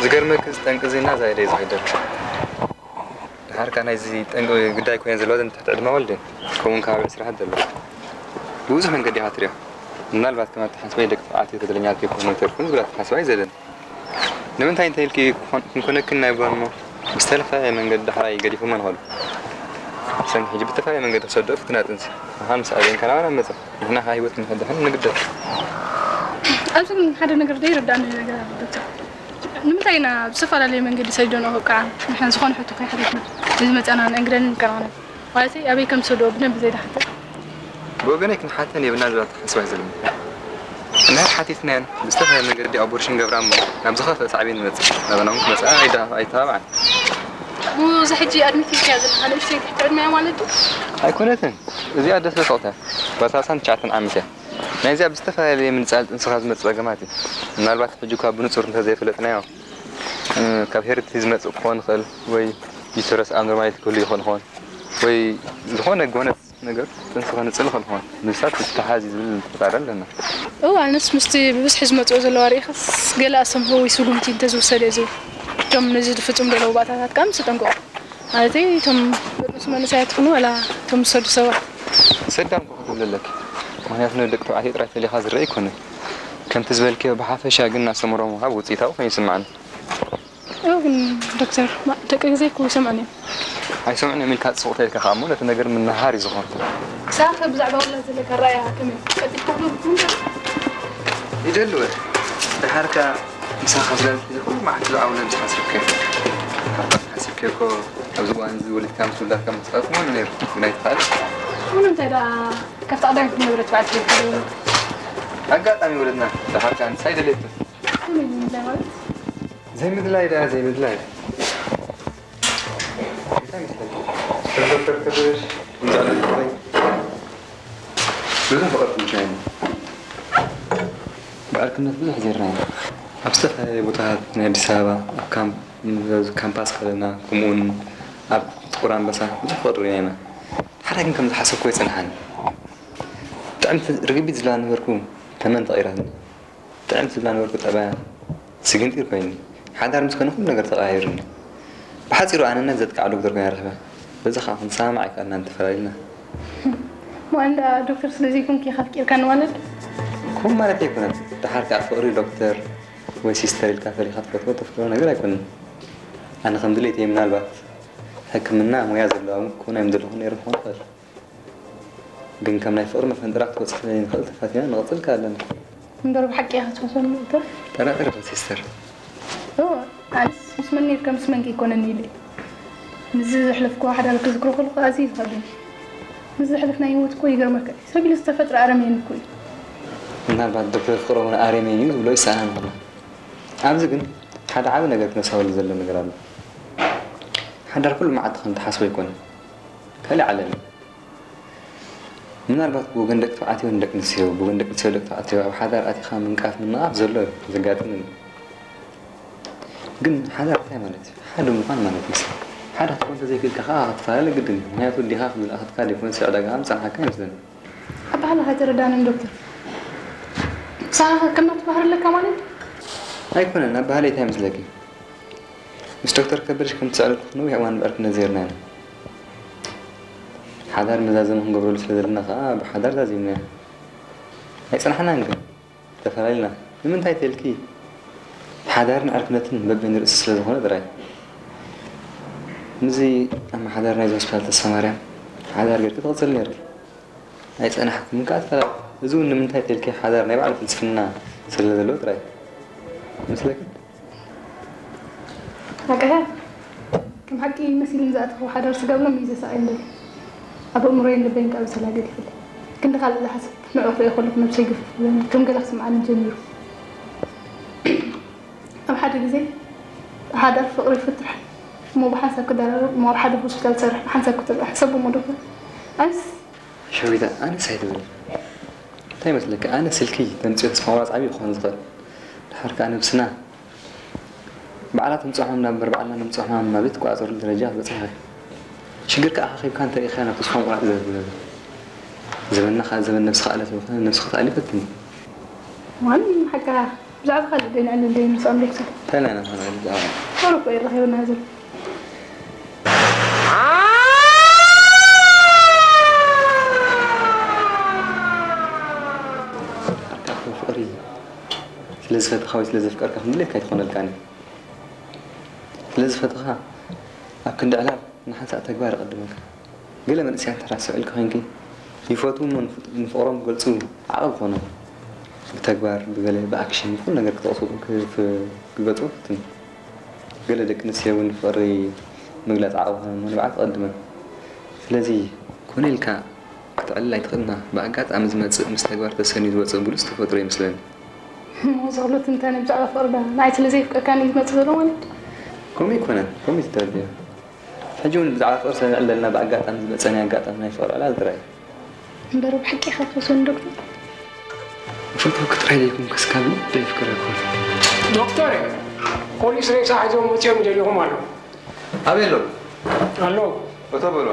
ዝገርመክ፣ እዚ ጠንቂ እዚ እናዛየደ እዩ ዝኸይድ ዘሎ። ድሓር ከኣ ናይዚ ጠንቂ ግዳይ ኮይነን ዘለዋ እዘን ትሕቲ ዕድመ ኣዋልድ እየን። ከምኡውን ከባቢ ዕስራ ይሃት ዘለዋ። ብብዙሕ መንገዲ ኢኻ ትሪኦ። ምናልባት ከም ኣተሓሳስባይ ደቂ ተባዕትዮ ተደለኛት ከይኮኑ ይተርፉን ዝብል ኣተሓሳስባ እዩ ዘለኒ። ንምንታይ እንተ ኢልኪ ክኾን-፣ ክንኮነክን ናይ ጓል እሞ ብዝተፈላለየ መንገዲ ዳሕራይ ገዲፎመን ይኸዱ። ሰን ሕጂ ብዝተፈላለየ መንገዲ ክሰደኦ ፍትና ጥንሲ። ምዃን ምስ ኣበየን ካናባና መጸ። ንሕና ከኣ ህይወት ንኸድሕን ንግደድ። ኣብዚ ግን ሓደ ነገር ዘይርዳእኒ ነገር ኣሎ ዶክተር። ንምንታይ ኢና ብዝተፈላለየ መንገዲ ሰዲዶንኦ ከብቅዓ ንሕና ዝኾነ ሕቶ ከይሓተትና ንዝመጸና ንእንግደንን ንከናኸነን? ማለተይ ኣበይ ከም ዝሰድኦ ብደንቢ ዘይዳሓተ። ብወገነይ ክንሓተን የብልና ዝብል ኣተሓሳስባ እዩ ዘለኒ። እንድሕር ሓቲትናየን ብዝተፈላለየ መንገዲ ኣቦርሽን ገብራ እሞ ናብ ዝኸፍአ ሳዕቤን ይመጽእ። ናባና እውን ክመጽኣ ኣይዳ-፣ ኣይተባብዓን። እሞ እዛ ሕጂ ኣድሚት ኢልካያ ዘለኻ ንእሽተይ ትሕቲ ዕድመ እያ ማለት ድዩ? ኣይኮነትን። እዚኣ ደስ በሰቕታ እያ። ባታ ዓሰርተ ትሽዓተ ዓመት እያ። ናይዚኣ ብዝተፈላለየ ምንጻል ጥንስኻ ዝመጽእ ጸገማት እዩ። ምናልባት ሕጂ እኳ ብንጹር እንተዘይፈለጥናዮ፣ እ፣ ካብ ሄሪዲቲ ዝመጽእ ክኸውን ይኽእል ወይ ዩተረስ ኣብኖርማሊቲ ክህሉ ይኽእል ይኸውን ወይ ዝኾነ ጎነጽ ነገር ጥንሲ ከንጽል ይኽእል ይኸውን። ምስታት ዝተሓዝ እዩ ዝብል ጥርጣረ ኣለና። እዋ፣ ኣነስ ምስቲ ብብዝሒ ዝመጽኦ ዘለዋ ርኢኻስ ገለ ኣስተምህሮ ወይ ስጉምቲ እንተዝውሰድ እየ ዝብል። እቶም ነዚ ዝፍጽሙ ዘለዉ ባእታታት ከኣ ምስ ተጠንቀቑ። ማለተይ እቶም ደቂ መንእሰያት ትኹኑ ዋላ እቶም ዝሰዱ ሰባት? ሰዳም እኮ ክትብል ኣለኪ። ምኽንያቱ ንደቂ ተባዕትዮ ጥራይ ፈሊኻ ዝረአ ኣይኮነን። ከምቲ ዝበልክዮ ብሓፈሻ ግን ኣስተምህሮ ምሃብ ውጽኢታዊ ኮይኑ ይስምዓኒ። እው ግን ዶክተር፣ ማ-፣ ደቂ ገዛይ እኮ ይሰምዑኒ እዮም። ኣይሰምዑን እዮም ኢልካ ጽቡቕ ተልካ ከኣ እሞ ነቲ ነገር ምንሃር እዩ ዝኾን። ንስኻ ከ ብዛዕባ ውላድ ዘለካ ኣረኣእያ ከመይ? ቀልጢፍካ ክትነግረኒ ትኽእል? ይደሊ ወ። ደሓር ከኣ ምሳኻ ስለ ዝሕዘ ኩሉ መዓልቲ ብዛዕባ ውላድ ዝሓስብከ። ሓሲብከ እኮ ኣብዚ እዋን እዚ ወሊድካ ምስ ውላድካ ምትጻወት ምዃኑ ነይሩ፣ ግን ኣይተኻእለን። እሞ ንምንታይ ደኣ ካብቲ ቀዳሚት ዝነበረት በዓልቲ ዘይትደውል? ኣጋጣሚ ወለድና ደሓር ከኣ ንሳ ኣይደለየትን። ከመይ ንምንታይ ማለት? ዘይምድላይ ደኣ ዘይምድላይ። እንታይ ይመስለካ? ዶክተር ከበሽ፣ ንዛዕባ ፍቕሪ ብዙሕ ፍቕሪ ትምክሕኒ። ብዕርክነት ብዙሕ ዜርና ኢና። ኣብ ዝተፈላለየ ቦታታት ናይ ኣዲስ ኣበባ፣ ኣብ ካምፕ፣ ኣብ ካምፓስ ከለና፣ ከምኡውን ኣብ ጥቁር ኣንበሳ ብዙሕ ፍቕሪ ርኢና ኢና። ሓደ ግን ከም ዝሓሰብኩ ኣይጸንሓን። ብጣዕሚ ርግቢት ዝብላ ነበርኩ፣ ተመን ተቐይራትኒ። ጥዕምቲ ዝብላ ነበርኩ ጠባያ ስግንጢር ኮይኒ። ሓዳር ምስ ኮነ ኩሉ ነገር ተቐያይሩኒ። ብሓጺሩ ኣነነት ዘጥቅዓ ዶክተር ኮይና ረኺባ። በዚ ኸኣ ክንሰማማዕ ኣይከኣልናን፣ ተፈላሊና። እሞ ኣንዳ ዶክተር ስለ ዘይኮንኪ ኢኻ ኣፍቂርካኒ ማለት? ከምኡ ማለት ኣይኮነን። ደሓር ከኣ ፍቕሪ ዶክተር ወይ ሲስተር ኢልካ ፈሊኻ ትፈትዎ ተፍቅሮ ነገር ኣይኮነን። ኣነ ከም ድሌተይ ምናልባት ሕክምና ሞያ ዘለዋ እውን ክኾን ኣይምደለኹን ነይረ ክኾን ይኽእል። ግን ከም ናይ ፍቕሪ መፈንጠራ ክትበጽሕ ስለ ዘይንኽእል ተፋቲና ንቕጽል ከኣ ኣለና። እምበር ብሓቂ ኢኻ ትፈትወኒ ዶክተር? ጠራጠር ኢኺ ሲስተር። እወ፣ ኣነስ ምስ መን ኔርካ ምስ መን ከይኮነኒ ኢለ። ምስዚ ዘሕለፍክዎ ሓዳር ክዝክሮ ከለኹ ኣዝዩ እዩ ዝኸብደኒ። ምስዚ ዘሕለፍናዮ ህይወት እኮ ይገርመካ እዩ። ሰብ ኢሉ ዝተፈጥረ ኣረሜን እኮ እዩ። ምናልባት ዶክተር ፍቕሮም እውን ኣረሜን እዩ ዝብሎ ይሰኣናን ይኾና። ኣብዚ ግን ሓደ ዓቢ ነገር ክነሳውል ዘሎ ነገር ኣሎ። ሓዳር ኩሉ መዓልቲ ከም ትሓስቦ ኣይኮነን። ካልእ ዓለም እዩ። ምናልባት ብወገን ደቂ ተባዕትዮ ንደቂ ኣንስትዮ፣ ብወገን ደቂ ኣንስትዮ ደቂ ተባዕትዮ ኣብ ሓዳር ኣቲኻ ምንቃፍ ምንቓፍ ዘሎ እዩ ዘጋጥም እዩ። ግን ሓዳር እንታይ ማለት እዩ? ሓደ ምዃን ማለት እዩ። ሓደ ክትኮን እንተዘይክእልካ ኸኣ ክትፈላለ ግድን እዩ። ምኽንያቱ ኣዴኻ ከም ዝለኣኸትካ ደይኮነስ ዕዳጋ ምጸንሓካ ይመስለኒ። ኣበሃህላኻ ኣይተረዳእንን ዶክተር። ንስኻ ከ ከም ናቱ ባህሪ ኣለካ ማለት እዩ? ኣይኮነን። ኣበሃህለይ እንታይ ይመስለኪ? ምስ ዶክተር ከበድሽ ከም ትስዕረሉ ነዊሕ እዋን ብዕርክነት ዜርና ኢና። ሓዳር መዛዘሚ ክንገብረሉ ስለ ዘለና ኸኣ ብሓዳር ዛዚምናዮ። ኣይጸናሕናን ግን፣ ተፈላሊና። ንምንታይ ተልኪ? ሓዳርን ዕርክነትን በበይኑ ርእሲ ስለ ዝኾነ ጥራይ። ምስዚ ኣመሓዳሪ ናይዚ ሆስፒታል ተስፋ ማርያም ሓዳር ጌርኪ ትቕጽል ኔርኪ። ኣይጸናሕኩምን ከኣ ትፈላ-፣ እዚ እውን ንምንታይ ተልኪ ሓዳር ናይ ባዕሉ ፍልስፍና ስለ ዘለዎ ጥራይ። ይመስለኪ? ሓቅኻ፣ ከም ሓቂ መሲሉኒ ዝኣተኹ ሓዳር ስጋ ብሎም እዩ ዘሳቕየኒ ዘሎ። ኣብ ኣእምሮይን ልበይን ከኣ ብሰላ ገዲፈልኒ። ክንዲ ካልእ ዝሓስብ ንዕኡ ክርእዮ ከለኹ ነብሰይ ግፍፍ ይብለኒ፣ ከም ገለ ክስምዓኒ ጀሚሩ። ኣብ ሓደ ግዜ ሓዳር ፍቕሪ ይፍትሕ እሞ ብሓንሳብ ክደራረብ እሞ ኣብ ሓደ ሆስፒታል ዝሰርሕ ብሓንሳብ ክጥልቕ ሕሰቦ እሞ ዶክተር። ኣነስ ሸዊታ፣ ኣነስ ኣይትበሊ። እንታይ ይመስለኪ? ኣነ ስልኪ ተምጽኦ ተስፋ ምቑራጽ ዓብዪ ክኾን ዝኽእል። ድሓር ከኣ ነብስና ባዕላ ተምጽኦ ሕማም እምበር ባዕልና ነምጽኦ ሕማም ናበይ ትቆጻጸረሉ ደረጃ ክትበጽሕ ኢኺ። ሽግርካ ኣኻኺብካ እንተርኢኻዮ ናብ ተስፋ ምቑራጽ እዩ ዘብል ዘሎ። ዘመንና ከኣ ዘመን ነብስኻ ኣለፍ ይኾነ፣ ነብስኻ ትኣሊ ፈትኒ። ዋን ሓቅኻ። ብዛዕባ ካልእ ደይ ንዕልል ደይ ንስኦም ዶክተር። እንታይ ኢና ንኽንዕልል ብዛዕባ? ቁሩብ እኮ ይረኸበና ዘሎ። ኣርካኹ ፍቕሪ ስለ ዝፈትኻ ወይ ስለ ዘፍቀርካ ክንድሌትካ ኣይትኾነልካን እዩ። ስለ ዝፈትኻ ኣብ ክንዲ ዕላል ንሓንሳእ ተግባር ይቐድመካ። ገለ መንእሰያት ተራስዑ ኢልካ ኮይንኪ ይፈትዉ እሞ ንፍ- ንፍቕሮም ክገልጹ ዓቐብ ይኾኖም። ብተግባር፣ ብገለ፣ ብኣክሽን፣ ብኹሉ ነገር ክጠቕሱ፣ ክፍ- ክገልጹ ይፍትኑ። ገለ ደቂ ኣንስትዮ እውን ፍቕሪ ምግላጽ ዓቐብ ይኾነን እሞ ንብዓት ይቐድመን። ስለዚ ኮነ ኢልካ ክትዕልል ኣይትኽእልና። ብኣጋጣሚ ዝመጽእ ምስ ተግባር ተሰንዩ ዝወጽእ ብሉጽ ተፈጥሮ ይመስለኒ። እሞ እዚ ኩሉ ትንታነ ብዛዕባ ፍቕሪ ዶ ንዓይ ስለ ዘየፍቅረካኒ እዩ ዝመጽእ ዘሎ ማለት? ከምኡ ኣይኮነን፣ ከምኡ እዩ ዝተረድዮ። ሕጂ እውን ብዛዕባ ፍቕሪ ስለ ንዕልል ዘለና ብኣጋጣሚ ዝመጸ ናይ ኣጋጣሚ ናይ ፍቕሪ ዕላል ጥራይ እዩ። እምበር ብሓቂ ኢኻ ትፈትወኒ ዶክተር? እፈትወኪ ጥራይ ዘይኮንኩስ ካብ ልበይ የፍቅረኪ እየ። ዶክተር፣ ፖሊስ ሬሳ ሒዞም መጺኦም ይደልዩኹም ኣለዉ። ኣበይ ኣሎ? ኣሎ። እቶ በሎ።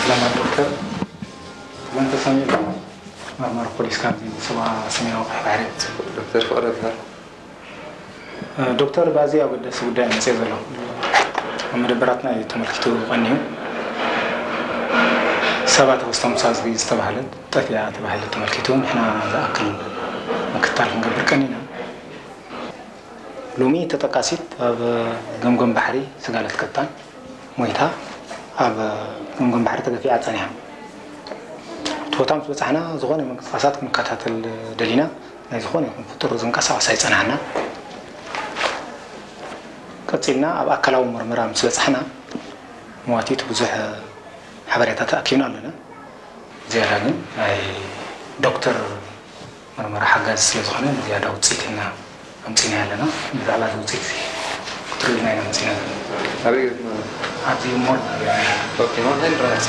ሰላም ዶክተር። ሰላም ተሰሚዑ። መርማሪ ፖሊስ ካብዚ ሰባ ሰሜናዊ ቀይሕ ባሕሪ። ዶክተር ፍቕረ ይበሃል። እ፣ ዶክተር፣ ብኣዝዩ ኣገዳሲ ጉዳይ መጽየ ዘሎ። ኣብ መደበራትና እዩ ተመልኪቱ ቀንዩ። ሰባት ኣውስቶም ሳዝቢ ዝተባህለት ጠፊኣ ተባሂሉ ተመልኪቱ ንሕና ዝኣክል ምክትታል ክንገብር ቀኒና። ሎሚ ተጠቃሲት ኣብ ገምገም ባሕሪ ስጋለት ቀጣን ሞይታ ኣብ ገምገም ባሕሪ ተገፊዓ ጸኒሓ። እቲ ቦታ ምስ በጻሕና ዝኾነ ምንቅስቃሳት ክንከታተል ደሊና፣ ናይ ዝኾነ ይኹን ፍጡር ዝንቀሳቐስ ኣይጸናሕና። ቀጺልና ኣብ ኣካላዊ ምርመራ ምስ በጻሕና መዋቲት ብዙሕ ሓበሬታ ተኣኪብና ኣለና። ዝያዳ ግን ናይ ዶክተር መርመራ ሓጋዚ ስለ ዝኾነ ንዝያዳ ውጽኢት ኢና ኣምጺእናዮ ኣለና። ብዛዕባ እዚ ውጽኢት እዚ ክትርእዩና ኢና መጺእና ዘለና። ኣበይ ገጽና? ኣብዚ ሞል ኦኬ፣ ሞል እንታይ ንረኣሲ?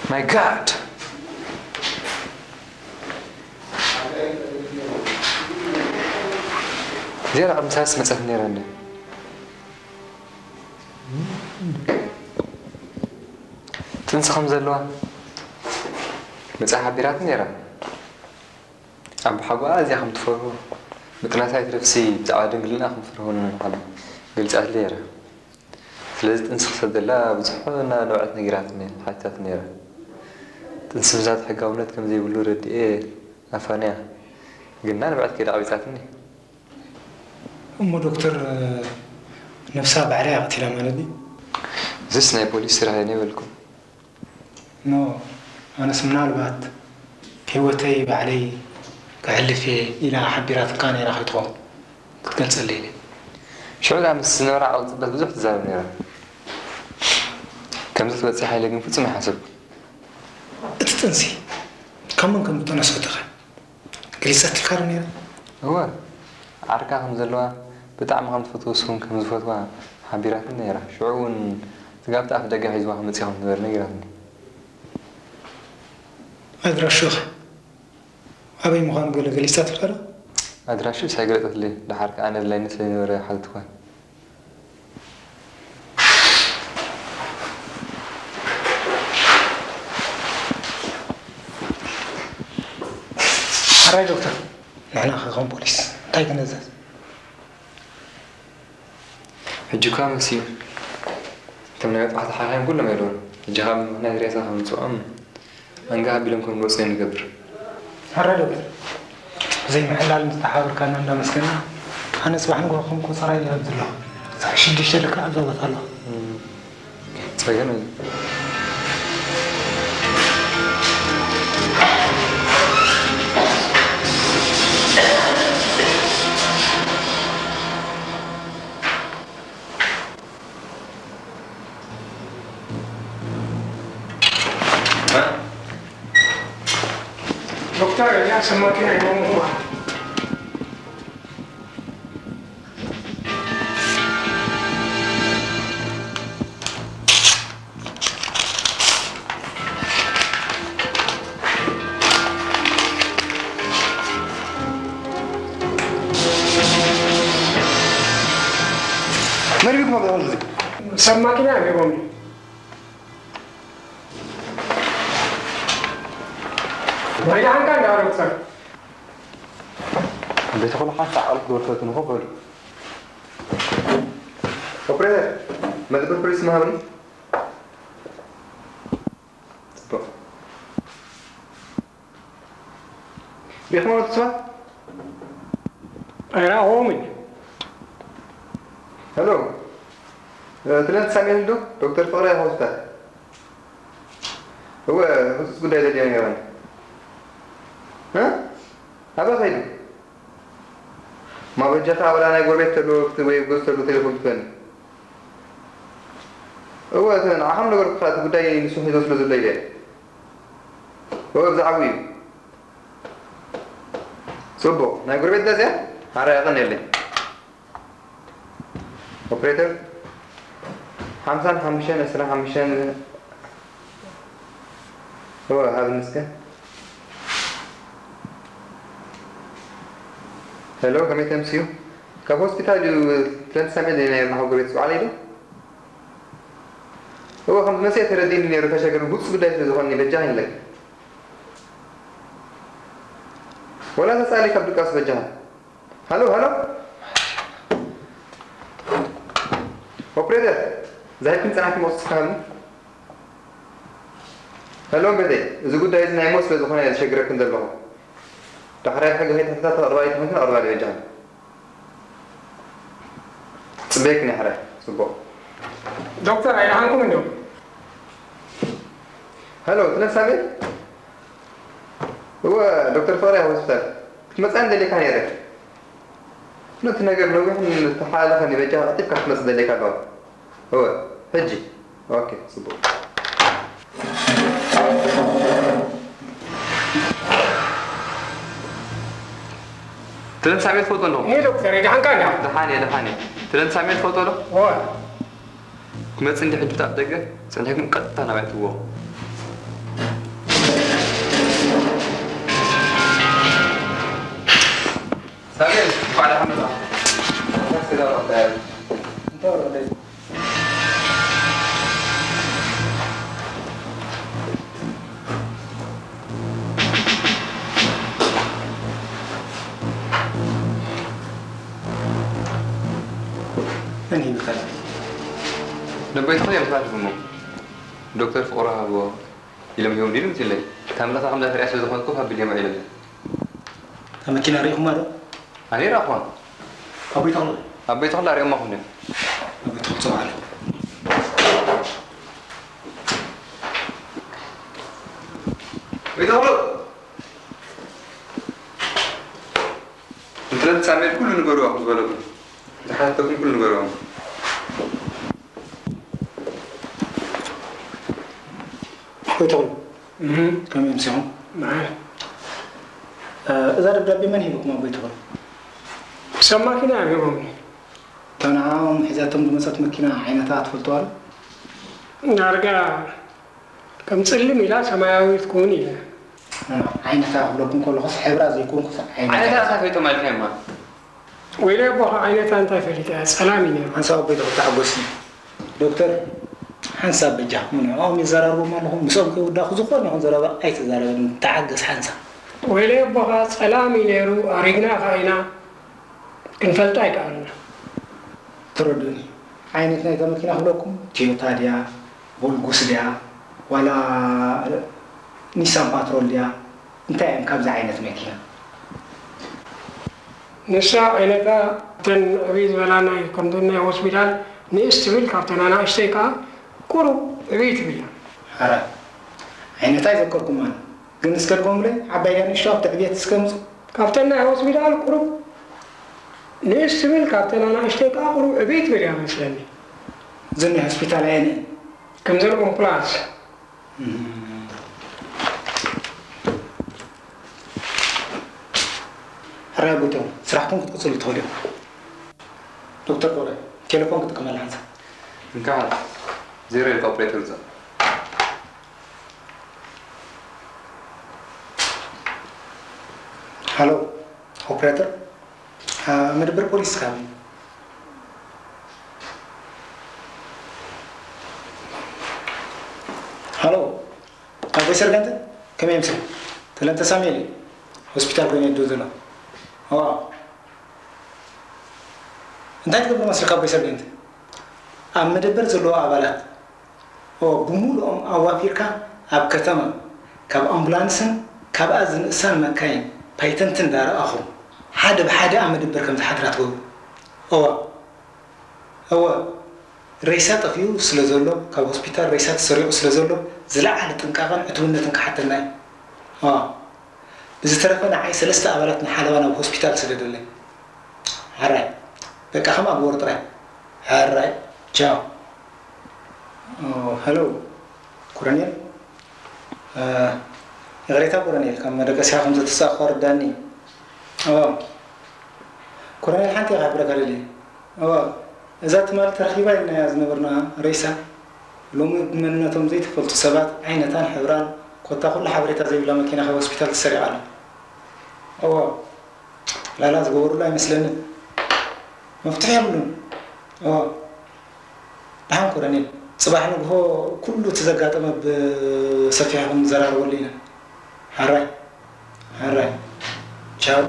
My God! እዚኣ ደኣ ቅድሚ ሰለስተ መጸት ነይራ እንድያ። ጥንሲ ከም ዘለዋ መጻ ሓቢራት ነይራ። ኣቦሓጎኣ እዚኣ ከም ትፈርሆ፣ ምጥናሳይ ትረፍሲ ብዛዕባ ድንግልና ከም ትፈርሆ ንመን ሓቢ ገልጻትለይ ነይራ። ስለዚ ጥንሲ ክሰደላ ብዙሕ እና ንብዐት ነጊራትኒ፣ ሓቲታት ነይራ። ጥንሲ ምዛት ሕጋውነት ከም ዘይብሉ ረድኤ ኣፋንያ፣ ግና ንብዐት ከይዳ ቀቢጻትኒ። እሞ ዶክተር፣ ነብሳ ባዕላ እያ ቀቲላ ማለት ድዩ? እዚስ ናይ ፖሊስ ስራሕ እዩ ነይበልኩም። ኖ፣ ኣነስ ምናልባት ህይወተይ ባዕለይ ከሕልፍ እየ ኢላ ሓቢራትካ ነይራ ከይትኸውን ክትገልጸለይ ኢለ። ሽዑ ደኣ ምስ ዝነበራ ዓቕሊ ጽበት ብዙሕ ትዛረብ ነይራ። ከምዚ ክትበጽሕ ኢለ ግን ፍጹም ኣይሓሰብኩን። እቲ ጥንሲ ካብ መን ከም ዝተነስኦ ተኸ ገሊጻትልካ ዶ ነይራ? እወ፣ ዓርካ ከም ዘለዋ፣ ብጣዕሚ ከም ትፈትዎ፣ እሱ እውን ከም ዝፈትዋ ሓቢራትኒ ነይራ። ሽዑ እውን ስጋብቲ ኣፍደገ ሒዝዋ ክመጽእ ከም ዝነበረ ነጊራትኒ። ኣድራሽኡ ኸ ኣበይ ምዃኑ ገለ ገሊጻትልካ ዶ? ኣድራሽኡስ ኣይገለጸትለይን። ደሓር ከኣ ነድላይኒ ስለ ዝነበረ ሓተትኳ። ሕራይ ዶክተር፣ ንሕና ኸ ከም ፖሊስ እንታይ ክንእዘዝ? ሕጂ እኳ መሲዩ። እቶም ናይ መጥባሕቲ ሓኻይም ኩሎም የለውን። ሕጂ ካብ ምኽንያት ሬሳ ከምጽኦም ኣንጋ ኣቢሎም ከም ዝወጽኡ ንገብር። ሕራይ ዶክተር፣ ብዘይ ምሕላል ምስ ተሓበርካና እንዳመስገና፣ ኣነ ጽባሕ ንግሆ ከም ቆጸራ ይረብ ዘለኹ። ሰዓት ሽዱሽተ ልክዕ ኣብዛ ቦታ ኣለኹ። ጸገም የለን። ዶክተር፣ እዚኣ ሰማኪ ናይ ሞሞ እዋ። ሰብ ማኪና እዮም ሂቦምኒ። ኣይደሓንካ እንዳ ዶክተር። ቤተ ኩሉ ሓንሳእ ቃል ክትወርሰትኒ ኮ በሉ። ኦፕሬተር፣ መደበር ፖሊስ መሃብኒ። ጽቡቕ። ሪኢኹሞ እቲ ስዋ? ኣይረኣኹዎምን። ሄሎ፣ ትለንት ሳሙኤል ዶ? ዶክተር ፍቕረ ሆስፒታል። እወ፣ ህጹጽ ጉዳይ ዘድልዮ ነይረኒ። እ? ኣበይ ከይዱ? ማበጃኻ ወላ ናይ ጎረቤት ተሎ ወይ ጎዝ ተሎ ቴሌፎን ትበኒ። እወ፣ እቲ ንዓኻም ነገርኩኻ፣ እቲ ጉዳይ ንሱ ሒዞ ስለ ዘሎ ኢለ። እወ፣ ብዛዕባኡ እዩ። ጽቡቕ፣ ናይ ጎረቤት ገዛ እያ? ሓራይ፣ የቐንየለይ። ኦፕሬተር፣ ሓምሳን ሓሙሽተን ዕስራን ሓሙሽተን፣ እወ፣ ሃብኒ እስከ። ሄሎ፣ ከመይ ተምስዩ? ካብ ሆስፒታል እዩ፣ ትለንት ሳሙኤል እዩ ነይርና፣ ካብ ጎረቤት ዝወዓለ ዶ? እወ፣ ከም ዝመጽእ ተረዲእኒ ነይሩ፣ ተሸገሩ፣ ግሉጽ ጉዳይ ስለ ዝኾነ በጃኻ ይንለክ። ወላ ተጻሊ ካብ ድቃስ በጃኻ። ሃሎ፣ ሃሎ። ኦፕሬተር፣ ዛሂብክን ጸናሕክን መቕጽ ትካሃልኒ? ሄሎ፣ ቤተይ፣ እዚ ጉዳይ እዚ ናይ ሞት ስለ ዝኾነ እየ ዘሸግረክን ዘለኹ። ዳሕራይ ብሕጊ ከይተሓታተልኪ ኣቕርባይ ተኾንክን ኣቕርባለይ በጃኽን። ጽበየክን እየ ሕራይ። ጽቡቕ። ዶክተር ኣይደሓንኩምን ዶ? ሄሎ፣ ትነሳ ቤት? እወ፣ ዶክተር ፍቕረ ሆስፒታል ክትመጽኣኒ ደሊካ ነይረ። ነቲ ነገር ነዊሕን ዝተሓላለኸን እዩ፣ በጃኻ ቀልጢፍካ ክትመጽእ ደሊካ ኣለዋ። እወ፣ ሕጂ። ኦኬ፣ ጽቡቕ። ትለን ሳሜት ትፈልጦ ኣለኹ። እኔ ዶክተር፣ ደሓንካ እንዳ? ደሓን እየ፣ ደሓን እየ። ትለን ሳሜት ትፈልጦ ዶ? እወ። ክመጽእ እንዲ ሕጂ ኣብ ደገ፣ ጸኒሕኩም ቀጥታ ናባይ ትዎ። ሳሜት፣ እንኳዕ ደሓን መጻእካ። እንታይ ክስዳ ወረደ? እንታይ ወረደ? መን ሂብካ? ነቦይትኹም እዮም ዝሓልፉ እሞ፣ ዶክተር ፍቕሩ ሃብዎ ኢሎም ሂቦም ድዩ መሲለይ። እታ ምልእታ ከም ዳፍርያ ስለ ዝኾንኩ ካብ ብልዮም ውዒሎም እዮም። እታ መኪና ርኢኹማ ዶ? ኣነ ይረኣኹዋ። ኣቦይ ተኽሉ? ኣቦይ ተኽሉ ኣርእዮማ ኹን እዮም። ኣቦይ ተኽሉ ጽውዓሉ። ኣቦይ ተኽሉ! እንትረን ሳሜል ኩሉ ንገርዋ ዝበለኩም። ዝሓተኩም ኩሉ ንገርዋ። ኣቦይ ተኽሉ፣ እህ። ከመይ ኣምሲኹም? መዓል። እ፣ እዛ ደብዳቤ መን ሂቡኩም ኣቦይ ተኽሉ? ሰብ ማኪና እዮም ሂቦምኒ። እታ ንዓኦም ሒዛቶም ዝመጸት መኪና ዓይነታ ትፈልጥዋ ዶ? ዳርጋ ከም ጽልም ኢላ ሰማያዊት ትከውን ኢለ። እ፣ ዓይነታ ክብለኩም ከለኹስ ሕብራ ዘይኮንኩስ ዓይነታ። ዓይነታ እታ ፈሊጦም ኣልካዮማ። ወይለይ ኣቦኻ ዓይነታ እንታይ ፈሊጠ እያ? ጸላም እዩ ነይሩ። ሓንሳብ ኣቦይ ተኽሉ ተሓጎስኒ። ዶክተር፣ ሓንሳብ በጃኹም ንዕኦም ይዘራርቦም ኣለኹም። ምስኦም ከይውዳእኩ ዝኾነ ይኹን ዘረባ ኣይትዛረበኒ። ተዓገስ ሓንሳብ። ወይለይ ኣቦኻ ጸላም እዩ ነይሩ፣ ኣሪግና ከኣ ኢና። ክንፈልጣ ኣይከኣልና። ተረድኡኒ። ዓይነት ናይታ መኪና ክብለኩም፣ ቶዮታ ድያ፣ ቮልጉስ ድያ፣ ዋላ ኒሳን ፓትሮል ድያ? እንታይ እየን ካብዚ ዓይነት መኪና? ንሳ ዓይነታ እተን ዕብይ ዝበላ ናይ ከምዘን ናይ ሆስፒታል ንእስ ትብል፣ ካብተን ኣናእሽተይ ከኣ ቁሩብ ዕብይ ትብል እያ። ሓራ ዓይነታ ኣይዘከርኩማን፣ ግን እስከ ድገሙለይ፣ ዓባይ ድያ ንእሽቶ ኣብቲ ዕብየት እስከ ምጹ። ካብተን ናይ ሆስፒታል ቁሩብ ንእስ ትብል፣ ካብተን ኣናእሽተይ ከኣ ቁሩብ ዕብይ ትብል እያ መስለኒ። እዘን ናይ ሆስፒታል ኣየን እየን? ከምዘን ኦምፕላስ። እም። ሕራይ ኣቦይ ተኽሉ፣ ስራሕኩም ክትቅጽሉ ትኽእሉ ኢኹም። ዶክተር ፍቕረ፣ ቴሌፎን ክጥቀመላ ሓንሳብ። እንካ፣ ዜሮ ኢልካ ኦፕሬተር ውጻእ። ሃሎ፣ ኦፕሬተር፣ እ፣ መደበር ፖሊስ ካበይ? ኣሎ። ካቦይ ሰርገንት ከመይ ይምስል? ተለንተ ሳሙኤል እዩ። ሆስፒታል ኮይኑ የድው ዘሎ። እዋ። እንታይ ትገብሩ መስል ካቦይ ሰርገንት? ኣብ መደበር ዘለዉ ኣባላት ኦ፣ ብምሉኦም ኣዋፊርካ ኣብ ከተማ ካብ ኣምቡላንስን ካብኣ ዝንእሳን መካይን ፓይተንትን እንዳረኣኹም ሓደ ብሓደ ኣብ መደበር ከም ዝሓድራ ትገብሩ። እዋ። እወ፣ ሬሳ ጠፊኡ ስለ ዘሎ፣ ካብ ሆስፒታል ሬሳ ተሰሪቑ ስለ ዘሎ፣ ዝለዓለ ጥንቃቐን ዕቱብነትን ክሓተና እዩ። ኣዋ፣ ብዝተረፈ ንዓይ ሰለስተ ኣባላት ንሓለዋ ናብ ሆስፒታል ስደደለይ። ሕራይ፣ በቃ ከምኣ ግበሩ ጥራይ። ሕራይ፣ ቻው። ኦ፣ ሄሎ፣ ኮሎኔል። እ፣ ይቕሬታ ኮሎኔል፣ ካብ መደቀሲኻ ከም ዘተሳእኩ ኣረዳእኒ። እወ። ኮሎኔል፣ ሓንቲ እየ ክሕብረካ ደልየ። እወ፣ እዛ ትማሊ ተረኺባ ኢልናያ ዝነበርና ሬሳ፣ ሎሚ ብመንነቶም ዘይተፈልጡ ሰባት ዓይነታን ሕብራን ኮታ ኩሉ ሓበሬታ ዘይብላ መኪና ካብ ሆስፒታል ተሰሪቓ ኣላ። እወ፣ ላላ ዝገበሩላ ኣይመስለንን። መፍትሒ የብሉን። እወ። ደሓን ኮሎኔል፣ ጽባሕ ንግሆ ኩሉ እቲ ዘጋጠመ ብሰፊሑ ክንዘራረበሉ ኢና። ሕራይ፣ ሕራይ። ቻው።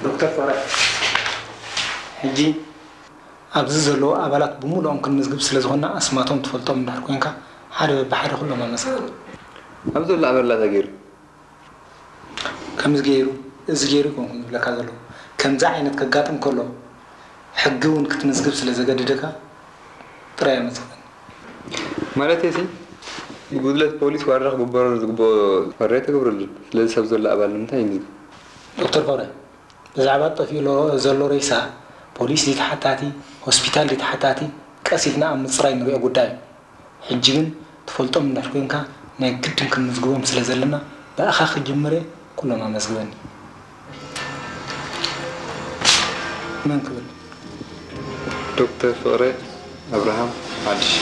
ዶክተር ፍቕረ፣ ሕጂ ኣብዚ ዘለዉ ኣባላት ብምሉኦም ክንምዝግብ ስለ ዝኾንና፣ ኣስማቶም ትፈልጦም እንድሕር ኮንካ፣ ሓደ በብሓደ ኩሎም ኣመስግን። ኣብዚ ዘሎ ኣበላ እንታይ ገይሩ? ከምዚ ገይሩ፣ እዚ ገይሩ ኣይኮንኩን ዝብለካ ዘለኹ። ከምዚ ዓይነት ከጋጥም ከሎ፣ ሕጊ እውን ክትምዝግብ ስለ ዘገድደካ ጥራይ ኣመስግን። ማለተይሲ፣ ብጉድለት ፖሊስ ዋርዳ ክግበረሉ ዝግብኦ ዋርዳ ኣይተገብረሉን። ስለዚ ሰብ ዘሎ ኣባል ንምንታይ ይምዝገብ? ዶክተር ፍቕረ፣ ብዛዕባ ጠፊኡ ሎ-፣ ዘሎ ሬሳ፣ ፖሊስ ድዩ ተሓታቲ፣ ሆስፒታል ድዩ ተሓታቲ፣ ቀስ ኢልና ኣብ ምጽራይ ንሪኦ ጉዳይ እዩ። ሕጂ ግን ትፈልጦም እንድሕር ኮንካ፣ ናይ ግድን ክንምዝግቦም ስለ ዘለና፣ ብኣኻ ክጅምር እየ፣ ኩሎም ኣመዝግበኒ። መን ክብል? ዶክተር ፍቕረ ኣብርሃም ሓድሽ።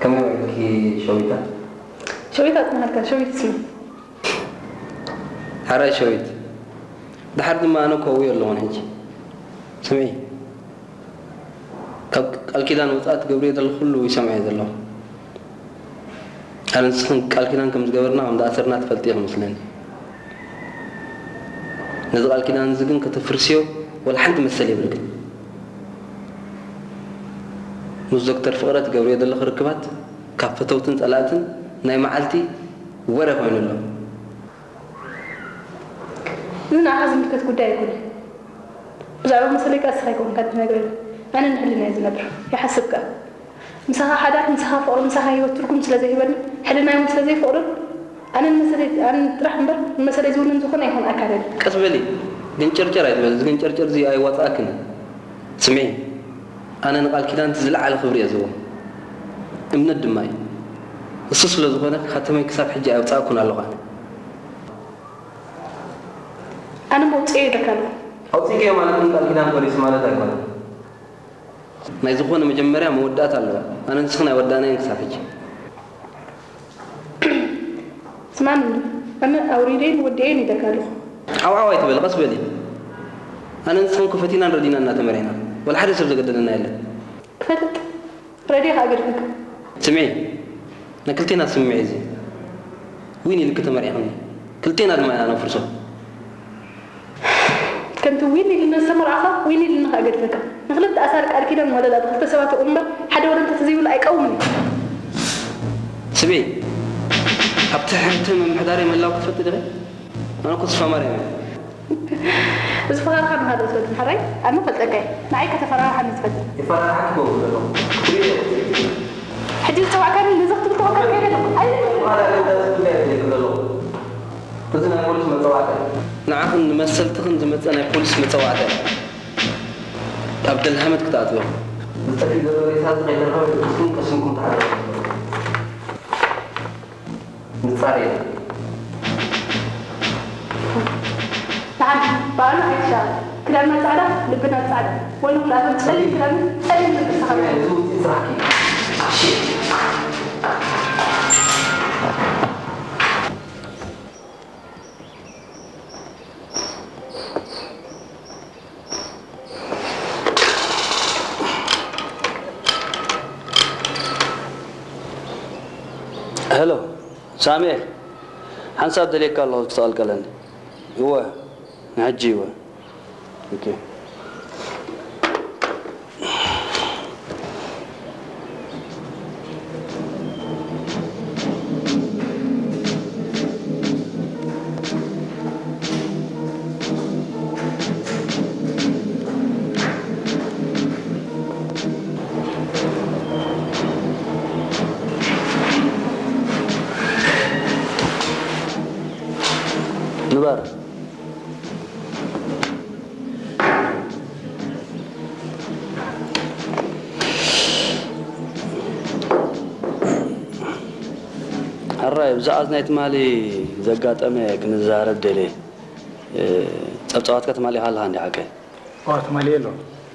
ከመይ ውዒልኪ ሸዊታ? ሸዊት ኣጽንሃልካ፣ ሸዊት ስሚ። ሕራይ ሸዊት። ደሓር ድማ ኣነ ክወውዮ ኣለኹን ሕጂ። ስምዒ፣ ካብ ቃል ኪዳን ወጻኢ ትገብርዮ ዘለኹ ኩሉ ይሰምዖ እየ ዘለኹ። ኣነ ንስኽን ቃል ኪዳን ከም ዝገበርና ከም ዝኣሰርና ትፈልጢ ኢኺ መስለኒ። ነዚ ቃል ኪዳን እዚ ግን ከተፍርስዮ ወላ ሓንቲ መሰል የብልክን። ምስ ዶክተር ፍቕረ ትገብርዮ ዘለኺ ርክባት ካብ ፈተውትን ጸላእትን ናይ መዓልቲ ወረ ኮይኑ ኣሎ። እዚ ንዓኻ ዝምልከት ጉዳይ ኣይኮነን። ብዛዕባ መሰለይ ከኣ ንስኻ ኣይኮንካ ትነግረኒ። ኣነ ንሕልናይ ዝነብር። ይሓስብ ከኣ። ምሳኻ ሓዳር፣ ምሳኻ ፍቕሪ፣ ምሳኻ ህይወት ትርጉም ስለ ዘይህበኒ፣ ሕልናይ እውን ስለ ዘይፈቕዶ፣ ኣነ ንመሰለይ፣ ኣነ ጥራሕ እምበር ንመሰለይ ዝውንን ዝኾነ ይኹን ኣካል የለን። ቀስ በሊ፣ ገንጨርጨር ኣይትበሊ። እዚ ገንጨርጨር እዚ ኣይዋጽኣክን እዩ። ስምዒ፣ ኣነ ንቃል ኪዳን እቲ ዝለዓለ ክብሪ እየ ዝህቦ። እምነት ድማ እዩ። እሱ ስለ ዝኾነ፣ ካተመይ ክሳብ ሕጂ ኣየውጻእኩን ኣለኹ ኣነ። ኣነ መውጽኢ ኢለካ ኣለኹ። ኣውጺእክዮ ማለት ግን ቃል ኪዳን ፈሪሱ ማለት ኣይኮነን። ናይ ዝኾነ መጀመርያ መወዳእታ ኣለዎ። ኣነ ንስኽን ኣይወዳእናዮን ክሳብ ሕጂ። ስማዕኒ፣ ኣነ ኣውሪደይን ወዲኤን ኢለካ ኣለኹ። ዓው ዓው ኣይትበሊ፣ ቀስ በሊ። ኣነ ንስኽን እኮ ፈቲናን ረዲናን ኢና ተመርዒና። ወላ ሓደ ሰብ ዘገደደና የለን። ክፈልጥ፣ ረድየ ከኣ ገዲፈካ። ስምዒ፣ ናይ ክልቴና ስምምዕ እዩ እዚ። ዊን ኢልኪ ተመርዒኽኒ። ክልቴና ድማ ኢና ነፍርሶ። ከምቲ ዊን ኢልና ዝተመርዓኻ፣ ዊን ኢልና ከኣ ገድፈካ። ንኽልተ ኣሳር ቃል ኪዳን ወለላ ብኽልተ ሰባት ይቑም እምበር፣ ሓደ ወለላ እንተዘይብሉ ኣይቀውምን እዩ። ስምዒ፣ ኣብ ትሕቲ ምምሕዳረይ ምህላው ክትፈልጢ ዲኺ? ኣነ እኮ ተስፋ ማርያም እየ። እዚ ፈኸራኻ ንኻልኦት ትፈልጥ፣ ሕራይ? ኣነ እፈልጠካ እየ። ንዓይ ከተፈራርሓኒ ትፈልጥ። የፈራርሓኪ እኮ ዘለኹ። ሕጂ ዝጸዋዕካኒ ነዚ ክትብል ተወከል ከይደ ኣለኹ። ኣይ፣ ንዓኽን ንመሰልትኽን ዝመጸ ናይ ፖሊስ መጸዋዕታ እዩ። ካብ ደልሃመት ክትኣትዎ። ዝጠፊእ ዘሎ ሬሳ እዚ ከይተረኸበ ብትስኩም ቀሲንኩም ተሓለፉ። ንጻር የለን። ንዓና በዓሉ ኣይትሻቐል። ክዳንና ጻዕዳ፣ ልብና ጻዕዳ። ወይኑ ክልኣቶም ጸሊም ክዳን፣ ጸሊም ልቢ ዝተኸድኑ። እዚ ውጽኢት ስራሕኪ። ሄሎ ሳሙኤል፣ ሓንሳብ ደልየካ ኣለኹ፣ እስኪ ተቐልቀለኒ። እወ፣ ንሕጂ እወ። ኦኬ። ንበር። ሕራይ፣ ብዛዕባ ናይ ትማሊ ዘጋጠመ ክንዛረብ ደልየ። እ፣ ጸብጻባትካ ትማሊ ኢኻ ኣለኻ እንዲ ሓቀይ? እዋ፣ ትማሊ የሎ።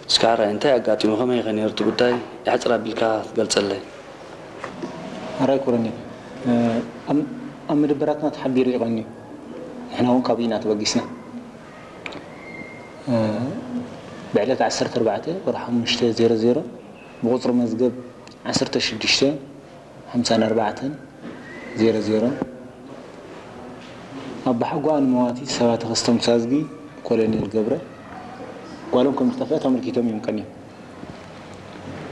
እስከ ሕራይ፣ እንታይ ኣጋጢሙ? ከመይ ኢኸ ነይሩ እቲ ጉዳይ? ሕጽር ኣቢልካ ትገልጸለይ? ሕራይ ኮረኔል፣ እ፣ ኣብ፣ ኣብ መደበራትና ተሓቢሩ እዩ ቀንዩ። ንሕና እውን ካብኡ ኢና ተበጊስና። እ፣ ብዕለት ዓሰርተ ኣርባዕተ ወርሒ ሓሙሽተ ዜሮ ዜሮ ብቁጽሪ መዝገብ ዓሰርተ ሽዱሽተ ሓምሳን ኣርባዕተን ዜሮ ዜሮ፣ ኣባሓጎኣ ንመዋቲ ሰባ ተኸስተ ሙሳዝጊ፣ ኮሎኔል ገብረ፣ ጓሎም ከም ዝጠፍአት ኣመልኪቶም እዮም ቀንዮም።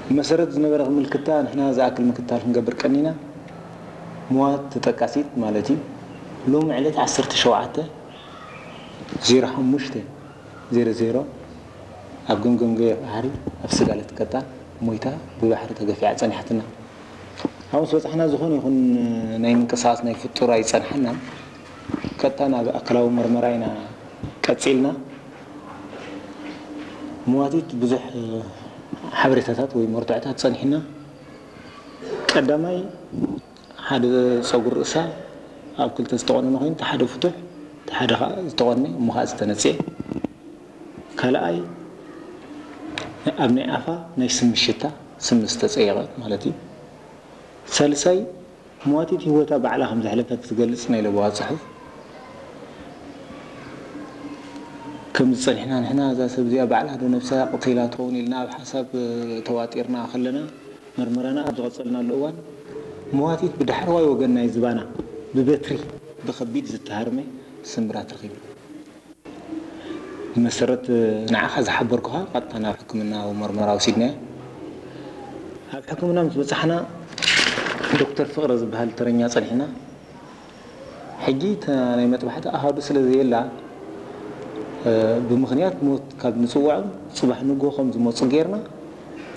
ብመሰረት ዝነበረ ምልክታ ንሕና ዝኣክል ምክትታል ክንገብር ቀኒና። መዋቲ ተጠቃሲት ማለት እዩ። ሎሚ ዕለት ዓሰርተ ሸውዓተ ዜሮ ሓሙሽተ ዜሮ ዜሮ ኣብ ገምገም ገበያ ባሕሪ ኣብ ስጋለት ቀጣን ሞይታ ብባሕሪ ተገፊዓ ጸኒሓትና። ኣብ ምስ በጻሕና ዝኾነ ይኹን ናይ ምንቅስቓስ ናይ ፍጡር ኣይጸንሓናን። ቀጥታ ናብ ኣካላዊ መርመራ ኢና ቀጺልና። መዋቲት ብዙሕ ሓበሬታታት ወይ መርትዖታት ጸኒሕና። ቀዳማይ፣ ሓደ ጸጉሪ ርእሳ ኣብ ክልተ ዝተቖነነ ኮይኑ፣ እቲ ሓደ ፍቱሕ፣ እቲ ሓደ ኸኣ ዝተቖነ እሞ ኸኣ ዝተነጽኤ። ካልኣይ፣ ኣብ ናይ ኣፋ ናይ ስሚ ሽታ፣ ስሚ ዝተጸየቐ ማለት እዩ። ሳልሳይ፣ መዋቲት ህይወታ ባዕላ ከም ዘሕለፈት ዝገልጽ ናይ ለበዋ ጽሑፍ። ከም ዝጸኒሕና ንሕና እዛ ሰብ እዚኣ ባዕላ ዶ ነብሳ ቀቲላ ትኸውን ኢልና ኣብ ሓሳብ ተዋጢርና ከለና፣ መርመራና ኣብ ዝቐጸልናሉ እዋን፣ መዋቲት ብዳሕረዋይ ወገን ናይ ዝባና ብበትሪ ብኸቢድ ዝተሃርመ ስምብራት ረኺብና። ብመሰረት ንዓኻ ዝሓበርኩኻ፣ ቀጥታ ናብ ሕክምናዊ መርመራ ወሲድናያ። ኣብ ሕክምና ምስ በጻሕና፣ ዶክተር ፍቕረ ዝበሃል ተረኛ ጸኒሕና። ሕጂ እታ ናይ መጥባሕቲ ኣሃዱ ስለ ዘየላ፣ እ፣ ብምኽንያት ሞት ካብ ንጽውዖም፣ ጽባሕ ንግሆ ከም ዝመጹ ጌርና፣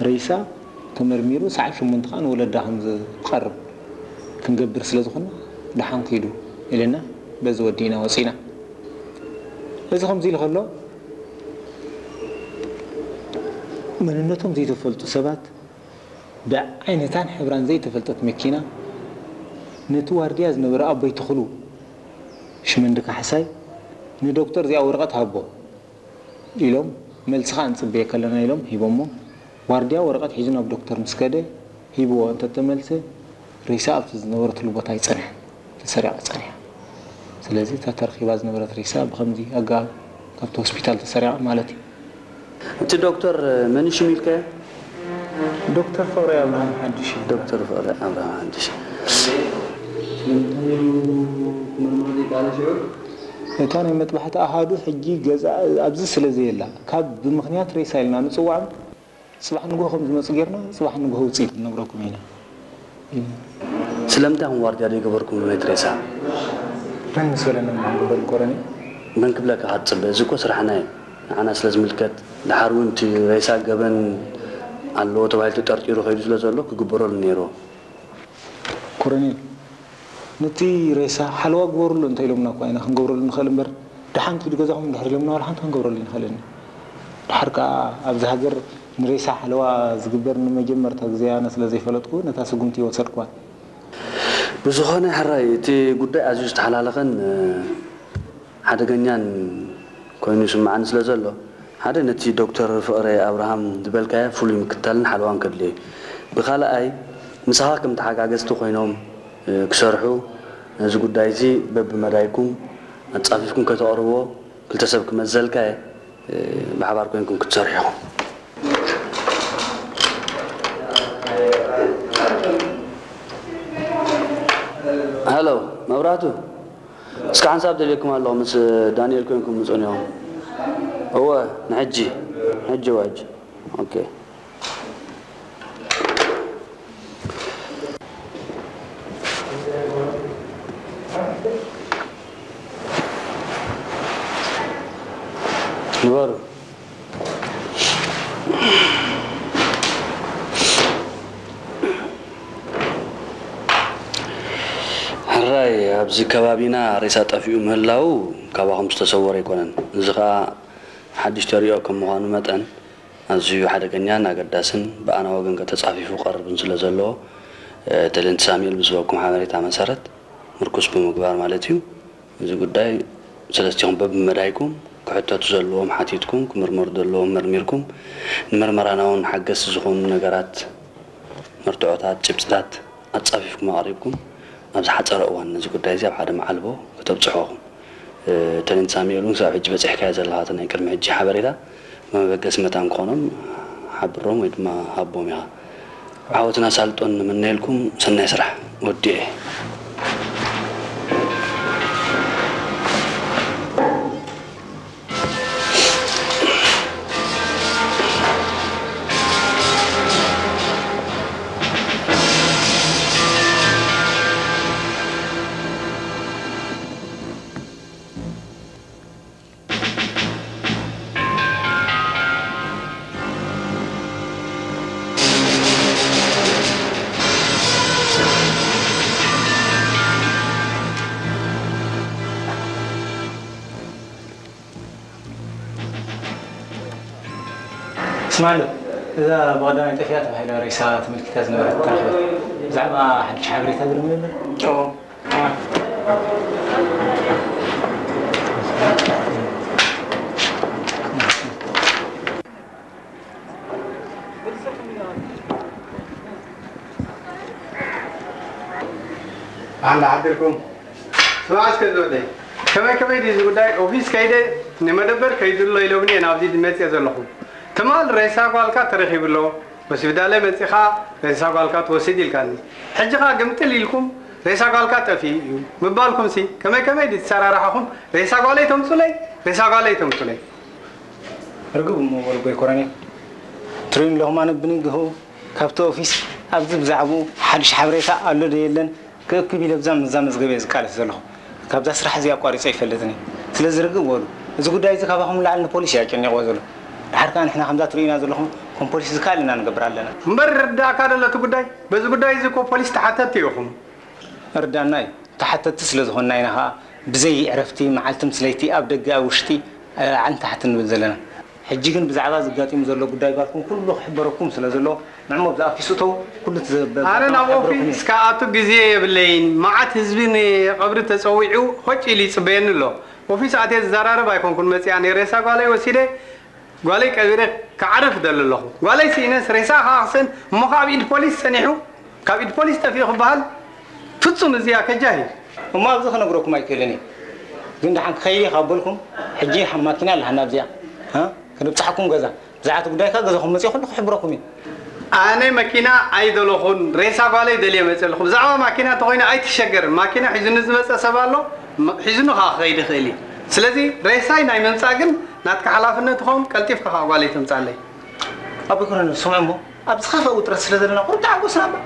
ሬሳ ተመርሚሩ ሰዓት ሸሞንተ ከኣ ንወለዳ ከም ዝቐርብ ክንገብር ስለ ዝኾንና፣ ደሓን ኪዱ ኢልና በዚ ወዲእና ወጺና። እዚ ከምዚ ኢሉ ከሎ፣ መንነቶም ዘይተፈልጡ ሰባት ብዓይነታን ሕብራን ዘይተፈልጠት መኪና ነቲ ዋርድያ ዝነበረ ኣቦይ ተኽሉ ሽመንዲ ካሕሳይ ንዶክተር እዚኣ ወረቐት ሃቦ ኢሎም፣ መልሲ ኸኣ ንጽበየካ ኣለና ኢሎም ሂቦሞ። ዋርድያ ወረቐት ሒዙ ናብ ዶክተር ምስ ከደ፣ ሂብዎ እንተተመልሰ፣ ሬሳ ኣብቲ ዝነበረትሉ ቦታ ኣይጸንሐን፣ ተሰሪቓ ጸኒሓ። ስለዚ እታ ተረኺባ ዝነበረት ሬሳ ብኸምዚ ኣገባብ ካብቲ ሆስፒታል ተሰሪቓ ማለት እዩ። እቲ ዶክተር መን እዩ ሽሙ ኢልካዮ? ዶክተር ፍቕረ ኣብርሃም ሓድሽ እዩ። ዶክተር ፍቕረ ኣብርሃም ሓድሽ። ስለምንታይ እዩ ክምርምሩ ዘይከኣለ ሽዑ? እታ ናይ መጥባሕቲ ኣሃዱ ሕጂ ገዛ ኣብዚ ስለ ዘየላ፣ ካብ ብምኽንያት ሬሳ ኢልና ንጽውዖም፣ ጽባሕ ንግሆ ከም ዝመጹ ጌርና፣ ጽባሕ ንግሆ ውጽኢት ክንነግረኩም ኢና። ስለምንታይ ኢኹም ዋርድያ ዘይገበርኩም ነቲ ሬሳ? መን ምስ በለና ኢና ክንገብር ኮረኔል? መን ክብለካ ክትጽበ? እዚ እኮ ስራሕና እዩ። ንዓና ስለ ዝምልከት፣ ድሓር እውን እቲ ሬሳ ገበን ኣለዎ ተባሂሉ ተጠርጢሩ ከይዱ ስለ ዘሎ ክግበረሉ ነይርዎ። ኮረኔል፣ ነቲ ሬሳ ሓለዋ ግበሩሉ እንተ ኢሎምና እኳ ኢና ክንገብረሉ ንኽእል እምበር፣ ደሓን ትሂዱ ገዛኹም እንድሕር ኢሎምና ዋላ ሓንቲ ክንገብረሉ ኣይንኽእልን። ደሓር ከኣ ኣብዚ ሃገር ንሬሳ ሓለዋ ዝግበር ንመጀመርታ ግዜ ኣነ ስለ ዘይፈለጥኩ ነታ ስጉምቲ ኣይወሰድኩዋን። ብዝኾነ ሕራይ እቲ ጉዳይ ኣዝዩ ዝተሓላለኸን ሓደገኛን ኮይኑ ይስምዓኒ ስለ ዘሎ፣ ሓደ ነቲ ዶክተር ፍቕረ ኣብርሃም ዝበልካዮ ፍሉይ ምክትታልን ሓለዋን ከድልዮ እዩ። ብኻልኣይ ምሳኻ ከም ተሓጋገዝቲ ኮይኖም ክሰርሑ ነዚ ጉዳይ እዚ በብመዳይኩም ኣጻፊፍኩም ከተቕርብዎ ክልተ ሰብ ክመዘልካ እየ። ብሓባር ኮይንኩም ክትሰርሑ ኢኹም። ሃሎ መብራህቱ፣ እስከ ሓንሳብ ደልየኩም ኣለኹ፣ ምስ ዳንኤል ኮይንኩም ምጹኒ ኢኹም። እወ፣ ንሕጂ፣ ሕጂ እወ፣ ሕጂ። ኦኬ። ንበሩ። ሕራይ፣ ኣብዚ ከባቢና ሬሳ ጠፊኡ ምህላዉ ካባኹም ዝተሰወረ ኣይኮነን። እዚ ኸኣ ሓድሽ ተርእዮ ከም ምዃኑ መጠን፣ ኣዝዩ ሓደገኛን ኣገዳስን ብኣና ወገን ተጻፊፉ ክቐርብን ስለ ዘለዎ፣ እ፣ ተለንት ሳሙኤል ብዝበኩም ሓበሬታ መሰረት ምርኩስ ብምግባር ማለት እዩ። እዚ ጉዳይ ሰለስቲኹም በብመዳይኩም ክሕተቱ ዘለዎም ሓቲትኩም፣ ክምርመሩ ዘለዎም መርሚርኩም፣ ንመርመራና እውን ሓገዝቲ ዝኾኑ ነገራት፣ መርትዖታት፣ ጭብጥታት ኣጻፊፍኩም ኣቕሪብኩም፣ ኣብ ዝሓጸረ እዋን ነዚ ጉዳይ እዚ ኣብ ሓደ መዓልቦ ከተብጽሕዎ ኢኹም። እ፣ ተለንት ሳሙኤል እውን ክሳብ ሕጂ በጺሕካዮ ዘለኻ እቲ ናይ ቅድሚ ሕጂ ሓበሬታ መበገሲ መታን ክኾኖም ሓብሮም ወይ ድማ ሃቦም ኢኻ። ዓወትን ኣሳልጦን ንምነየልኩም። ሰናይ ስራሕ። ወዲኤ። ስማዕሉ፣ እዛ ብቐዳማይ ጠፊኣ ተባሂላ ሬሳ ተመልኪታ ዝነበረት ተረኽበት። ብዛዕባ ሓድሽ ሓበሬታ ግርም ነበር? ኦ፣ ኣንዳ ሓድርኩም። ስማዕ እስከ ዝወደይ፣ ከመይ ከመይ ድዩ እዚ ጉዳይ? ኦፊስ ከይደ ንመደበር ከይድሎ ኢሎምኒ እየ ናብዚ መፅየ ዘለኹ። ትማል ሬሳ ጓልካ ተረኺቡ ኣሎ፣ ሆስፒታል መፂኻ ሬሳ ጓልካ ትወስድ ኢልካኒ። ሕጂ ኸዓ ግምጥል ኢልኩም ሬሳ ጓልካ ጠፊኡ እዩ ምባልኩምሲ ከመይ ከመይ ድዩ ተሰራርሓኹም? ሬሳ ጓለይ ተምፁለይ፣ ሬሳ ጓለይ ተምፁለይ። ርግብ እሞ በሉ ጎይ ኮረኔል። ትርእዩ ኣለኹም፣ ኣነ ብንግሆ ካብቲ ኦፊስ ኣብዚ ብዛዕባኡ ሓድሽ ሓበሬታ ኣሎ ዶ የለን ክእክብ ኢለ ብዛ፣ ብዛ መዝገብ እየ ዝቃለስ ዘለኹ። ካብዛ ስራሕ እዚኣ ኣቋሪፀ ኣይፈልጥን እየ። ስለዚ ርግብ በሉ። እዚ ጉዳይ እዚ ካባኹም ንላዕሊ ንፖሊስ እዩ ኣጨኒቕዎ ዘሎ። ድሓር ከኣ ንሕና ከምዛ ትርእዩና ዘለኹም ከም ፖሊስ ዝከኣለና ንገብር ኣለና። እምበር ይርዳእካ ዶ ኣሎ እቲ ጉዳይ? በዚ ጉዳይ እዚ እኮ ፖሊስ ተሓተትቲ ኢኹም። እርዳና እዩ። ተሓተትቲ ስለ ዝኾንና ኢና ኸኣ ብዘይ ዕረፍቲ መዓልቲ ምስ ለይቲ ኣብ ደገ ኣብ ውሽጢ፣ እ፣ ዓንታሕቲ ንብል ዘለና። ሕጂ ግን ብዛዕባ ዘጋጢሙ ዘሎ ጉዳይ ጓልኩም ኩሉ ክሕበረኩም ስለ ዘሎ፣ ንዕሞ ብዛ ኣፊስ እተው፣ ኩሉ እቲ ዘ-፣ ኣነ ዘጋጠመ ናብ ክሕብረኩም እየ። ኦፊስ ክኣቱ ግዜ የብለይን። መዓት ህዝቢ ንቐብሪ ተጸዊዑ ሆጭ ኢሉ ይጽበየኒ ኣሎ። ኦፊስ ኣትየ ዝዘራረብ ኣይኮንኩን መጺኣ፣ ናይ ሬሳ ጓለይ ወሲደ ጓለይ ቀቢረ ክዓርፍ እደሊ ኣለኹ። ጓለይ ስኢነስ ሬሳ ከኣ ክስእን እሞ ከኣ ኣብ ኢድ ፖሊስ ጸኒሑ፣ ካብ ኢድ ፖሊስ ጠፊኡ ክበሃል ፍጹም እዚ ኣከጃሂ። እሞ ኣብዚ ክነግረኩም ኣይክእልን እየ። ግን ደሓን ክኸይድ እየ ካብ በልኩም፣ ሕጂ ማኪና ኣለሃና ኣብዚኣ። ሃ? ክንብጽሓኩም ገዛ። ብዛዕባ እቲ ጉዳይ ከኣ ገዛኹም መጺእ ኩሉ ክሕብረኩም እየ። ኣነ መኪና ኣይደለኹን፣ ሬሳ ጓለይ ደልየ መጺእ ኣለኹ። ብዛዕባ ማኪና እንተኾይኑ ኣይትሸገር። ማኪና ሒዙኒ ዝመጸ ሰብ ኣሎ፣ ም-፣ ሒዙኒ ከኣ ክኸይድ ይኽእል እዩ። ስለዚ ሬሳይ ናይ ምምጻእ ግን ናትካ ሓላፍነት ይኸውን፣ ቀልጢፍካ ከኣ ጓለይ ተምጻለይ። ኣቦይ ኮረኔል፣ ስምዑ እሞ፣ ኣብ ዝኸፍአ ውጥረት ስለ ዘለና ቁሩብ ተዓገሱና እባ።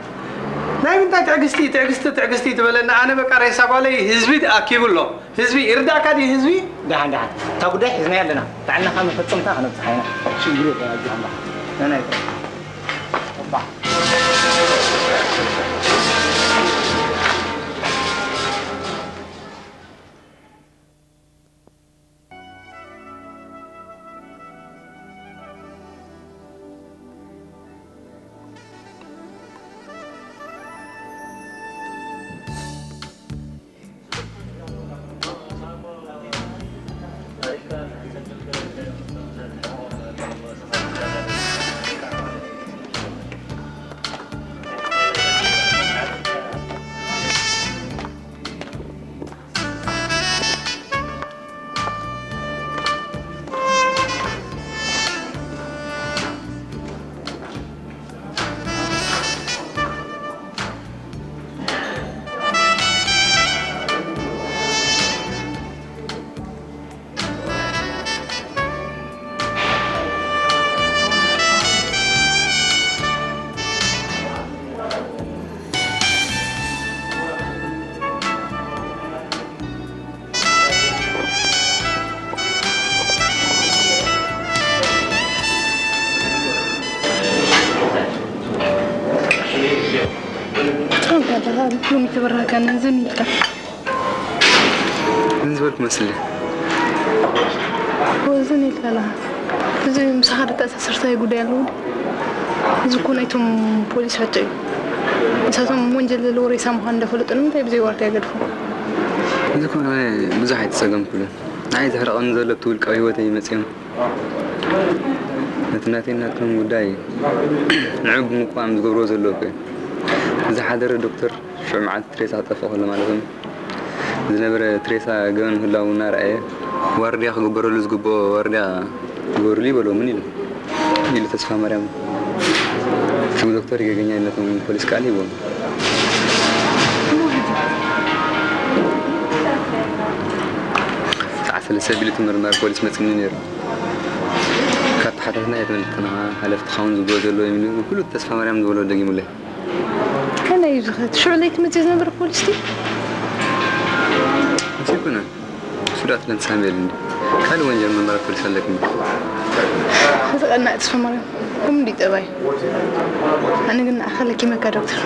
ናይ ምንታይ ትዕግስቲ፣ ትዕግስቲ፣ ትዕግስቲ ትበለኒ? ኣነ በቃ ሬሳ ጓለይ ህዝቢ ኣኪቡ ኣሎ። ህዝቢ ይርዳእካ ድዩ ህዝቢ? ደሓን፣ ደሓን። እታ ጉዳይ ሒዝናያ ኣለና። ባዕልና ከኣ መፈጸምታ ከነብጽሓ ኢና። ሽግር የለን፣ ኣጆኻ እምበኣር። ናይ፣ ናይ። እባ። ኣለኻ ሎሚ ተበራህካ ነዝን ኢልካ። ምን ዝበልኩ መስል? ወዝን ኢልካ ኣለኻ። እዚ ምሳኻ ደተኣሳሰርታይ ጉዳይ ኣለዎ። እዚ እኮ ናይቶም ፖሊስ ሕቶ እዩ። ንሳቶም ወንጀል ዘለዎ ሬሳ ምዃን እንዳፈለጡ ንምንታይ ብዘይ ዋርድያ ገድፎ? እዚ እኮ ኣነ ብዙሕ ኣይተጸገምኩሉን። ንዓይ ዘሕርቐኒ ዘሎ እቲ ውልቃዊ ህይወተይ መጺኦም ነቲ ናተይ ናትኩም ጉዳይ ንዑ ብምቋም ዝገብርዎ ዘለዉ እኮ እዩ። ዝሓደረ ዶክተር ሽዑ መዓልቲ ትሬሳ ክጠፍእ ከሎ ማለት እዩ። ዝነበረ ትሬሳ ገበን ምህላዉ እናረኣየ ዋርድያ ክግበረሉ ዝግብኦ ዋርድያ ግበሩሉ ይበልዎ። ምን ኢሉ? ኢሉ ተስፋ ማርያም። እቲ ዶክተር ገገኛ ነቶም ፖሊስ ቃል ሂቦም። ሰዓት ሰለስተ ቢሉ እቲ ምርማር ፖሊስ መጺኒ ነይሩ። ካብ ተሓታትና እየ ተመልክትና ሓለፍትኻ እውን ዝብሎ ዘሎ ኢሉ ኩሉ ተስፋ ማርያም ዝበሎ ደጊሙለይ። ከመይ እዩ ዝኸድ? ሽዑ ለይቲ መጺኡ ዝነበረ ፖሊስ ድዩ? ኣይኮነን። እሱ ዳት ለንሳሜል እንዲ ካልእ ወንጀል ምርመራ ፖሊስ ኣለኩም። ዝቐናእ ተስፋ ማርያም። ኩም እንዲ ጠባይ። ኣነ ግን ንኣኻ ለኪመካ ዶክተር።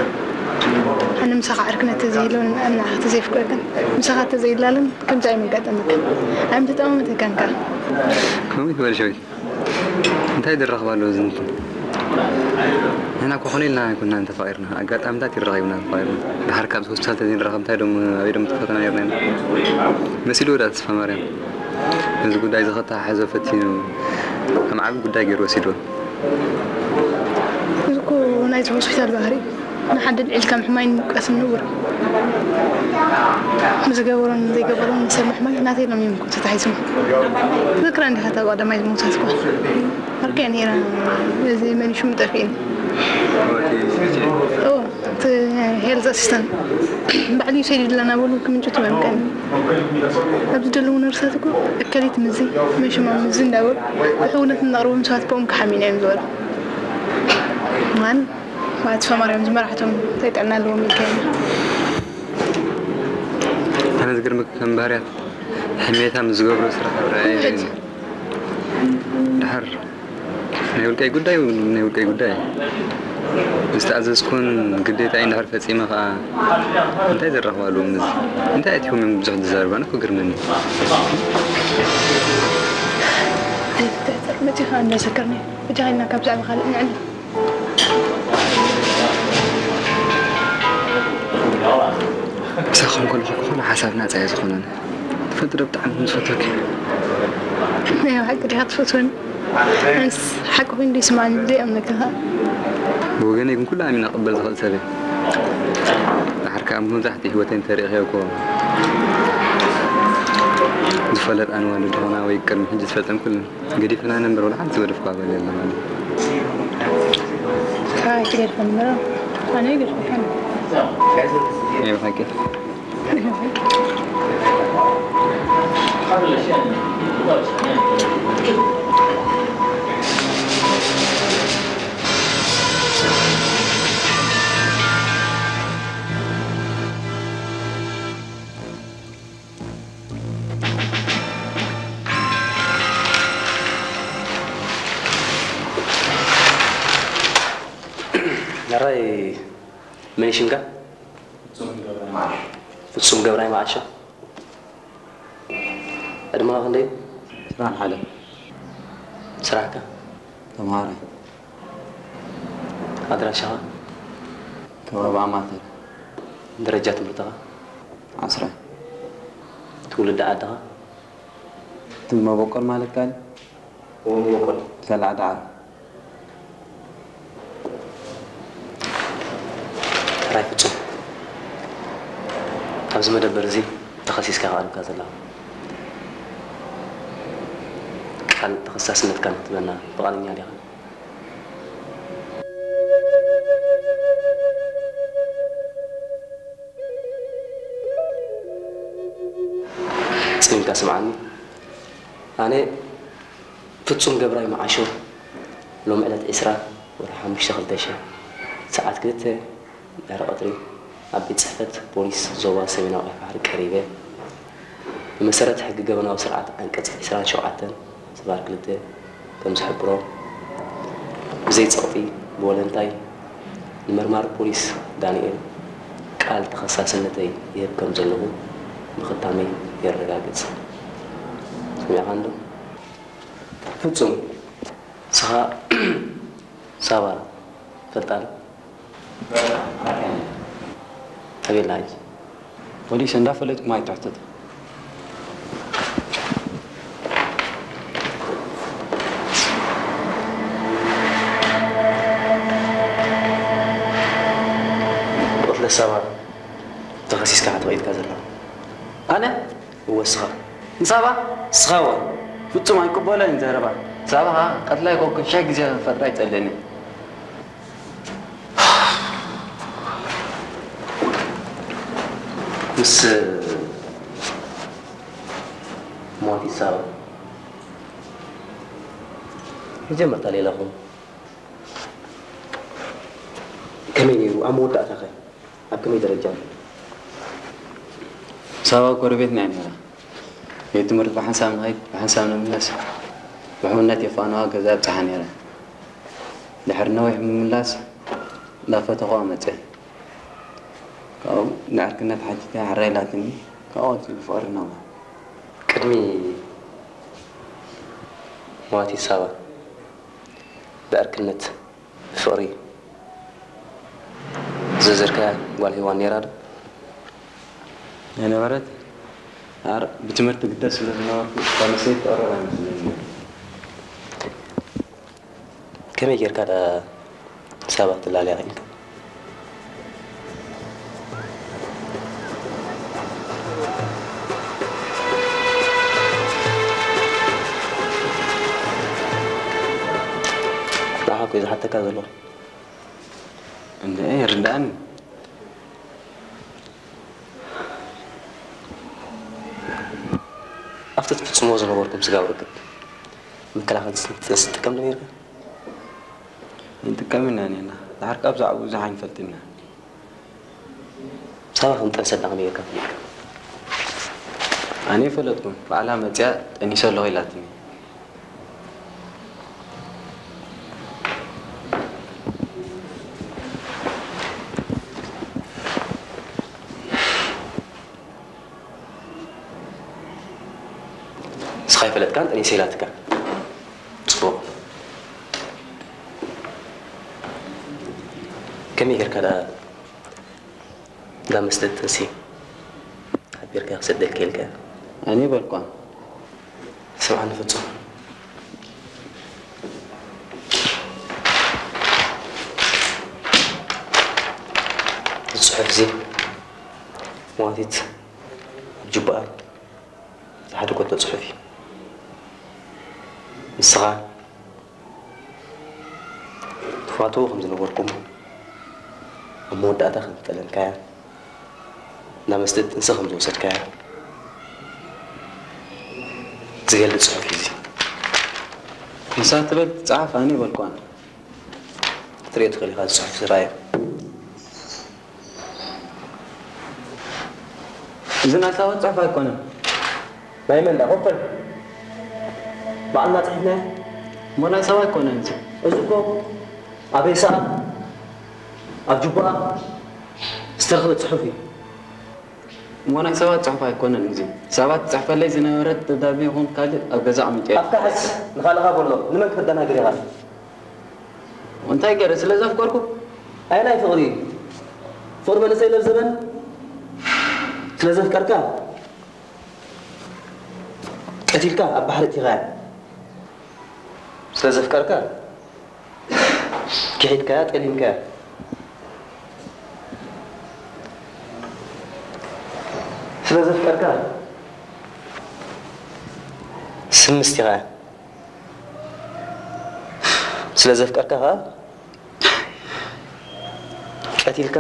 ኣነ ምሳኻ ዕርክነት ተዘይህልወን ንኣኻ ተዘይፍቅረክን ምሳኻ ተዘይላለን ከምዚ ኣይምጋጠመክን። ኣይምተጠማመተካን ከኣ። ከምኡ ይበል ሸዊት። እንታይ ዝራኸብ ኣሎ ዝንቱ? ንሕና እኮ ኮነ ኢልና ኣይኮንና እንተፋቒርና፣ ኣጋጣምታት ይራኸብና ተፋቒርና። ድሓር ካብዚ ሆስፒታል ተዘይንራኸብ እንታይ ደሞ ኣበይ ደሞ ተፈተና ነርና ኢና? መሲሉ ወዳ ተስፋ ማርያም ነዚ ጉዳይ እዚ ከተሓሕዞ ፈቲኑ ከም ዓቢ ጉዳይ ገይሩ ወሲድዎ። እዚ እኮ ናይዚ ሆስፒታል ባህሪ እዩ። ንሓደ ኣልዒልካ ምሕማይን ምውቃስን ንቡር እዩ። ንዝገበሮን ዘይገበሮን ንሰብ ምሕማይ ናተይ ሎሚ ምኮ ተታሒዝሞ። ትዝክራ እንዲኻ እታ ቀዳማይ ዝሞተት እኮ? ዓርከይ ነይራ። እዚ መን እዩ ሽሙ ጠፊእኒ። እዎ፣ እቲ ሄልዝ ኣሲስታንት ባዕሉ ይውሰድ ይድለና በሉ ክምንጭቱ መምቀኒ። ኣብዚ ዘለዉ ነርሳት እኮ እከሊት ምዚ መሽማ ምዚ እንዳበሉ ብሕውነት እናቕርቦም ሰባት ብኦም ክሓሚና እዮም ዝበሉ። ማን ማለት ፈማርያም ዝመራሕቶም እንታይ ጥዕና ኣለዎም ኢልካ ኢና። ኣነ ዝገርመካ ከም ባህርያት ሕሜታ ምስ ዝገብሮ ስራሕ ኣብ ርኣየ እዩ። ድሓር ናይ ውልቀይ ጉዳይ ናይ ውልቀይ ጉዳይ ዝተኣዘዝኩን ግዴታ እንድሕር ፈጺመ ከዓ እንታይ ዘራኽባሉ ምስ እንታይ ኣትዮም እዮም ብዙሕ ዝዛረቡ ኣነ ክግርመኒ። መጺኻ እንዳሰከርኒ ብጃሃልና ካብ ዛዕባ ካልእ ንዕና። ምሳኻ እንከለኹ ክኾነ ሓሳብ ናጻ እየ ዝኾነኒ። ትፈልጥ ዶ ብጣዕሚ ከም ዝፈትወኪ? ናይ ሓቂ ዲኻ ትፈትወኒ? ኣነስ ሓቂ ኮይኑ ዶ ይስማዓኒ? ዘይኣምነካ ኸኣ። ብወገነይ ግን ኩሉ ኣሚነ ክቕበል ዝኽእል ሰብ እየ። ድሓር ከኣ መብዛሕትኡ ህይወተይ እንተሪእኽዮ እኮ ዝፈለጣኒ ዋልድ ዝኾና ወይ ቅድሚ ሕጂ ዝፈልጠን ኩለን ገዲፈና ነንብር ወላ ሓንቲ ዝገደፍኳ ጓል የለን ማለት እዩ። ካባይ ትገድፈኒ እምበር ኣነ ኣይገድፈካን። ናይ ብሓቂ። ሕራይ መን እዩ ሽምካ? ፍጹም ገብራይ መዓሾ። ፍጹም ገብራይ መዓሾ። ዕድመኻ ክንደይ እዩ? ዕስራን ሓደን። ስራሕካ? ተምሃራይ። ኣድራሻኻ? ከባቢ ኣማተር። ደረጃ ትምህርትኻ? ዓስራይ። ትውልዲ ዓድኻ? እቲ መበቆል ማለት ካል? እዎ፣ መበቆል። ሰላዕ ዳዕሮ። ሕራይ ፍጹም፣ ኣብዚ መደበር እዚ ተኸሲስካ ኢኻ ቀሪብካ ዘለኻ። ቃል ተኸሳስነትካ ንክትህበና ፍቓደኛ ዲኻ? ጽሚምካ ስምዓኒ። ኣነ ፍጹም ገብራይ መዓሾ፣ ሎሚ ዕለት ዕስራ ወርሒ ሓሙሽተ ክልተ ሽሕ ሰዓት ክልተ ድሕሪ ቀትሪ ኣብ ቤት ጽሕፈት ፖሊስ ዞባ ሰሜናዊ ቀይሕ ባሕሪ ቀሪበ፣ ብመሰረት ሕጊ ገበናዊ ስርዓት ዓንቀጽ ዕስራን ሸውዓተን ስባር ክልተ ከም ዝሕብሮ፣ ብዘይ ጸቕጢ ብወለንታይ ንመርማሪ ፖሊስ ዳንኤል ቃል ተኸሳስነተይ ይህብ ከም ዘለኹ ብኽታመይ የረጋግጽ። ሰሚዕኻኒ ዶ? ፍጹም፣ ንስኻ ሳባ ትፈልጣ ዶ? ኣበይ ኣላ ሕጂ? ፖሊስ እንዳፈለጥኩም ኣይትሕተቱ። ብቕትለት ሳባ ተኸሲስካ ኢኻ ተቐይድካ ዘለኻ። ኣነ? እወ፣ ንስኻ። ንሳባ? ንስኻ እወ። ፍጹም ኣይቅበሎን እዩ ዘረባ። ሳባ ኸኣ ቀትላይ ኮኮ ሽሕ ግዜ ክፈጥራ ይጸልእኒ። ምስ ሞት ይሳባ መጀመርታ ሌላኹም ከመይ ነይሩ? ኣብ መወዳእታኸ ኣብ ከመይ ደረጃ ኣሎ? ሳባ ጎረቤትና እያ ነይራ። ቤት ትምህርቲ ብሓንሳብ ንኸይድ፣ ብሓንሳብ ንምለስ፣ ብሕውነት የፋንዋ ገዛ ኣብጽሓ ነይረ። ድሕሪ ነዊሕ ምምላስ፣ እንዳፈተኹዋ መጽአ። ካብኡ ንዕርክነት ሓቲተ፣ ሕራይ ኢላትኒ፣ ካብኡ ቀጺሉ ፍቕሪ ናብራ። ቅድሚ ሞት ይሳባ ብዕርክነት፣ ብፍቕሪ ዝዘርካ ጓል ሄዋን ነይራ ዶ? ኣይነበረት። ኣር-፣ ብትምህርቲ ግደስ ስለ ዝነበርኩ፣ እታ ንሰይ ትቐርብ ኣይመስለንን ነይሩ። ከመይ ጌርካ ደኣ ሳባ ክትላለያ ኽኢልካ? ንዓኻ እኮ እየ ዝሓተካ ዘለኹ። እንድዒ፣ ይርድኣኒ። ኣብቲ ትፍጽምዎ ዝነበርኩም ስጋብ ርክብ፣ መከላኸሊ ጥንሲ ትጥቀም ዶ ነይርካ? ኣይንጥቀምን ኢና ነርና። ድሓር ካብ ዛዕባኡ ብዙሕ ኣይንፈልጥን ኢና። ሳባ ከም ጠንሰ ኣላ ከመይ ጌርካ ፈሊጥካ? ኣነ ኣይፈለጥኩን። ባዕላ መጺኣ ጠኒሰ ኣለኹ ኢላትኒ። ንስኻ ኣይፈለጥካን፣ ጠኒሰ ኢላትካ። ጽቡቕ። ከመይ ጌርካ ደኣ እንዳ መስተ ጥንሲ ሓቢርካ ክሰደልካ ኢልካ? ኣነ ኣይበልኳን። ስምዓኒ ፍጹም። እዚ ጽሑፍ እዚ ሞዋቲት ኣብ ጁባኣ ዝሓደጎቶ ጽሑፍ እዩ። ንስኻ ትፋትዎ ከም ዝነበርኩም፣ ኣብ መወዳእታ ከም ዝጠለምካያ፣ እንዳ መስተ ጥንሲ ከም ዝወሰድካያ ዝገልጽ ጽሑፍ እዩ እዚ። ንሳ ትበል ትጽሓፍ፣ ኣነ ኣይበልኳን። ክትርእዮ ትኽእል ኢኻ፣ እዚ ጽሑፍ ዝረኣዮ። እዚ ናይ ሳባ ጽሑፍ ኣይኮነን። ናይ መን ደኣ? ኮኮል። ባዕልና ጽሒፍናዮ። እሞ ናይ ሳባ ኣይኮነን እዚ። እዚ እኮ ኣብ ሬሳኣ፣ ኣብ ጁባኣ ዝተረኽበ ጽሑፍ እዩ። እሞ ናይ ሳባ ጽሑፍ ኣይኮነን እዚ። ሳባ ትጽሕፈለይ ዝነበረት ደብዳቤ ይኹን ካልእ ኣብ ገዛ ኣቐሚጠዮ። ኣፍካ ሕዝ፣ ንኻልእኻ በሎ። ንመን ክተደናግር ኢኻ? እንታይ ገይረ? ስለ ዘፍቀርኩ? ኣየናይ ፍቕሪ? ፍቕሪ መንእሰይ ለዘበን? ስለ ዘፍቀርካ? ቀቲልካ ኣብ ባሕሪ እቲኻያ? ስለ ዘፍቀርካ? ክሒድካያ፣ ጠሊምካያ? ስለ ዘፍቀርካ? ስም ምስቲኻያ? ስለ ዘፍቀርካ ኸኣ ቀቲልካ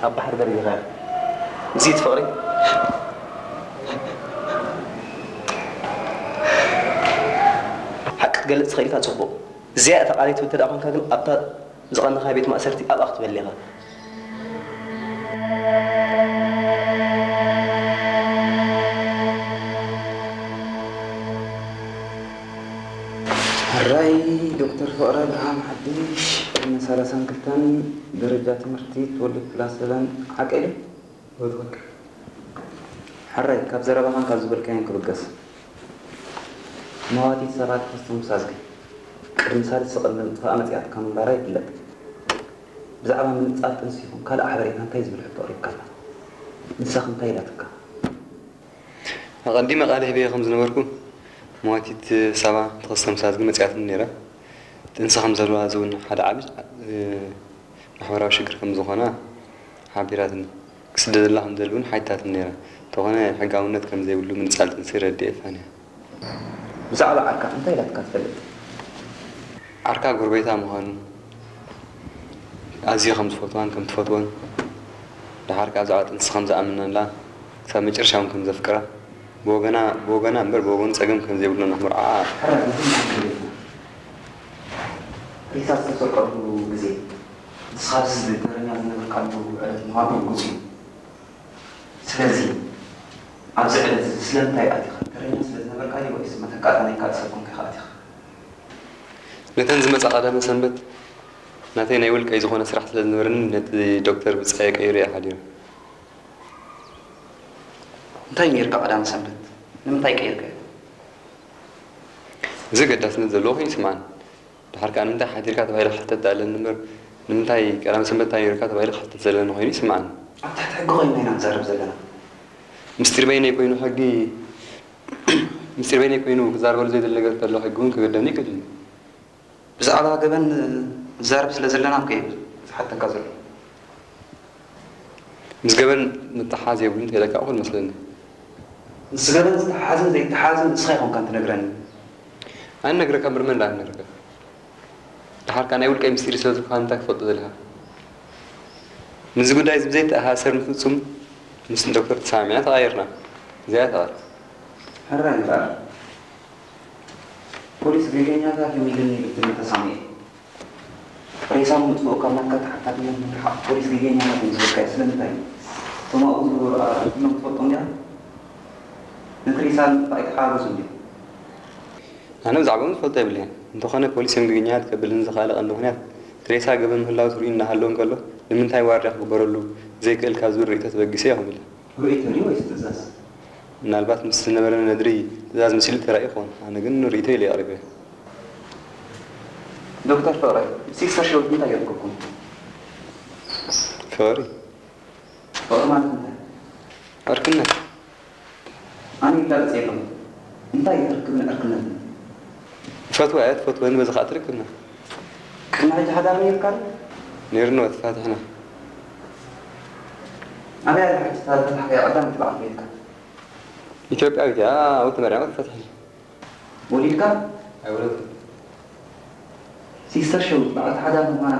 ኣብ ባሕሪ ደርቢኻ። እዚ እቲ ፍቕሪ? ሓቂ ክትገልጽ ተኽኢልካ ጽቡቕ። እዚኣ እታ ቃለይ ትብል እንተ ደኣ ኾንካ ግን ኣብታ ዝቐነኻ ቤት ማእሰርቲ ኣብኣ ክትበል ኢኻ። ሕራይ ዶክተር ፍቕረ ኣብርሃም ሓድሽ ዕድመ ሰላሳን ክልተን ደረጃ ትምህርቲ ትወልድ ፕላስ ሰበን ሓቀይ ዶ? ሕራይ ካብ ዘረባኻን ካብ ዝበልካዮን ክብገስ መዋቲት ሰባት ተኸስቶም ሳዝጊ ቅድሚ ሳልስቲ ቅድሚ ምጥፋኣ መጺኣትካ ምንባራ ይፍለጥ። ብዛዕባ ምንጻል ጥንሲ ይኹን ካልእ ሓበሬታ እንታይ ዝብል ሕቶ ኣቕሪብካላ? ንሳኽ እንታይ ኢላትካ? ኣቐዲመ ቃል ሂበዮ ከም ዝነበርኩ፣ መዋቲት ሳባ ተኸስተ ምሳዝጊ መጺኣትኒ ነይራ። ጥንሲ ከም ዘለዋ እዚ እውን ሓደ ዓቢ፣ እ፣ ማሕበራዊ ሽግር ከም ዝኾና ሓቢራትኒ። ክስደደላ ከም ዝደሊ እውን ሓቲታትኒ ነይራ። እንተኾነ ሕጋውነት ከም ዘይብሉ ምንጻል ጥንሲ ረድኤ ፋንያ። ብዛዕባ ዓርካ እንታይ ኢላትካ ትፈልጥ? ዓርካ ጎረቤታ ምዃኑ፣ ኣዝየ ከም ዝፈትዋን ከም ትፈትዎን፣ ደሓር ከኣ ብዛዕባ ጥንሲ ከም ዝኣምነላ፣ ክሳብ መጨረሻ እውን ከም ዘፍቅራ፣ ብወገና፣ ብወገና እምበር ብወገኑ ጸገም ከም ዘይብሉ ንኽምርዓኣ። ሕራይ፣ እዚ እንታይ ትብል ኢኻ? ሬሳ ዝተሰርቀሉ ግዜ፣ ንስኻ ኣብዚ ተረኛ ዝነበርካሉ ዕለት ምዃኑ ርጉጽ እዩ። ስለዚ፣ ኣብዚ ዕለት እዚ ስለምንታይ ኣቲኻ? ተረኛ ስለ ዝነበርካ ድዩ ወይስ መተካእታ ናይ ካልእ ሰብ ኮንካ ኢኻ ኣቲኻ? ነተን ዝመጻ ቀዳመ ሰንበት ናተይ ናይ ውልቀይ ዝኾነ ስራሕ ስለ ዝነበረኒ ነቲ ዶክተር ብጻየ ቀይረ እየ ሓዲረ። እንታይ ጌርካ ቀዳመ ሰንበት? ንምንታይ ቀይርካዮ? እዚ ገዳስነት ዘለዎ ኮይኑ ይስምዓኒ። ድሓር ከኣ ንምንታይ ሓዲርካ ተባሂለ ክሕተት ኣለኒ እምበር ንምንታይ ቀዳመ ሰንበት እንታይ ጌርካ ተባሂለ ክሕተት ዘለኒ ኮይኑ ይስምዓኒ። ኣብ ትሕቲ ሕጊ ኮይንና ኢና ንዛረብ ዘለና። ምስጢር በይነይ ኮይኑ ሕጊ ምስጢር በይነይ ኮይኑ ክዛረበሉ ዘይደሊ ነገር እንተሎ ሕጊ እውን ክገደኒ ይክእል እዩ። ብዛዕባ ገበን ንዛረብ ስለ ዘለና እኮ እየ ዝሓተካ ዘሎ። ምስ ገበን ምትሓሓዝ የብሉን ተይለካ እኹል መስለኒ። ምስ ገበን ዝተሓሓዝን ዘይተሓሓዝን ንስኻ ይኾንካን ትነግረኒ። ኣነ ነግረካ እምበር መን ደኣ ክነግረካ? ደሓርካ ናይ ውልቀይ ምስጢር ስለ ዝኾነ እንታይ ክትፈልጦ ደሊኻ? ምስዚ ጉዳይ እዚ ብዘይተኣሳሰር ንፍጹም ምስ ዶክተር ተሰማሚዕና ተቓይርና። እዚኣ እያ ተቓርጽ። ሕራይ እምበኣር። ፖሊስ ገገኛታት እዮም ኢሉኒ ብትብል ተሳሚዐ። ሬሳ ምጥፍኡ ካብ ናትካ ተሓታትነት ምርሓቕ ፖሊስ ገገኛታት እዮም ዝብልካ እዩ። ስለምንታይ? እቶም ኣብኡ ዝነበሩ ኣራዊት ኩሎም ትፈልጦም ዲኻ? ነቲ ሬሳ ንምጥፋእ ኣይተሓጋገዙን ድዮም? ኣነ ብዛዕባኦም ዝፈልጦ የብለይን። እንተኾነ ፖሊስ እዮም ገገኛታት ከብለኒ ዝኸኣለ ቀንዲ ምኽንያት እቲ ሬሳ ገበን ምህላው ትርእዩ እናሃለወ እንከሎ ንምንታይ ዋርድያ ክግበረሉ ዘይክእል ካብ ዝብል ርእይቶ ተበጊሰ እየ ከምኡ ኢለ። ርእይቶ ድዩ ወይስ ትእዛዝ? ምናልባት ምስ ዝነበረ ነድሪ ትእዛዝ መሲሉ ተራእዩ ይኸውን። ኣነ ግን ርእይቶ ኢለ ኣቕሪበዮ። ዶክተር ፍቕረ፣ ሲስተር ሸዊት እንታይ ገይርኩኩም? ፍቕሪ? ፍቕሪ ማለት እንታይ? ዕርክነት። ኣነ ይላገጽ የለኹ። እንታይ እዩ ርክብን ዕርክነትን? እፈትዋ እያ ትፈትወኒ፣ በዚ ኸኣ ትርክብና። ቅድሚ ሕጂ ሓዳር ነይርካ ዶ? ነይሩኒ፣ ተፋቲሕና። ኣበይ ኣላ ሕጂ እታ ዝፈታሕካያ ቀዳመይቲ በዓልቲ ቤትካ? ኢትዮጵያዊት እያ፣ ኣብኡ ተመርዒና ተፋቲሕና። ወሊድካ? ኣይወለድኩን። ሲስተር ሸዊት በዓልቲ ሓዳር ምዃና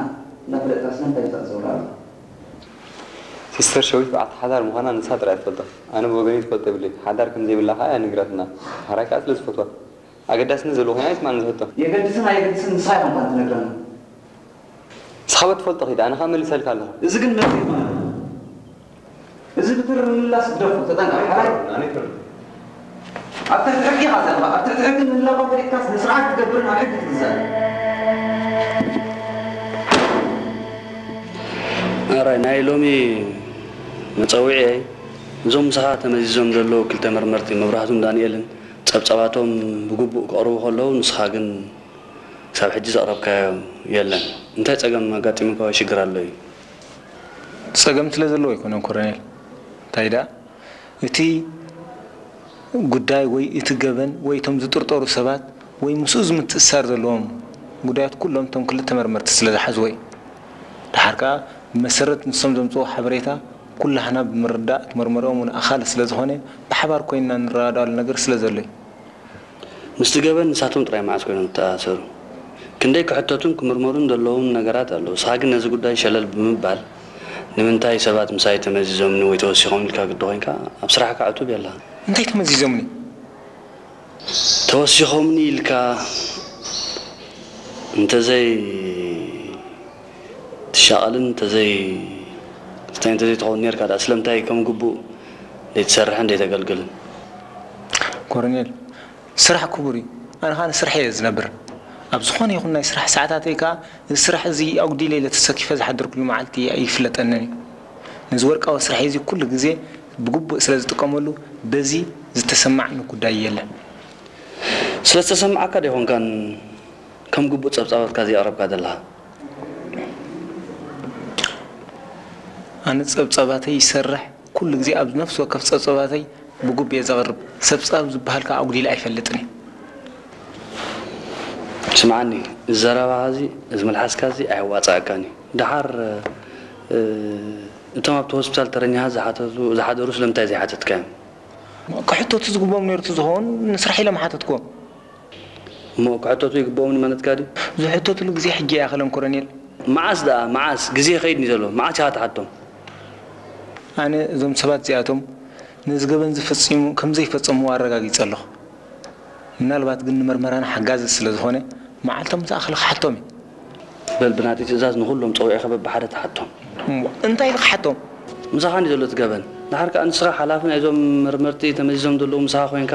እንዳፈለጥካ ስለምንታይ ትዛዘወላ ኣለኻ? ሲስተር ሸዊት በዓልቲ ሓዳር ምዃና ንሳ ጥራይ እያ ትፈልጦ። ኣነ ብወገነይ ትፈልጦ የብለይን። ሓዳር ከም ዘይብላ ከኣ እያ ነጊራትና። ሕራይ ከኣ ስለ ዝፈትዋ። ኣገዳስነት ዘለዎ ኮይኑ ኣይስምዓንን እዚ ሕቶ። የገድስን ኣየገድስን ንስኻ ኢኻ እኳ ትነግረና። ንስኻ በትፈልጦ ኺድ፣ ኣነ ኸኣ መሊሰልካ ኣለኹ። እዚ ግን መልሲ ኣይኮነን። እዚ ብትሪ ምምላስ ግደፎ፣ ተጠንቀቕ። ሓራይ ኣብ ትሕቲ ሕጊ ኢኻ ዘለኻ። ኣብ ትሕቲ ሕጊ ምህላውካ ፈሊጥካስ ንስርዓት ክትገብርን ኣብ ሕጊ ክትግዛእን። ኣራይ ናይ ሎሚ መጸውዒየይ እዞም ምሳኻ ተመዚዞም ዘለዉ ክልተ መርመርቲ መብራህቱን ዳንኤልን ጸብጻባቶም ብግቡእ ከቕርቡ ከለዉ ንስኻ ግን ክሳብ ሕጂ ዘቕረብካዮ የለን። እንታይ ጸገም ኣጋጢሙካ ወይ ሽግር ኣሎ እዩ? ጸገም ስለ ዘለዎ ኣይኮነን ኮረኔል። እንታይ ደኣ፣ እቲ ጉዳይ ወይ እቲ ገበን ወይ እቶም ዝጥርጠሩ ሰባት ወይ ምስኡ ዝምትእስሳር ዘለዎም ጉዳያት ኩሎም እቶም ክልተ መርመርቲ ስለ ዝሓዝዎ እዩ። ደሓር ከኣ ብመሰረት ንሶም ዘምጽእዎ ሓበሬታ ኩላህና ብምርዳእ እቲ መርመሪኦም እውን ኣኻሊ ስለ ዝኾነ ብሓባር ኮይንና ንረዳዳኣሉ ነገር ስለ ዘሎ እዩ። ምስቲ ገበን ንሳቶም ጥራይ መዓስ ኮይኖም ዝተኣሰሩ? ክንደይ ክሕተቱን ክምርመሩን ዘለዎም ነገራት ኣለዉ። ንስኻ ግን ነዚ ጉዳይ ሸለል ብምባል፣ ንምንታይ ሰባት ምሳይ ተመዚዞምኒ ወይ ተወሲኾም ኢልካ ግዲ ኮይንካ ኣብ ስራሕካ ዕቱብ የለኻን። እንታይ ተመዚዞምኒ? ተወሲኾምኒ ኢልካ እንተዘይ ትሻቐልን እንተዘይ እንታይ እንተዘይ ትኸውን ኔርካ ደኣ ስለምንታይ ከም ግቡእ ዘይትሰርሕን ዘይተገልግልን? ኮረኔል፣ ስራሕ ክቡር እዩ። ኣነ ኸኣ ንስርሐይ እየ ዝነብር። ኣብ ዝኾነ ይኹን ናይ ስራሕ ሰዓታተይ ከኣ፣ እዚ ስራሕ እዚ ኣጉዲለ ኢለ ተሰኪፈ ዝሓደርኩሉ መዓልቲ ኣይፍለጠንን እዩ። ነዚ ወርቃዊ ስርሐይ እዚ ኩሉ ግዜ ብግቡእ ስለ ዝጥቀመሉ፣ በዚ ዝተሰማዕኒ ጉዳይ የለን። ስለ ዝተሰማዓካ ዶ ይኾንካን ከም ግቡእ ጸብጻባትካ ዘየቕረብካ ዘለኻ? ኣነ ጸብጻባተይ ይሰርሕ፣ ኩሉ ግዜ ኣብ ነፍሲ ወከፍ ጸብጻባተይ ብግቡእ እየ ዘቕርብ። ጸብጻብ ዝበሃል ከኣ ኣጉዲለ ኣይፈልጥን እየ። ስምዓኒ፣ እዚ ዘረባኻ እዚ፣ እዚ መልሓስካ እዚ ኣየዋጽኣካን እዩ። ደሓር፣ እ፣ እቶም ኣብቲ ሆስፒታል ተረኛታት ዝሓተቱ፣ ዝሓደሩ ስለምንታይ ዘይሓተትካዮም? ክሕተቱ ዝግብኦም ነይሩ ዝኸውን ንስራሕ ኢለ ምሓተትኩዎም። እሞ ክሕተቱ ይግብኦም ማለትካ ድዩ? ዝሕተትሉ ግዜ ሕጂ ኣይኣኸለን ኮረኔል። መዓስ ደኣ? መዓስ? ግዜ ይኸይድ እዩ ዘሎ። መዓስ ኢኻ ትሓቶም? ኣነ እዞም ሰባት እዚኣቶም ነዚ ገበን ዝፍጽሙ ከም ዘይፈጸምዎ ኣረጋጊጸ ኣለኹ። ምናልባት ግን ንመርመራና ሓጋዚ ስለ ዝኾነ መዓልቶም ምስ ኣኸለ ክሓቶም እዩ። በል ብናተይ ትእዛዝ ንኹሎም ጸዊዕካ በብሓደ ትሓቶም። እሞ እንታይ ኢለ ክሓቶም? ምሳኻ እንድዩ ዘሎ እቲ ገበን። ድሓር ከኣ ንስኻ ሓላፊ ናይዞም መርመርቲ ተመዚዞም ዘለዉ ምሳኻ ኮይንካ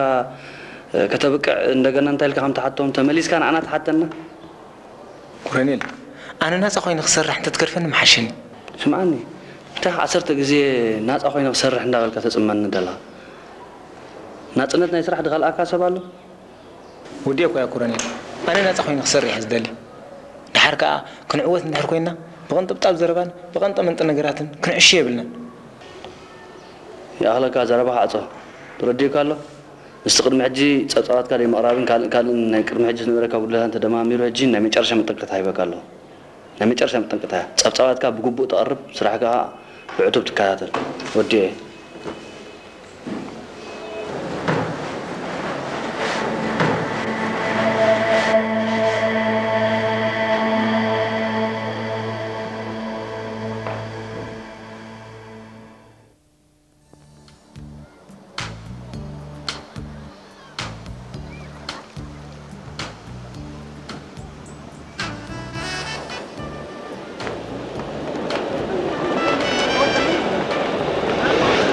ከተብቅዕ እንደገና እንታይ ኢልካ ከም ትሓቶም ተመሊስካ ንዓና ትሓተና? ኮረኔል፣ ኣነ ናጻ ኮይነ ክሰርሕ እንተትገድፈኒ ምሓሸኒ። ስምዓኒ፣ እንታይ ከ ዓሰርተ ግዜ ናጻ ኮይነ ክሰርሕ እንዳበልካ ተጽመኒ ደለኻ? ናጽነት ናይ ስራሕ ድኸልኣካ ሰብ ኣሎ? ወዲኤ እኳ እየ ኮረኔል፣ ኣነ ናጻ ኮይነ ክሰርሕ እየ ዝደሊ። ደሓር ከኣ ክንዕወት እንድሕር ኮይንና ብቕንጥብጣብ ዘረባን ብቐንጠመንጢ ነገራትን ክንዕሾ የብልናን። ይኣኽለካ፣ ዘረባኻ ዕጾ። ተረዲኡካ ኣሎ? ምስቲ ቅድሚ ሕጂ ጸብጻባትካ ዘይምቕራብን ካልእ ካልእን ናይ ቅድሚ ሕጂ ዝነበረካ ጉድለታት ተደማሚሩ ሕጂ ናይ መጨረሻ መጠንቀቕታ ሂበካ ኣለኹ። ናይ መጨረሻ መጠንቀቕታ እያ። ጸብጻባትካ ብግቡእ ተቕርብ፣ ስራሕካ ከኣ ብዕቱብ ትከታተል። ወዲኤ።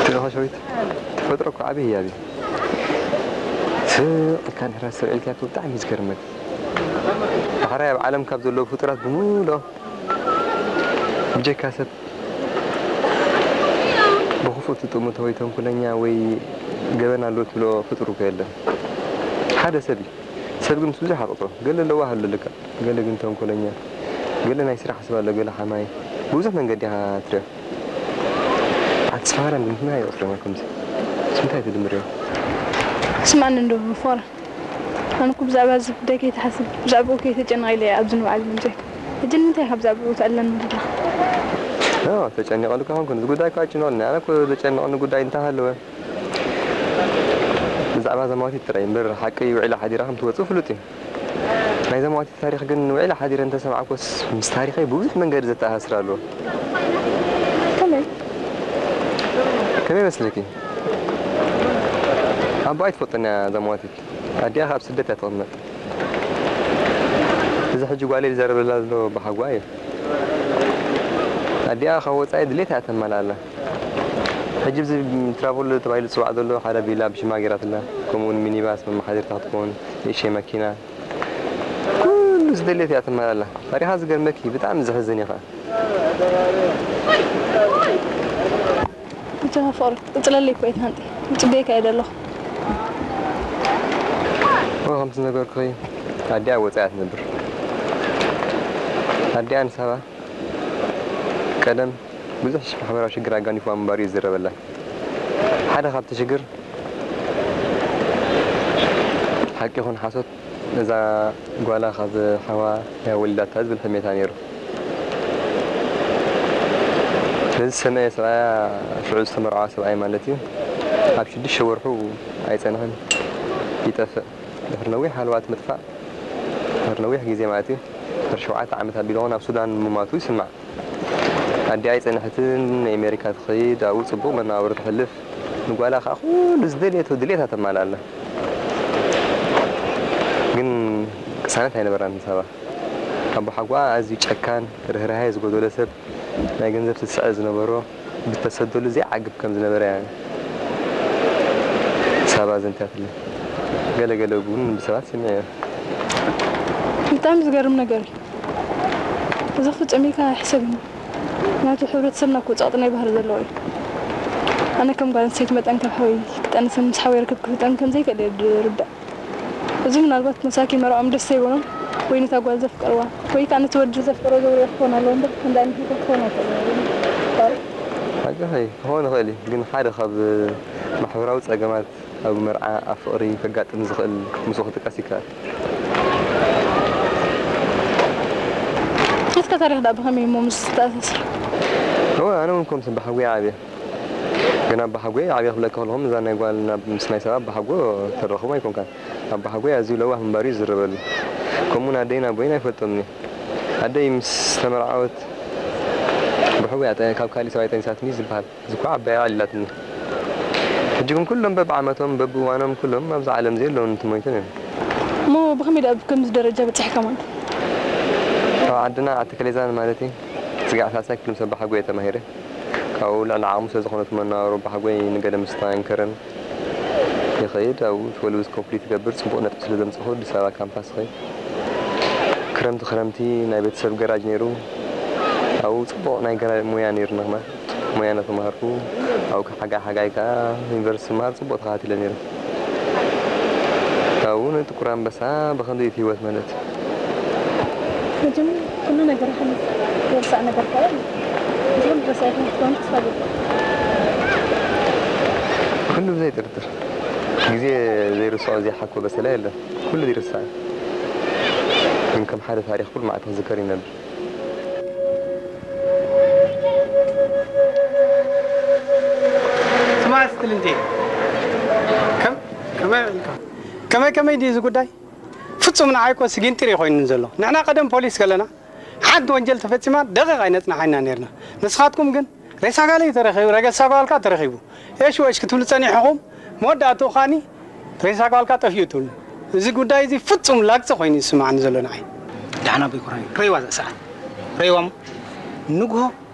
ትለኻ ሸዊት ተፈጥሮ እኮ ዓብዪ ህያብ እዩ። ስቕ ኢልካ እንድሕር ኣስተውዒልካዮ እኮ ብጣዕሚ እዩ ዝገርመካ። ዳሕራይ ኣብ ዓለም ካብ ዘለዉ ፍጡራት ብምልኦም ብጀካ ሰብ ብኽፉእ ትጥምቶ ወይ ተንኮለኛ ወይ ገበን ኣለዎ ትብሎ ፍጡር እኮ የለን። ሓደ ሰብ እዩ። ሰብ ግን ምስ ብዙሕ ኣፍቅሮ፣ ገለ ለዋህ ኣሎ ልክዕ፣ ገለ ግን ተንኮለኛ፣ ገለ ናይ ስራሕ ሰብ ኣሎ፣ ገለ ሓማይ፣ ብብዙሕ መንገዲ ኢኻ ትሪኦ። ኣቲ ሰሃራን ግን ከመይ ይቕጽረና ከምዚ? ምስ ምንታይ ትድምርዮ? ስምዓኒ እንዶ ፎራ፣ ኣነ እኮ ብዛዕባ እዚ ጉዳይ ከይትሓስብ፣ ብዛዕባኡ ከይተጨነቕ ኢለ እየ ኣብዚ ንባዕለይ መጺኤ። ሕጂ ንምንታይ ኢኻ ብዛዕባኡ ትዕልለኒ ዘለኻ? ኖ፣ ተጨኒቐሉ ከይኮንኩ፣ እዚ ጉዳይ እኮ ኣጨኒቑኒ። ኣነ እኮ ዘጨንቐኒ ጉዳይ እንተሃለወ፣ ብዛዕባ ዘማዊት ጥራይ እምበር፣ ሓቂ ውዒላ ሓዲራ ከም ትወጽእ ፍሉጥ እዩ። ናይ ዘማዊት ታሪኽ ግን ውዒላ ሓዲረ እንተሰማዕኩስ፣ ምስ ታሪኸይ ብብዙሕ መንገዲ ዘተኣሳስር ኣለዎ። ከመይ? ከመይ መስለኪ? ኣቦኣ ኣይትፈልጦን እያ ዘማዊት። ኣዲኣ ኣብ ስደት እያ ትቕመጥ። እዚ ሕጂ ጓለይ ዝዛረበላ ዘሎ ኣቦሓጎኣ እዩ። ኣዲኣ ካብ ወጻኢ ድሌታ እያ ተማልኣላ። ሕጂ እዚ ትራቮል ተባሂሉ ዝጽዋዕ ዘሎ ሓደ ቪላ ብሽማ ገይራትላ፣ ከምኡ እውን ሚኒባስ መመሓደሪታ ክትከውን፣ ንእሽተይ መኪና፣ ኩሉ ዝደልየት እያ ተማልኣላ። ታሪኻ ዝገርመኪ ብጣዕሚ ዘሕዝን እዩ ኸዓ። ብቻ ፍቕሪ ቅጽለለይ እኮ እየ ትሃንጢ። ይጽበየካ እየ ዘለኹ። ኦ፣ ከምቲ ዝነገርኩኺ ኣዲኣ ኣብ ወጻኢ እያ ትነብር። ኣዲኣ ንሳባ ቀደም ብዙሕ ማሕበራዊ ሽግር ኣጋኒፍዋ ምንባሩ እዩ ዝዝረበላ። ሓደ ካብቲ ሽግር ሓቂ ይኹን ሓሶት እዛ ጓላ ካብ ሓዋ እያ ወሊዳታ ዝብል ሕሜታ ነይሩ። ነዚ ዝሰመዐ ሰብኣያ ሽዑ ዝተመርዓዋ ሰብኣይ ማለት እዩ ኣብ ሽዱሽተ ወርሑ ኣይጸንሐን ይጠፍእ። ድሕሪ ነዊሕ ሃለዋት ምጥፋእ ድሕሪ ነዊሕ ግዜ ማለት እዩ ድሕሪ ሸውዓተ ዓመት ኣቢሉ እውን ኣብ ሱዳን ምማቱ ይስማዕ። ኣዲኣ ኣይጸንሐትን፣ ናይ ኣሜሪካ ትኸይድ፣ ኣብኡ ጽቡቕ መነባብሮ ተሕልፍ። ንጓላ ከኣ ኩሉ ዝደልየቶ ድሌታ ተማልኣላ። ግን ቅሳነት ኣይነበራን ንሳባ። ኣቦሓጎኣ ኣዝዩ ጨካን፣ ርህራሄ ዝጎደሎ ሰብ፣ ናይ ገንዘብ ትስዐ ዝነበሮ፣ ብተሰደሉ ዘይዓግብ ከም ዝነበረ እያ ሳባ ኣዘንትያትለይ። ገለ ገለ እውን ብሰባት ሰሚዐዮ። ብጣዕሚ ዝገርም ነገር እዩ። እዚ ፍጹም ኢልካ ኣይሕሰብን እዩ። ምክንያቱ ሕብረተሰብና እኮ ጸቕጢ ናይ ባህሪ ዘለዎ እዩ። ኣነ ከም ጓል ኣንስተይቲ መጠን ካብ ሓወይ ክጠንስን ምስ ሓወይ ርክብ ክፍጠን ከም ዘይክእል እየ ዝርዳእ። እዚ ምናልባት መሳኪን መርዓኦም ደስ ዘይበሎም ወይ ነታ ጓል ዘፍቀርዋ ወይ ከኣ ነቲ ወዲ ዘፍቀሮ ዘውርዮ ክኾን ኣለዎ እምበር ከምዚ ዓይነት ነገር ክኾን ኣይክእልን እዩ። ሓቂ ኸይ ክኾን ይኽእል እዩ፣ ግን ሓደ ካብ ማሕበራዊ ጸገማት ኣብ መርዓ ኣብ ፍቕሪ ከጋጥም ዝኽእል ምስኡ ክጥቀስ ይከኣል። እስከ ታሪኽ ደኣ ብኸመይ እሞ ምስ ተኣሳስር? እወ፣ ኣነ እውን ከምዚ ብሓጎይ ዓብየ። ግን ኣባሓጎይ ዓብየ ክብለካ ከለኹም እዛ ናይ ጓል ናብ ምስ ናይ ሰብ ኣባሓጎ ተረኽቦ ኣይኮንካን። ኣባሓጎይ ኣዝዩ ለዋህ ምንባር እዩ ዝዝረበሉ። ከምኡውን ኣደይን ኣቦይን ኣይፈልጦምን እየ። ኣደይ ምስ ተመርዓወት ብሕጉያ ጠ- ካብ ካሊእ ሰብኣይ ጠኒሳትኒ እዩ ዝበሃል። እዚ እኳ ዓባይ ኣዕሊላትኒ። ሕጂ ግን ኩሎም በብዓመቶም በብእዋኖም ኩሎም ኣብዚ ዓለም እዚ የለውን፣ እንተሞይቶም እዮም። እሞ ብኸመይ ደኣ ኣብ ከምዚ ደረጃ በጺሕካ ማለት? ኣብ ዓድና ዓዲ ከሌዛን ማለት እዩ። ስጋዕ ሳልሳይ ክፍሊ ምስ ኣባሓጎይ እየ ተማሂረ። ካብኡ ልዕሊ ዓቕሙ ስለ ዝኾነ እቲ መነባብሮ ኣባሓጎይ ንገለ ምስታ ኣይንከረን ይኸይድ። ኣብኡ ትወልውዝ ኮምፕሊት ይገብር። ጽቡቕ ነጥቢ ስለ ዘምጻኹ ኣዲስ ኣበባ ካምፓስ ይኸይድ። ክረምቲ ክረምቲ ናይ ቤተሰብ ገራጅ ነይሩ። ኣብኡ ጽቡቕ ናይ ገራጅ ሞያ ነይሩና ማለት ሞያ እናተማሃርኩ ኣብኡ ሓጋይ ሓጋይ ከኣ ዩኒቨርሲቲ ምሃር ጽቡቕ ተኸታቲለ ነይረ። ካብኡ ንጥቁር ኣንበሳ ብኸምዚ እዩ እቲ ህይወት ማለት። መቸም ኩሉ ነገር ሓሊፉ፣ ዝርሳዕ ነገር ከኣ የለን። እዚ ኩሉ ረሳዒ ከም ክትኮኑ ተስፋ እገብር። ኩሉ ብዘይ ጥርጥር። ግዜ ዘይርስዖ ዘይሓኮ በሰላ የለን። ኩሉ ይርሳዕ። ግን ከም ሓደ ታሪኽ ኩሉ መዓልቲ ክዝከር ይነብር። ስማዕ እስቲ ልንቴ፣ ከም-፣ ከመይ ኢልካ? ከመይ ከመይ ድዩ እዚ ጉዳይ? ፍጹም ንዓይ እኮ ስጊንጢር እዩ ኮይኑኒ ዘሎ። ንሕና ቀደም ፖሊስ ከለና ሓንቲ ወንጀል ተፈጺማ ደቂቕ ኣይነጽናሓና ነይርና። ንስኻትኩም ግን ሬሳ ጋለይ ተረኺቡ፣ ረገሳ ጓልካ ተረኺቡ፣ ኤሽ ወሽ ክትብሉ ጸኒሕኹም፣ መወዳእትኡ ኻኒ ሬሳ ጓልካ ጠፊኡ ትብሉ። እዚ ጉዳይ እዚ ፍጹም ላግጺ ኮይኑ ይስምዓኒ ዘሎ ንዓይ። ደሓን ኣቦይ ኮራይ፣ ረይዋ እዛ ሰዓት። ረይዋ እሞ ንግሆ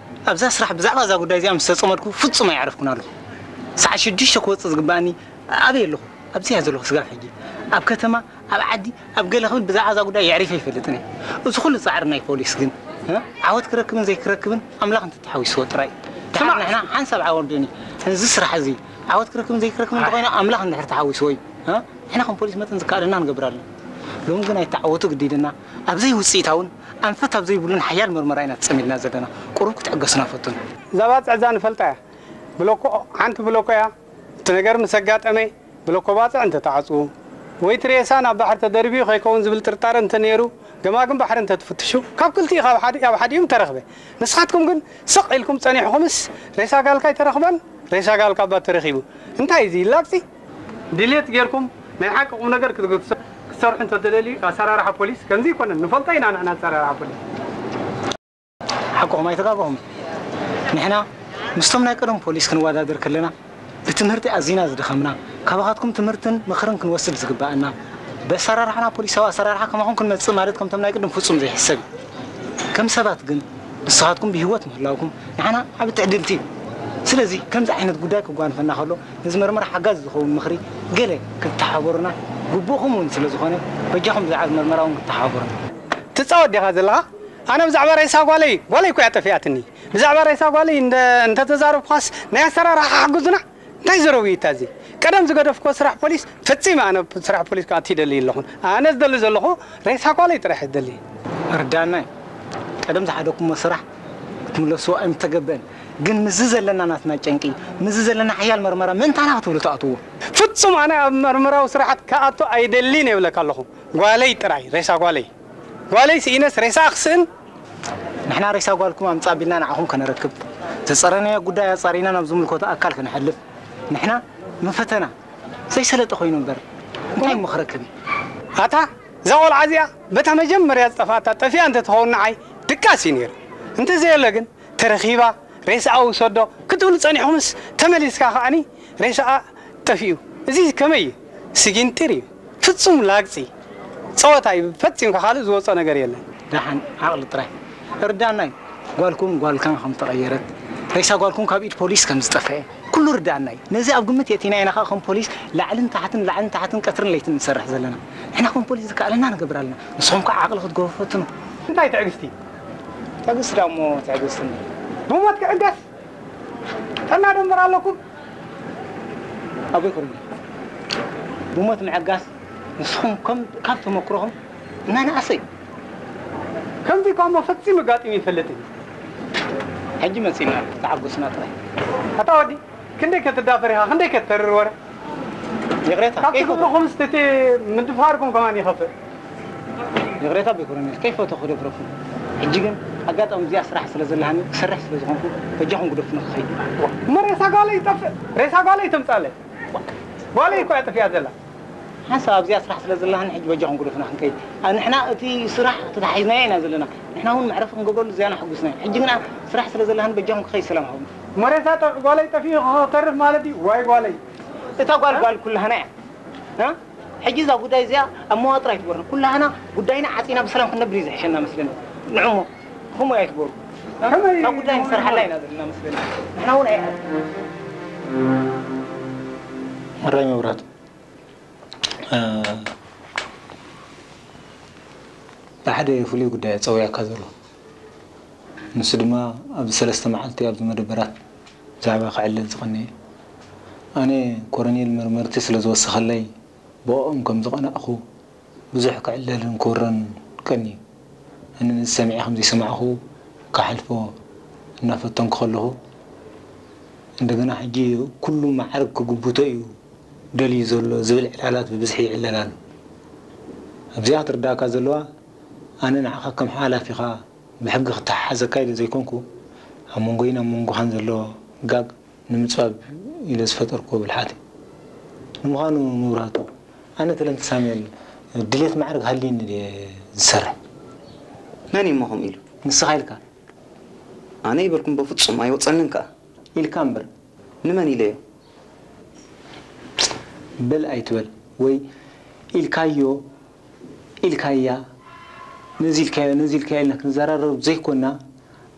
ኣብዛ ስራሕ ብዛዕባ እዛ ጉዳይ እዚኣ ምስ ተጸመድኩ ፍጹም ኣይዓረፍኩን ኣለኹ። ሰዓት ሽዱሽተ ክወጽእ ዝግባኣኒ ኣበይ ኣለኹ? ኣብዚ እየ ዘለኹ ስጋብ ሕጂ። ኣብ ከተማ፣ ኣብ ዓዲ፣ ኣብ ገለ ክብል ብዛዕባ እዛ ጉዳይ የዕሪፈ ኣይፈልጥን እየ። እዚ ኩሉ ጻዕሪ ናይ ፖሊስ ግን፣ እ? ዓወት ክረክብን ዘይክረክብን ኣምላኽ እንተተሓዊስዎ ጥራይ። ደሓር ስማዕ። ንሕና ሓንሳብ ዓወት ዶኒ፣ እዚ ስራሕ እዚ ዓወት ክረክብን ዘይክረክብን እንተኾይኑ ኣምላኽ እንድሕር ተሓዊስዎ እዩ። እ? ንሕና ከም ፖሊስ መጠን ዝከኣለና ንገብር ኣለና። ሎሚ ግን ኣይተዓወቱ ግዲድና፣ ኣብ ዘይውጽኢታውን ኣንፈት ኣብ ዘይብሉን ሓያል መርመራ ኢና ተጸሚድና ዘለና። ቁሩብ ክትዕገሱና ፈትኑ። እዛ ባጽዕ እዛ ንፈልጣ እያ። ብሎኮ፣ ሓንቲ ብሎኮ እያ። እቲ ነገር ምስ ኣጋጠመ፣ ብሎኮ ባጽዕ እንተተዓጽዉ፣ ወይ እቲ ሬሳ ናብ ባሕሪ ተደርብዩ ከይከውን ዝብል ጥርጣረ እንተነይሩ፣ ገማግም ባሕሪ እንተትፍትሹ፣ ካብ ክልቲኡ ካብ ሓደ፣ ኣብ ሓዲኡ ምተረኽበ። ንስኻትኩም ግን ስቕ ኢልኩም ጸኒሕኩምስ፣ ሬሳ ጋልካ ኣይተረኽበን፣ ሬሳ ጋልካ እባ ተረኺቡ። እንታይ እዚ ይላግጺ? ድሌት ጌርኩም ናይ ሓቂ ቁም ነገር ክትግ-፣ ክትሰርሑ እንተትደልዩ፣ ኣሰራርሓ ፖሊስ ከምዚ ኣይኮነን። ንፈልጦ ኢና ንሕና ኣሰራርሓ ፖሊስ። ሓቅኹም ኣይተጋገኹም። ንሕና ምስቶም ናይ ቀደም ፖሊስ ክንወዳደር ከለና ብትምህርቲ ኣዚና ዝደኸምና፣ ካባኻትኩም ትምህርትን ምኽርን ክንወስድ ዝግባኣና፣ ብኣሰራርሓና ፖሊሳዊ ኣሰራርሓ ከማኹም ክንመጽእ ማለት ከምቶም ናይ ቅድም ፍጹም ዘይሕሰብ እዩ። ከም ሰባት ግን ንስኻትኩም ብህይወት ምህላውኩም ንዓና ዓቢ ትዕድልቲ እዩ። ስለዚ ከምዚ ዓይነት ጉዳይ ክጓንፈና ከሎ ነዚ መርመራ ሓጋዚ ዝኸውን ምኽሪ ገለ ክትተሓባበሩና ግቡእኹም እውን ስለ ዝኾነ በጃኹም ብዛዕባ መርመራ እውን ክትተሓባበሩና። ትጻወት ዲኻ ዘለኻ? ኣነ ብዛዕባ ሬሳ ጓለይ፣ ጓለይ እኮ እያ ጠፊኣትኒ። ብዛዕባ ሬሳ ጓለይ እንደ-፣ እንተተዛረብኳስ ናይ ኣሰራርሓ ሓግዙና። እንታይ ዘረውይታ እዚ? ቀደም ዝገደፍኮ ስራሕ ፖሊስ ፈጺመ ኣነ ስራሕ ፖሊስ ክኣቱ ይደሊ ኣለኹን። ኣነ ዝደሊ ዘለኹ ሬሳ ጓለይ ጥራሕ ዝደሊ። ርዳናይ፣ ቀደም ዝሓደኩሞ ስራሕ ክትምለስዎ ኣይምተገበን። ግን ምስዚ ዘለና ናትና ጨንቂ፣ ምስዚ ዘለና ሓያል መርመራ ምእንታና ክትብሉ ትኣትዎ። ፍጹም ኣነ ኣብ መርመራዊ ስራሓት ክኣቱ ኣይደልን እየ ይብለካ ኣለኹ። ጓለይ ጥራይ፣ ሬሳ ጓለይ። ጓለይ ስኢነስ ሬሳ ክስእን? ንሕና ሬሳ ጓልኩም ኣምጻ ቢልና ንዓኹም ከነረክብ፣ ዘጸረናዮ ጉዳይ ኣጻሪና ናብ ዝምልከቶ ኣካል ከነሕልፍ፣ ንሕና ንፈተና ዘይሰለጠ ኮይኑ እምበር እንታይ እሞ ክረክብ እዩ? ኣታ እዛ ቆልዓ እዚኣ በታ መጀመርያ ዝጠፍኣታ ጠፊኣ እንተትኸውን ንዓይ ድቃስ እዩ ነይሩ። እንተዘየሎ ግን ተረኺባ ሬሳኣ ውሰዶ ክትብሉ ጸኒሕኩምስ ተመሊስካ ከኣኒ ሬሳኣ ጠፊኡ። እዚ ከመይ እዩ? ስጊንጢር እዩ። ፍጹም ላግጺ። ጸወታ እዩ። ፈጺምካ ካልእ ዝወጾ ነገር የለን። ደሓን ዓቕሊ ጥራይ። እርዳናይ። ጓልኩም ጓልካን ከም ተቐየረት፣ ሬሳ ጓልኩም ካብ ኢድ ፖሊስ ከም ዝጠፍአ፣ ኩሉ ርዳእና እዩ። ነዚ ኣብ ግምት የእቲና ኢና ከኣ ከም ፖሊስ ላዕልን ታሕትን፣ ላዕልን ታሕትን፣ ቀትርን ለይትን ንሰርሕ ዘለና። ንሕና ከም ፖሊስ ዝከኣለና ንገብር ኣለና። ንስኹም ከኣ ዓቕሊ ክትገብሩ ፈትኑ። እንታይ ትዕግስቲ? ትዕግስቲ ዳሞ ትዕግስቲ እንዲ። ብሞት ክዕገስ? ጥዕና ደንበር ኣለኩም? ኣቦይ ኮረኔል፣ ብሞት ምዕጋስ ንስኹም ከም ካብ ተመክሮኹም እናነኣሰ እዩ። ከምዚ እኳ እሞ ፈጺሙ ኣጋጢሙ ይፈልጥን እዩ። ሕጂ መጺእና ኣሎ፣ ተዓጎስና ጥራይ። ኣታ ወዲ፣ ክንደይ ከትዳፈር ኢኻ፣ ክንደይ ከተርር ወረ። ይቕሬታ፣ ካብ ከይፈተኹ። ትግብርኹምስ እቲ ምድፋርኩም ከማን ይኸፍእ። ይቕሬታ ኣቦይ ኮረኔል፣ ከይፈተኹ ክደፍረኩም። ሕጂ ግን ኣጋጣሚ እዚኣ ስራሕ ስለ ዘለሃኒ፣ ክሰርሕ ስለ ዝኾንኩ፣ በጃኹም ግደፉኒ ክኸይድ። እሞ ሬሳ ጓለይ ይጠፍእ፣ ሬሳ ጓለይ ተምጻለይ። ጓለይ እኮ እያ ጠፊኣ ዘላ። ሓንሳብ ኣብዚኣ ስራሕ ስለ ዘለሃኒ ሕጂ በጃኹም ግደፉና ክንከይድ። ኣ፣ ንሕና እቲ ስራሕ ተታሒዝናዮ ኢና ዘለና። ንሕና እውን መዕረፊ ክንገብረሉ እዚኣና ሕጉስና ኢና። ሕጂ ግና ስራሕ ስለ ዘለሃኒ በጃኹም ክኸይድ ሰላም ሃቡኒ። እሞ ሬሳ ጠ-፣ ጓለይ ጠፊኡ ክተርፍ ማለት እዩ? ዋይ ጓለይ። እታ ጓል ጓል ኩላህና እያ። እ? ሕጂ እዛ ጉዳይ እዚኣ ኣብ መዋጥር ኣይትግበርና። ኩላህና ጉዳይና ዓጺና ብሰላም ክንነብር እዩ ዝሕሸና መስለኒ። ንዑ እሞ፣ ከምኡ ኣይትግበሩ። እ? ከመይ እታ ጉዳይ ንሰርሓላ ኢና ዘለና መስለኒ። ንሕና እውን ኣይ-፣ ሕራይ መብራህቱ፣ እ፣ ብሓደ ፍሉይ ጉዳይ ጸዊዐካ ዘሎ። ንሱ ድማ ኣብዚ ሰለስተ መዓልቲ ኣብዚ መደበራት ብዛዕባ ክዕለል ዝቐነየ። ኣነ ኮረኔል መርመርቲ ስለ ዝወሰኸለይ ብኦም ከም ዝቐናእኹ ብዙሕ ክዕለልን ክውረን ቀንዩ። ኣነ ነዚ ሰሚዐ ከም ዘይሰማዕኹ ክሓልፎ እናፈተንኩ ከለኹ፣ እንደገና ሕጂ ኩሉ ማዕርግ ክግብቶ እዩ ደልዩ ዘሎ ዝብል ዕላላት ብብዝሒ ይዕለል ኣሎ። ኣብዚኣ ክትርዳእካ ዘለዋ፣ ኣነ ንዓኻ ከም ሓላፊኻ ብሕጊ ክተሓሓዘካ ኢለ ዘይኮንኩ፣ ኣብ መንጎይን ኣብ መንጎኻን ዘሎ ጋግ ንምጽባብ ኢለ ዝፈጠርኩዎ ብልሓት እዩ። ንምዃኑ መብራህቱ፣ ኣነ ተለንተ ሳሙኤል ድሌት ማዕርግ ሃልዩኒ ድየ ዝሰርሕ? መን እዩ እሞ ከምኡ ኢሉ? ንስኻ ኢልካ። ኣነ ይበልኩም በፍጹም ኣይወጸንን ከኣ። ኢልካ እምበር። ንመን ኢለዮ? በል ኣይትበል፣ ወይ ኢልካዮ፣ ኢልካያ፣ ነዚ ኢልካዮ፣ ነዚ ኢልካዮ ኢልና ክንዘራረብ ዘይኮና፣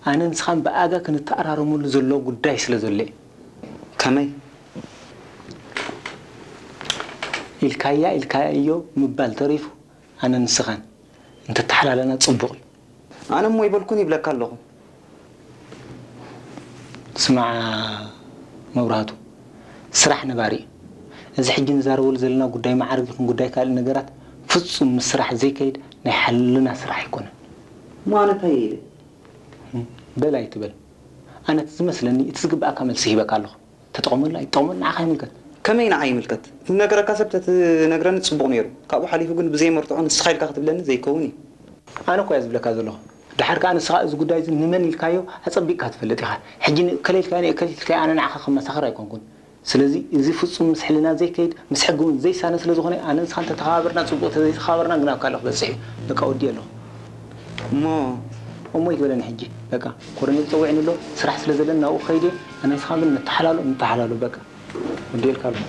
ኣነ ንስኻን ብኣጋ ክንተኣራረመሉ ዘሎ ጉዳይ ስለ ዘሎ እዩ። ከመይ? ኢልካያ፣ ኢልካዮ ምባል ተሪፉ፣ ኣነ ንስኻን እንተተሓላለና ጽቡቕ እዩ። ኣነ እሞ ይበልኩን ይብለካ ኣለኹ። ስማዕ መብራህቱ፣ ስራሕ ነባሪ እዩ። እዚ ሕጂ ንዛረበሉ ዘለና ጉዳይ መዓርግ ይኹን ጉዳይ ካልእ ነገራት ፍጹም ምስ ስራሕ ዘይከይድ ናይ ሓልና ስራሕ ኣይኮነን። እሞ ኣነ እንታይ ኢለ? በል ኣይትበል። ኣነ እቲ ዝመስለኒ እቲ ዝግብኣካ መልሲ ሂበካ ኣለኹ። ተጠቐመሉ ኣይትጠቐመሉ ንዓኻ ይምልከት። ከመይ ንዓይ ይምልከት? እቲ ዝነገረካ ሰብ ተትነግረኒ ጽቡቕ ነይሩ። ካብኡ ሓሊፉ ግን ብዘይ መርትዖ ንስኻ ኢልካ ክትብለኒ ዘይከውን እዩ። ኣነ እኮ እየ ዝብለካ ዘለኹ። ደሓር ከኣ ንስኻ እዚ ጉዳይ እዚ ንመን ኢልካዮ ኣጸቢቕካ ትፈልጥ ኢኻ። ሕጂ ንእከለ ኢልካዮ ንእከሊት ኢልካዮ ኣነ ንዓኻ ከመሳኽር ኣይኮንኩን። ስለዚ እዚ ፍጹም ምስ ሕልና ዘይከይድ፣ ምስ ሕጊ እውን ዘይሳነ ስለ ዝኾነ ኣነ ንስኻን ተተኸባበርና ጽቡቕ፣ ተዘይተኸባበርና ግን ኣብ ካልእ ክበጽሕ እዩ። በቃ ወዲኤ ኣለኹ። እሞ እሞ ይትበለኒ ሕጂ። በቃ ኮረኔል ጸዊዕኒ ኣሎ፣ ስራሕ ስለ ዘለኒ ናብኡ ክኸይድ እየ። ኣነ ንስኻ ግን ንተሓላሎ፣ ንተሓላሎ በቃ። ወዲኤልካ ኣለኹ።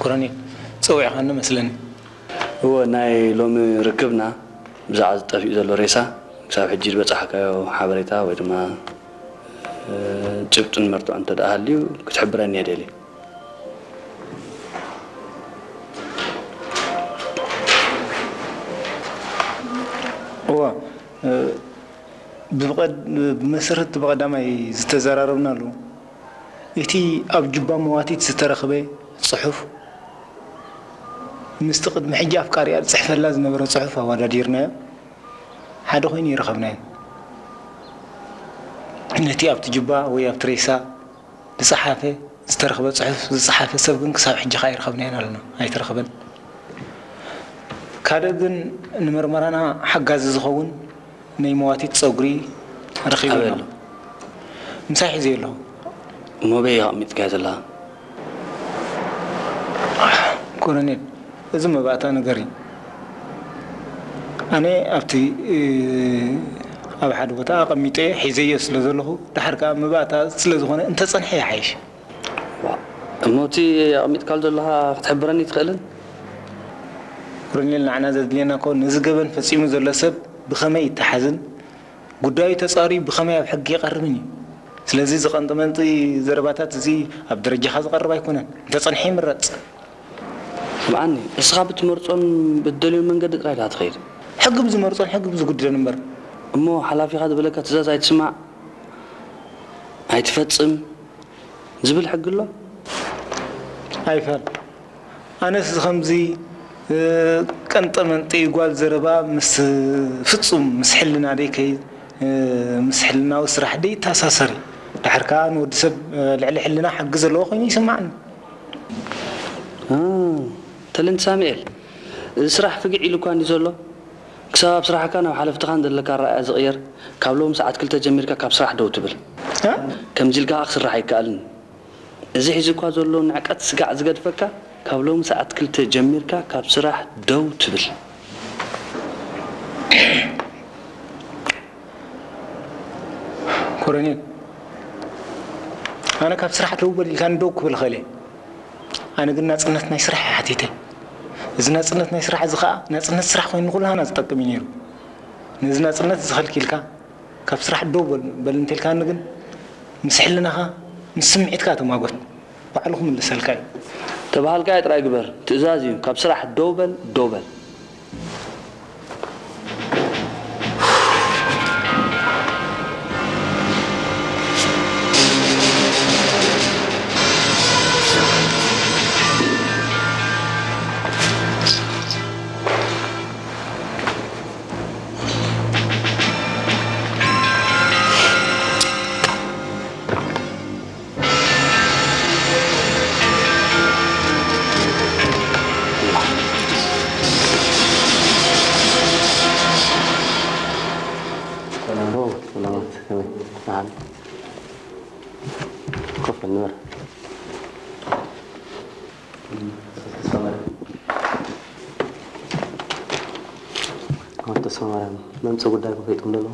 ኮረኔል፣ ጸዊዕኻኒ መስለኒ። እወ፣ ናይ ሎሚ ርክብና ብዛዕባ እዚ ጠፊኡ ዘሎ ሬሳ ክሳብ ሕጂ ዝበጻሕካዮ ሓበሬታ ወይ ድማ፣ እ፣ ጭብጥን መርትዖን እንተ ደኣ ሃልዩ ክትሕብረኒ እየ ደልየ። እወ፣ እ፣ ብቐድ-፣ ብመሰረት ብቐዳማይ ዝተዘራረብናሉ፣ እቲ ኣብ ጁባ መዋቲት ዝተረኽበ ጽሑፍ፣ ምስቲ ቅድሚ ሕጂ ኣፍቃሪኣ ዝጽሕፈላ ዝነበረ ጽሑፍ ኣወዳዲርናዮ፣ ሓደ ኮይኑ ይረኸብናዮ። ነቲ ኣብቲ ጁባ ወይ ኣብቲ ሬሳ ዝጸሓፈ፣ ዝተረኽበ ጽሑፍ ዝጸሓፈ ሰብ ግን ክሳብ ሕጂ ከኣ ኣይረኸብናዮን ኣለና፣ ኣይተረኸበን። ካልእ ግን ንመርመራና ሓጋዚ ዝኸውን ናይ መዋቲት ጸጉሪ ረኺበ ኣበይ ኣሎ። ኣሎ? ምሳይ ሒዘዮ ኣለኹ። እሞ በይ ኢኻ ኣቕሚጥካዮ ዘለኻ? ኮሎኔል፣ እዚ መባእታ ነገር እዩ። ኣነ ኣብቲ ኣብ ሓደ ቦታ ኣቐሚጠ ሒዘዮ ስለ ዘለኹ፣ ድሓር ከኣ መባእታ ስለ ዝኾነ እንተጸንሐ ይሓይሽ። እሞ እቲ ኣቐሚጥካሉ ዘለኻ ክትሕብረኒ ትኽእልን? ኮሎኔል፣ ንዓና ዘድልየና እኮ ነዚ ገበን ፈጺሙ ዘሎ ሰብ ብኸመይ ይተሓዝን ጉዳዩ ተጻርዩ ብኸመይ ኣብ ሕጊ ይቐርብን እዩ። ስለዚ እዚ ቀንጢ መንጢ ዘረባታት እዚ ኣብ ደረጃኻ ዝቐርብ ኣይኮነን። እንተጸንሐ ይምረጽ። ስምዓኒ፣ እስኻ ብትመርጾን ብትደልዮን መንገዲ ጥራይ ዳ ትኸይድ። ሕጊ ብዝመርጾን ሕጊ ብዝጉድለን እምበር። እሞ ሓላፊኻ ዝበለካ ትእዛዝ ኣይትስማዕ ኣይትፈጽም ዝብል ሕጊ ኣሎ? ኣይፋል። ኣነስ እዚ ከምዚ ቀንጠመንጢ ጓል ዘረባ ምስ ፍጹም ምስ ሕልና ደይ ከይ ምስ ሕልናዊ ስራሕ ደይ ይተኣሳሰር እዩ። ድሓር ከኣ ንወዲ ሰብ ልዕሊ ሕልና ሕጊ ዘለዎ ኮይኑ ይስምዓኒ። ተለንት ሳሙኤል፣ እዚ ስራሕ ፍግዕ ኢሉ እኳ እንዲ ዘሎ፣ ክሳብ ኣብ ስራሕካ ናብ ሓለፍትኻን ዘለካ ኣረኣእያ ዝቕየር፣ ካብ ሎሚ ሰዓት ክልተ ጀሚርካ ካብ ስራሕ ደው ትብል። ከምዚ ኢልካ ክስራሕ ኣይከኣልን። እዚ ሒዙ እኳ ዘሎ ንዕቀት ስጋዕ ዝገድፈካ፣ ካብ ሎሚ ሰዓት ክልተ ጀሚርካ ካብ ስራሕ ደው ትብል። ኮሎኔል፣ ኣነ ካብ ስራሕ ደው በል ኢልካኒ ደው ክብል እኽእል እየ። ኣነ ግን ናጽነት ናይ ስራሕ እየ ሓቲተ። እዚ ናጽነት ናይ ስራሕ እዚ ኸኣ ናጽነት ስራሕ ኮይኑ ንኹላህና ዝጠቅም እዩ ነይሩ። ነዚ ናጽነት እዚ ከልኪልካ ካብ ስራሕ ደው በል በል እንተልካኒ ግን ምስ ሕልናኻ ምስ ስምዒትካ ተማጎት። ባዕሉ ክምልሰልካ እዩ። ተባሃልካዮ ጥራይ ግበር። ትእዛዝ እዩ። ካብ ስራሕ ደው በል ደው በል። ሰላም ሰላማት ከመይ መሓሪ ኮፍ ንበር። ኣቶ ተስፋማርያም መምፅእ ጉዳይ ክፈይጦም ደሎ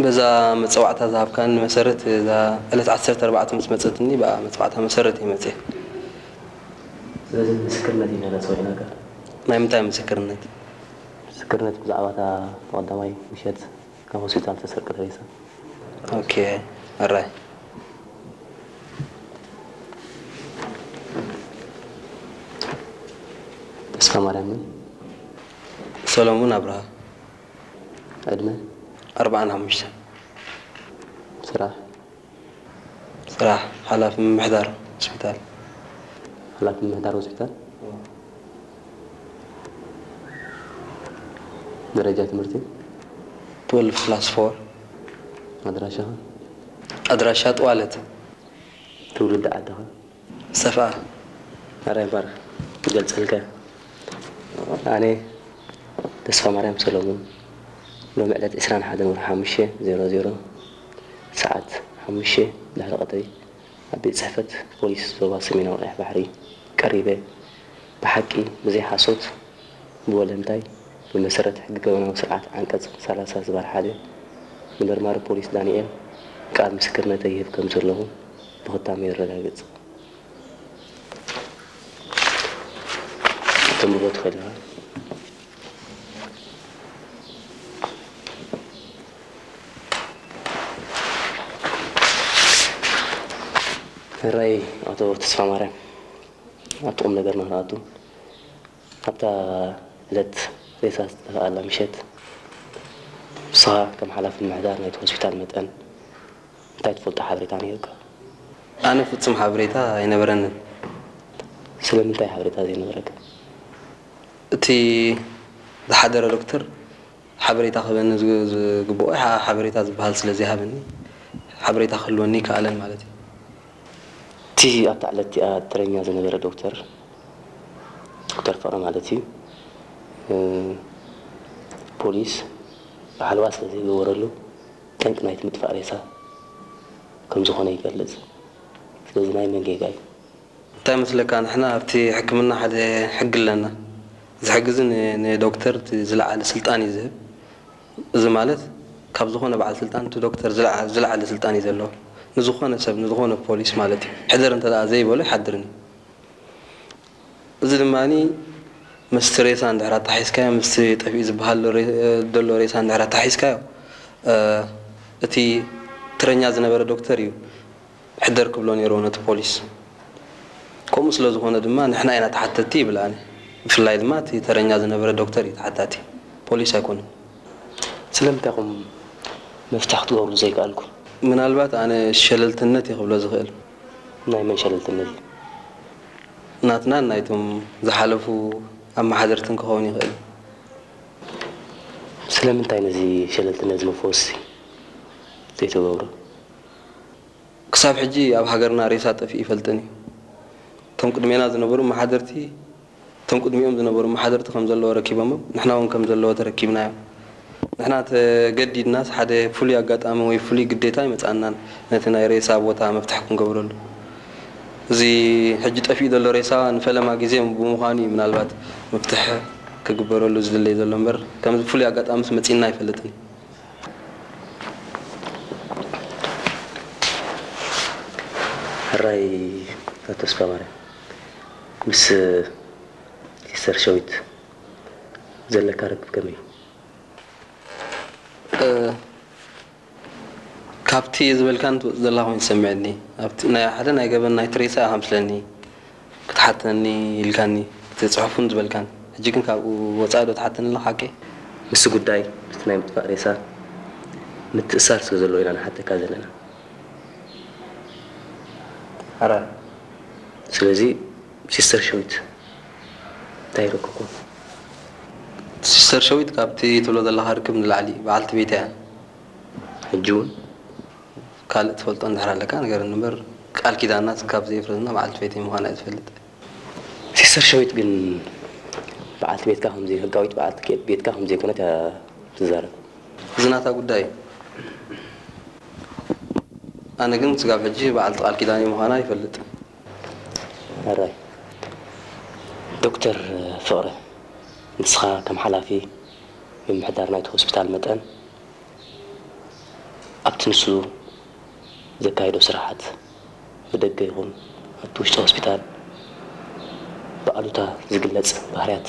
በዛ መፀዋዕታ ዝሃብካኒ መሰረት እዛ ዕለት ዓሰርተ ኣርባዕተ ምስ መፀትኒ ብኣ መፀዋዕታ መሰረት እየ መፅየ። ስለዚ ምስክርነት ኢና ነፅውዒናካ። ናይ ምንታይ ምስክርነት? ምስክርነት ብዛዕባ እታ ብቐዳማይ ምሸት ካብ ሆስፒታል ተሰርቀት ሬሳ። ኦኬ ኣራይ። ተስፋ ማርያም ምን? ሰሎሙን ኣብርሃ። ዕድመ? ኣርባዓን ሓሙሽተን። ስራሕ? ስራሕ ሓላፊ ምምሕዳር ሆስፒታል። ሓላፊ ምምሕዳር ሆስፒታል? ደረጃ ትምህርቲ? ትወልፍ ክላስ ፎር። ኣድራሻኻ? ኣድራሻ ጥዋለት። ትውልዲ ዓድኻ? ሰፍኣ። ኣራይ ባርኽ ክገልጸልካ። ኣነ ተስፋ ማርያም ሰሎሙን ሎሚ ዕለት ዕስራን ሓደን ወርሒ ሓሙሽተ ዜሮ ዜሮ ሰዓት ሓሙሽተ ድሕሪ ቀትሪ ኣብ ቤት ጽሕፈት ፖሊስ ዞባ ሰሜናዊ ቀይሕ ባሕሪ ቀሪበ ብሓቂ ብዘይ ሓሶት ብወለንታይ ብመሰረት ሕጊ ገበናዊ ስርዓት ዓንቀጽ ሰላሳ ዝባር ሓደ ንመርማሪ ፖሊስ ዳንኤል ቃል ምስክርነተይ ይህብ ከም ዘለኹ ብኽታም የረጋግጽ። ተንብቦ ትኽእል ኢኻ። ሕራይ ኣቶ ተስፋማርያም ኣብቲ ቁም ነገርና ንኣቱ ኣብታ ዕለት ሬሳ ዝጠፍኣላ ምሸት ንስኻ ከም ሓላፊ ምምሕዳር ናይቲ ሆስፒታል መጠን እንታይ ትፈልጦ ሓበሬታ ነይሩካ? ኣነ ፍጹም ሓበሬታ ኣይነበረንን። ስለምንታይ ሓበሬታ ዘይነበረካ? እቲ ዝሓደረ ዶክተር ሓበሬታ ክህበኒ ዝግብኦ ሓበሬታ ዝበሃል ስለ ዘይሃበኒ ሓበሬታ ክህልወኒ ይከኣለን ማለት እዩ። እቲ ኣብታ ዕለት እቲኣ ተረኛ ዝነበረ ዶክተር ዶክተር ፍቕረ ማለት እዩ ፖሊስ ሓለዋ ስለ ዘይገበረሉ ጠንቂ ናይቲ ምጥፋእ ሬሳ ከም ዝኾነ ይገልጽ። ስለዚ ናይ መን ጌጋ እዩ? እንታይ መስለካ ንሕና ኣብቲ ሕክምና ሓደ ሕጊ ኣለና። ዝሕግዝን ንዶክተር እቲ ዝለዓለ ስልጣን እዩ ዝህብ። እዚ ማለት ካብ ዝኾነ በዓል ስልጣን እቲ ዶክተር ዝለዓ- ዝለዓለ ስልጣን እዩ ዘለዎ። ንዝኾነ ሰብ፣ ንዝኾነ ፖሊስ ማለት እዩ። ሕደር እንተ ደኣ ዘይበሎ ይሓድርን እዩ። እዚ ድማ ምስቲ ሬሳ እንድሕር ኣተሓሒዝካዮ፣ ምስቲ ጠፊኡ ዝበሃል ሬ- ዘሎ ሬሳ እንድሕር ኣተሓሒዝካዮ፣ እ፣ እቲ ትረኛ ዝነበረ ዶክተር እዩ ሕደር ክብሎ ነይርዎ ነቲ ፖሊስ። ከምኡ ስለ ዝኾነ ድማ ንሕና ኢና ተሓተትቲ ይብል ኣነ። ብፍላይ ድማ እቲ ተረኛ ዝነበረ ዶክተር እዩ ተሓታቲ፣ ፖሊስ ኣይኮነን። ስለምንታይ ኢኹም መፍትሒ ክትገብሩ ዘይከኣልኩም? ምናልባት ኣነ ሸለልትነት እየ ክብሎ ዝኽእል። ናይ መን ሸለልትነት እዩ? ናትናን ናይቶም ዝሓለፉ ኣመሓደርትን ክኸውን ይኽእል። ስለምንታይ ነዚ ሸለልትነት እዚ መፈወሲ ዘይተገብሩ? ክሳብ ሕጂ ኣብ ሃገርና ሬሳ ጠፊኡ ይፈልጥን እዩ። እቶም ቅድሜና ዝነበሩ ኣመሓደርቲ፣ እቶም ቅድሚኦም ዝነበሩ ኣመሓደርቲ ከም ዘለዎ ረኪቦሞም፣ ንሕና እውን ከም ዘለዎ ተረኪብናዮ። ንሕና ተገዲድናስ ሓደ ፍሉይ ኣጋጣሚ ወይ ፍሉይ ግዴታ ኣይመጽኣናን ነቲ ናይ ሬሳ ቦታ መፍትሒ ክንገብረሉ። እዚ ሕጂ ጠፊኡ ዘሎ ሬሳ ንፈለማ ግዜ ብምዃኑ እዩ ምናልባት መፍትሒ ክግበረሉ ዝድለይ ዘሎ እምበር፣ ከምዚ ፍሉይ ኣጋጣሚስ መጺእና ኣይፈልጥን። ሕራይ ኣቶ ተስፋማርያም፣ ምስ ሲስተር ሸዊት ዘለካ ርክብ ከመይ እዩ? እ፣ ካብቲ ዝበልካን ትወጽእ ዘላ ኮይኑ ይሰምዐኒ። ኣብቲ ናይ ሓደ ናይ ገበን ናይ ትሬሳ ኢኻ ምስለኒ ክትሓተኒ ኢልካኒ፣ እቲ ጽሑፍን ዝበልካን። ሕጂ ግን ካብኡ ወጻኢ ዶ ትሓተኒ ኣለኻ ሓቀይ? ምስቲ ጉዳይ፣ ምስቲ ናይ ምጥፋእ ሬሳ ምትእሳር ስለ ዘለዎ ኢና ንሓተካ ዘለና። ሕራይ። ስለዚ ሲስተር ሸዊት እንታይ ይረክብኩም? ሲስተር ሸዊት ካብቲ ትብሎ ዘለኻ ርክብ ንላዕሊ በዓልቲ ቤት እያ። ሕጂ እውን? ካልእ ትፈልጦ እንድሕር ኣለካ ንገረኒ እምበር፣ ቃል ኪዳና ካብ ዘየፍረስና በዓልቲ ቤተይ ምዃና እየ ዝፈልጥ። ሲስተር ሸዊት ግን በዓልቲ ቤትካ ከም ዘይህጋዊት በዓልቲ ቤትካ ከም ዘይኮነት እያ ትዛረብ። እዚ ናታ ጉዳይ እዩ። ኣነ ግን ስጋብ ሕጂ በዓልቲ ቃል ኪዳነይ ምዃና ይፈልጥ። ሕራይ። ዶክተር ፍቕረ፣ ንስኻ ከም ሓላፊ ምምሕዳር ናይቲ ሆስፒታል መጠን፣ ኣብቲ ንሱ ዘካየዶ ስራሓት ብደገ ይኹን ኣብቲ ውሽጢ ሆስፒታል ብኣሉታ ዝግለጽ ባህርያት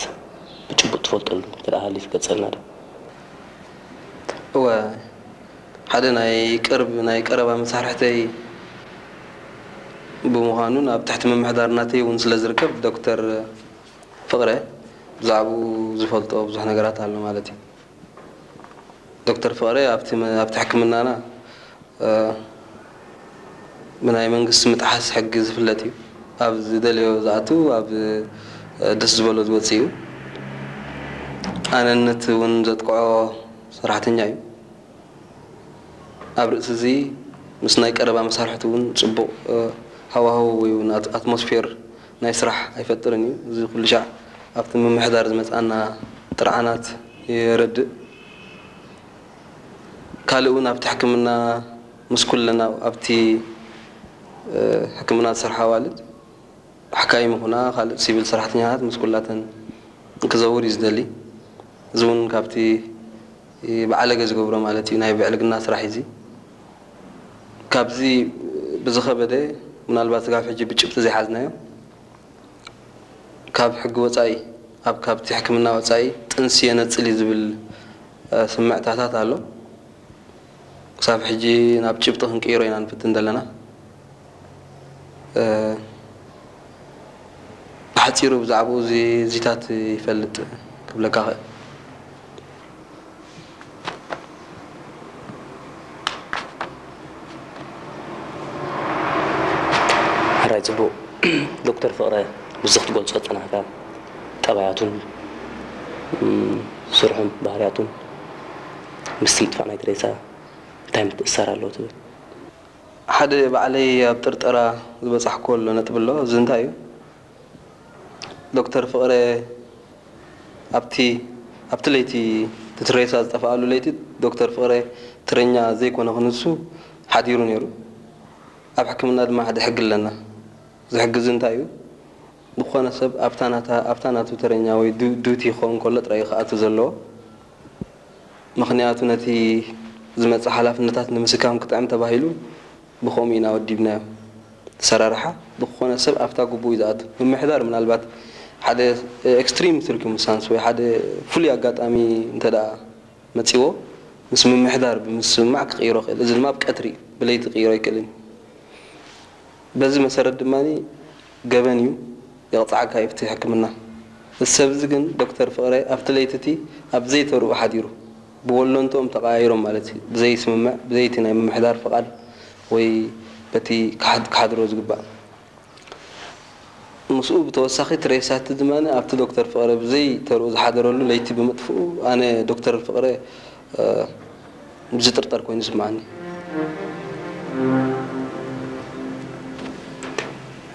ብጭቡጥ ትፈልጠሉ እንተ ደኣ ሃልዩ ትገልጸልና ዶ? እወ፣ ሓደ ናይ ቅርብ፣ ናይ ቀረባ መሳርሕተይ ብምዃኑን ኣብ ትሕቲ ምምሕዳር ናተይ እውን ስለ ዝርከብ፣ ዶክተር ፍቕረ ብዛዕባኡ ዝፈልጦ ብዙሕ ነገራት ኣሎ ማለት እዩ። ዶክተር ፍቕረ ኣብቲ መ-፣ ኣብቲ ሕክምናና፣ እ፣ ብናይ መንግስቲ ምጥሓስ ሕጊ ዝፍለጥ እዩ። ኣብ ዝደለዮ ዝኣቱ፣ ኣብ፣ እ፣ ደስ ዝበሎ ዝወጽእ እዩ። ኣነነት እውን ዘጥቅዖ ሰራሕተኛ እዩ። ኣብ ርእሲ እዚ ምስ ናይ ቀረባ መሳርሕቲ እውን ጽቡቕ፣ እ፣ ሃዋህው ወይ እውን ኣት-፣ ኣትሞስፌር ናይ ስራሕ ኣይፈጥርን እዩ። እዚ ኩሉ ሻዕ ኣብቲ ምምሕዳር ዝመጽኣና ጥርዓናት የረድእ። ካልእ እውን ኣብቲ ሕክምና ምስ ኩለን ኣብ-፣ ኣብቲ፣ እ፣ ሕክምና ዝሰርሓ ኣዋልድ ሓካይም ይኹና ካልእ ሲቪል ሰራሕተኛታት ምስ ኩላተን ክዘውር እዩ ዝደሊ። እዚ እውን ካብቲ ብዓለገ ዝገብሮ ማለት እዩ ናይ ብዕልግና ስራሕ እዩ እዚ። ካብዚ ብዝኸበደ ምናልባት ስጋብ ሕጂ ብጭብጢ ዘይሓዝናዮ ካብ ሕጊ ወጻኢ ኣብ ካብቲ ሕክምና ወጻኢ ጥንሲ የነጽል እዩ ዝብል፣ እ፣ ስምዕታታት ኣሎ። ክሳብ ሕጂ ናብ ጭብጢ ክንቅይሮ ኢና ንፍትን ዘለና። እ፣ ብሓጺሩ ብዛዕባኡ እዚ፣ እዚታት ይፈልጥ ክብለካ እኽእል። ሕራይ ጽቡቕ። ዶክተር ፍቕረ፣ ምስዚ ክትገልጾ ዝጸናሕካ ጠባያቱን፣ እም፣ ስርሑን ባህርያቱን ምስቲ ምጥፋእ ናይ ትሬሳ እንታይ ምትእስሳር ኣለዎ ትብል? ሓደ ባዕለይ ኣብ ጥርጠራ ዝበጻሕኩዎ ኣሎ ነጥቢ ኣሎ። እዚ እንታይ እዩ? ዶክተር ፍቕረ ኣብቲ፣ ኣብቲ ለይቲ፣ እቲ ትሬሳ ዝጠፍኣሉ ለይቲ፣ ዶክተር ፍቕረ ትረኛ ዘይኮነ ክንሱ ሓዲሩ ነይሩ። ኣብ ሕክምና ድማ ሓደ ሕጊ ኣለና። እዚ ሕጊ እዚ እንታይ እዩ? ዝኾነ ሰብ ኣብታ ናታ ኣብታ ናቱ ተረኛ ወይ ዱ- ዱቲ ክኸውን ከሎ ጥራይ እዩ ክኣቱ ዘለዎ። ምኽንያቱ ነቲ ዝመጽእ ሓላፍነታት ንምስካም ክጥዕም ተባሂሉ ብኸምኡ ኢና ወዲብናዮ። ኣሰራርሓ ዝኾነ ሰብ ኣብታ ግቡእ እዩ ዝኣቱ። ምምሕዳር ምናልባት ሓደ ኤክስትሪም ሲርኩምስታንስ ወይ ሓደ ፍሉይ ኣጋጣሚ እንተ ደኣ መጺዎ ምስ ምምሕዳር ብምስምማዕ ክቕይሮ ይኽእል። እዚ ድማ ኣብ ቀትሪ እዩ፣ ብለይቲ ክቕይሮ ኣይክእልን እዩ። በዚ መሰረት ድማ ገበን እዩ፣ የቕጽዓካ እዩ ፍትሒ ሕክምና። እዚ ሰብ እዚ ግን ዶክተር ፍቕረ ኣብቲ ለይቲ እቲ ኣብ ዘይተርኡ ሓዲሩ፣ ብወለንትኦም ተቐያይሮም ማለት እዩ፣ ብዘይስምምዕ፣ ብዘይቲ ናይ ምምሕዳር ፍቓድ ወይ በቲ ክሓድ- ክሓድሮ ዝግባእ። ምስኡ ብተወሳኺ ትሬሳቲ ድማ ኣብቲ ዶክተር ፍቕረ ብዘይተርኡ ዝሓደረሉ ለይቲ ብምጥፍኡ ኣነ ዶክተር ፍቕረ እ፣ ዝጥርጠር ኮይኑ ይስምዓኒ።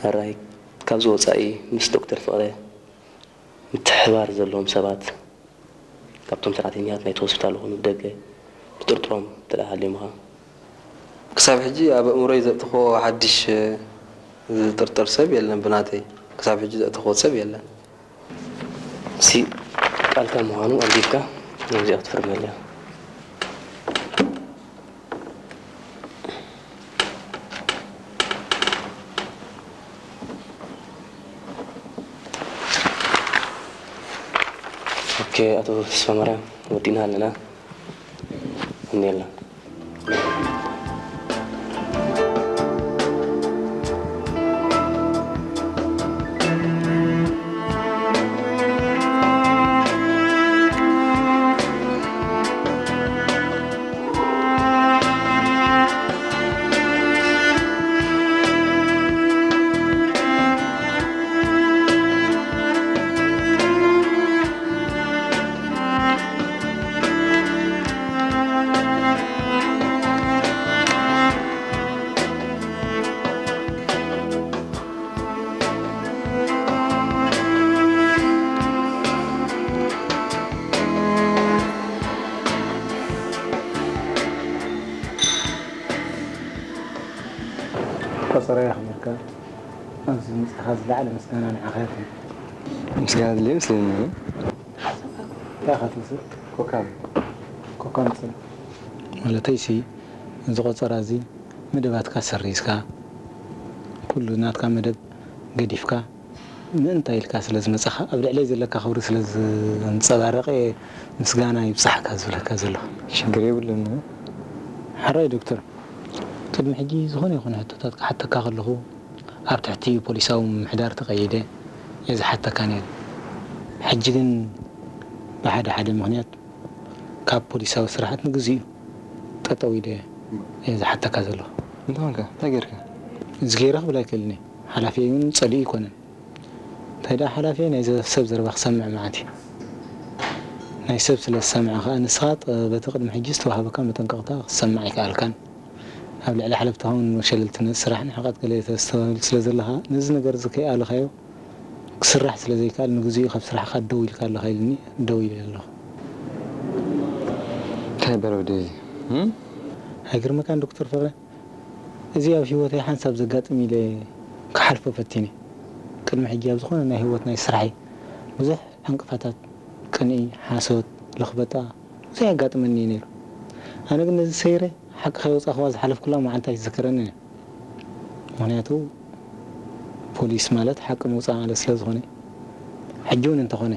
ሕራይ፣ ካብዚ ወጻኢ ምስ ዶክተር ፍቕረ ምትሕብባር ዘለዎም ሰባት ካብቶም ሰራሕተኛታት ናይቲ ሆስፒታል ይኹኑ ብደገ ትጥርጥሮም እንተ ደኣ ሃልዮምኻ? ክሳብ ሕጂ ኣብ ኣእምሮይ ዘእተኽዎ ሓድሽ ዝጥርጠር ሰብ የለን፣ ብናተይ ክሳብ ሕጂ ዘእተኽዎ ሰብ የለን። እሲ ቃልካ ምዃኑ ኣንቢብካ ነዚኣ ክትፍርመልያ። ኦኬ፣ ኣቶ ተስፋማርያም፣ ወዲእና ኣለና። እኒኤላ። ቆጸራ የኽብርካ። ኣብዚ ምጻኻ ዝለዓለ ምስጋና ንዓኻ ይኹን። ምስጋና ድልየ ምስለኒ። እንታይ ኢኻ ትውስድ? ኮካ። ኮካ ምጽእ። ማለተይሲ፣ እዚ ቆጸራ እዚ መደባትካ ሰሪዝካ፣ ኩሉ ናትካ መደብ ገዲፍካ፣ ምእንታ ኢልካ ስለ ዝመጻኻ፣ ኣብ ልዕለይ ዘለካ ክብሪ ስለ ዘንጸባረቐ፣ ምስጋና ይብጻሕካ ዝብለካ ዘለኹ። ሽግር የብሉን። ሕራይ ዶክተር፣ ቅድሚ ሕጂ ዝኾነ ይኹን ሕቶታት ክሓተካ ከለኹ፣ ኣብ ትሕቲ ፖሊሳዊ ምምሕዳር ተቐይደ እየ ዝሓተካ ነይረ። ሕጂ ግን ብሓደ ሓደ ምኽንያት ካብ ፖሊሳዊ ስራሓት ንግዚኡ ጠጠው ኢለ እየ ዝሓተካ ዘለኹ። እንታይ ኾንካ? እንታይ ጌርካ? እዚ ገይረ ክብል ኣይክእልን እየ። ሓላፊየይ እውን ጸሊኡ ኣይኮነን። እንታይ ደኣ ሓላፊየይ ናይ ዘ- ሰብ ዘረባ ክሰምዕ መዓት እዩ። ናይ ሰብ ስለ ዝሰምዐ ከኣ ንስኻ ጥ- በቲ ቅድሚ ሕጂ ዝተዋህበካ መጠንቀቕታ ክትሰምዕ ኣይከኣልካን። ኣብ ልዕሊ ሓለፍትኻ እውን ሸለልትነት ስራሕ ንሕቐት ገለ ተስተውዕል ስለ ዘለኻ ነዚ ነገር እዚ ከይኣለኻዮ ክስራሕ ስለ ዘይከኣል ንግዚኡ ካብ ስራሕኻ ደው ኢልካ ኣለኻ ኢልኒ ደው ኢለ ኣለኹ። እንታይ በለ ወደይ እዚ? እም? ኣይገርመካን ዶክተር ፍቕረ? እዚ ኣብ ህይወተይ ሓንሳብ ዘጋጥም ኢለ ክሓልፎ ፈቲነ። ቅድሚ ሕጂ ኣብ ዝኾነ ናይ ህይወት ናይ ስራሐይ ብዙሕ ዕንቅፋታት፣ ቅንኢ፣ ሓሶት፣ ለኽበጣ ብዙሕ የጋጥመኒ እዩ ነይሩ። ኣነ ግን ነዚ ሰይረ ሓቂ ከየውፃእኽዋ ዝሓለፍኩላ መዓልቲ ኣይትዝከረንን እያ። ምኽንያቱ ፖሊስ ማለት ሓቂ ምውፃእ ማለት ስለ ዝኾነ፣ ሕጂ እውን እንተኾነ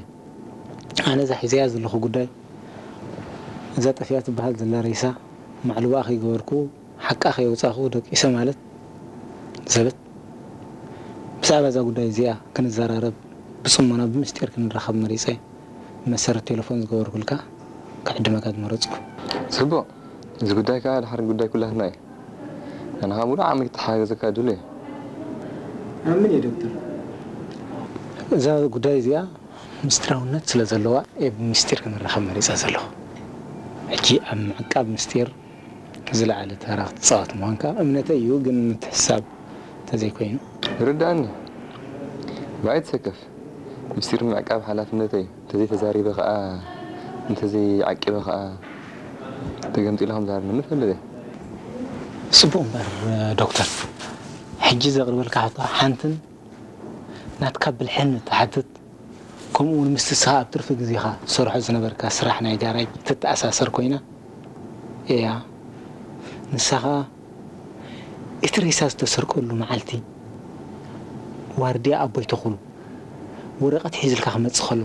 ኣነ እዛ ሒዘያ ዘለኹ ጉዳይ እዛ ጠፊኣ ትበሃል ዘላ ሬሳ ማዕልባኣ ከይገበርኩ ሓቃ ከየውፃእኹ ደቂሰ ማለት ዘበት። ብዛዕባ እዛ ጉዳይ እዚኣ ክንዘራረብ ብፅሞና ብምስጢር ክንራኸብ መሪፀ መሰረት ቴሌፎን ዝገበርኩልካ ክዕድመካ ዝመረፅኩ። ፅቡቕ። እዚ ጉዳይ ከዓ ድሓር ጉዳይ ኩላትና እዩ። ኣነ ከዓ ሙሉእ ዓቕሚ ክተሓጋገዘካ ድሉ እየ። ኣምን እየ ዶክተር። እዛ ጉዳይ እዚኣ ምስጢራውነት ስለ ዘለዋ እየ ብምስጢር ክንራኸብ መሪፀ ዘለኹ። ሕጂ ኣብ ምዕቃብ ምስጢር ዝለዓለ ተራ ክትፃወት ምዃንካ እምነተይ እዩ፣ ግን ምትሕሳብ እንተዘይኮይኑ። ይርዳእኒ። ብኣይ ትሰከፍ። ምስጢር ምዕቃብ ሓላፍነተይ እዩ። እንተዘይተዛሪበ ከዓ፣ እንተዘይዓቂበ ከዓ ተገምጢለ ከም ዝሃርመኒ እፈልጥ እየ። ፅቡቕ እምበር ዶክተር፣ ሕጂ ዘቕርበልካ ሕቶ ሓንትን ናትካ ብልሕን ትሓትት፣ ከምኡ እውን ምስቲ ንስኻ ኣብ ትርፊ ግዜኻ ትሰርሖ ዝነበርካ ስራሕ ናይ ጋራጅ ትተኣሳሰር ኮይና እያ። ንሳ ኸኣ እቲ ሬሳ ዝተሰርቀሉ መዓልቲ ዋርድያ ኣቦይ ተኽሉ ወረቐት ሒዝልካ ክመጽእ ከሎ፣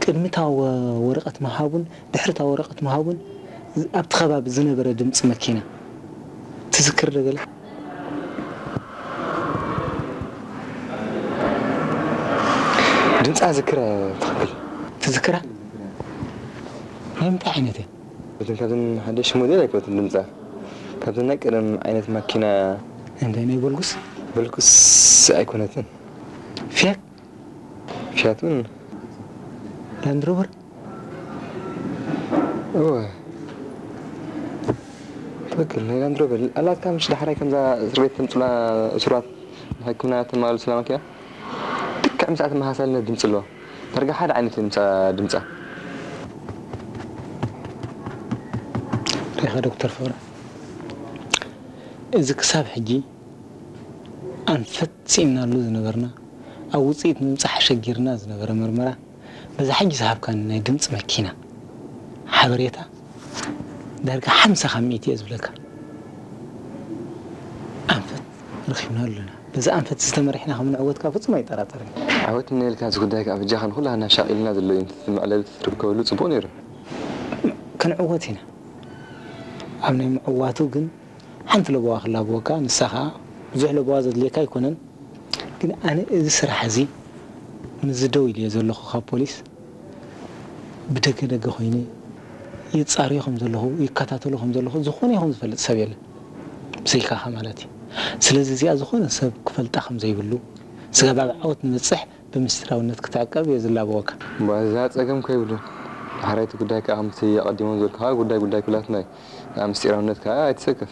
ቅድሚ እታ ወ-፣ ወረቐት ምሃቡን ድሕሪ እታ ወረቐት ምሃቡን ዝ-፣ ኣብቲ ከባቢ ዝነበረ ድምጺ መኪና ትዝክር ዶ ገለ? ድምጻ ዝክረ ትኽክል። ትዝክራ? ናይ ምንታይ ዓይነት እያ? እተን ካብዘን ሓደሽ ሞዴል ኣይኮነትን ድምጻ። ካብዘን ናይ ቀደም ዓይነት ማኪና። እንታይ ናይ በልጉስ? በልጉስ ኣይኮነትን። ፊያት? ፊያት እውን። ላንድ ሮቨር? እወ። ትኽክል፣ ናይ ላንድ ሮቨር ኣላትካ። ምሽ ዳሕራይ ከምዛ እስር ቤት ተምጽላ እሱራት ንሕክምና ተማልሱላ ማኪና ልክዕ ምስኣ ተመሳሳልነት ድምጺ ኣለዋ። ዳርጋ ሓደ ዓይነት እዩ ምስኣ ድምጻ። ሪኢኻ ዶክተር ፍቕረ፣ እዚ ክሳብ ሕጂ ኣንፈት ስኢንናሉ ዝነበርና፣ ኣብ ውጽኢት ንምብጻሕ ኣሸጊርና ዝነበረ መርመራ፣ በዛ ሕጂ ዝሃብካኒ ናይ ድምጺ መኪና ሓበሬታ ዳርጋ ሓምሳ ካብ ሚእቲ እየ ዝብለካ። ኣንፈት ረኺብና ኣለና። በዚ ኣንፈት ዝተመሪሕና ከም ንዕወት ከኣ ፍጹም ኣይጠራጠርን። ዓወት እኒኤልካ፣ እዚ ጉዳይ ከኣ በጃኻ ንኹላህና ሻቒልና ዘሎ እዩ። እቲ መዕለቢ ተትርከበሉ ጽቡቕ ነይሩ። ክንዕወት ኢና። ኣብ ናይ ምዕዋቱ ግን ሓንቲ ለበዋ ክላበወካ፣ ንሳ ከኣ ብዙሕ ለበዋ ዘድልየካ ኣይኮነን። ግን ኣነ እዚ ስራሕ እዚ ምስዚ ደው ኢለዮ ዘለኹ ካብ ፖሊስ ብደገ ደገ ኮይነ ይጻረዮ ከም ዘለኹ፣ ይከታተሎ ከም ዘለኹ ዝኾነ ይኹን ዝፈልጥ ሰብ የለን። ብዘይካኻ ማለት እዩ። ስለዚ እዚኣ ዝኾነ ሰብ ክፈልጣ ከም ዘይብሉ፣ ስጋብ ኣብ ዓወት ንበጽሕ ብምስጢራውነት ክትዕቀብ እየ ዝላበወካ። እምበኣር እዛ ጸገም ከይብሉ። ድሕራይ እቲ ጉዳይ ከኣ ከምቲ ኣቐዲሞም ዝበልኩኻ ጉዳይ ጉዳይ ኩላትና እዩ። ኣብ ምስጢራውነት ከኣ ኣይትሰከፍ።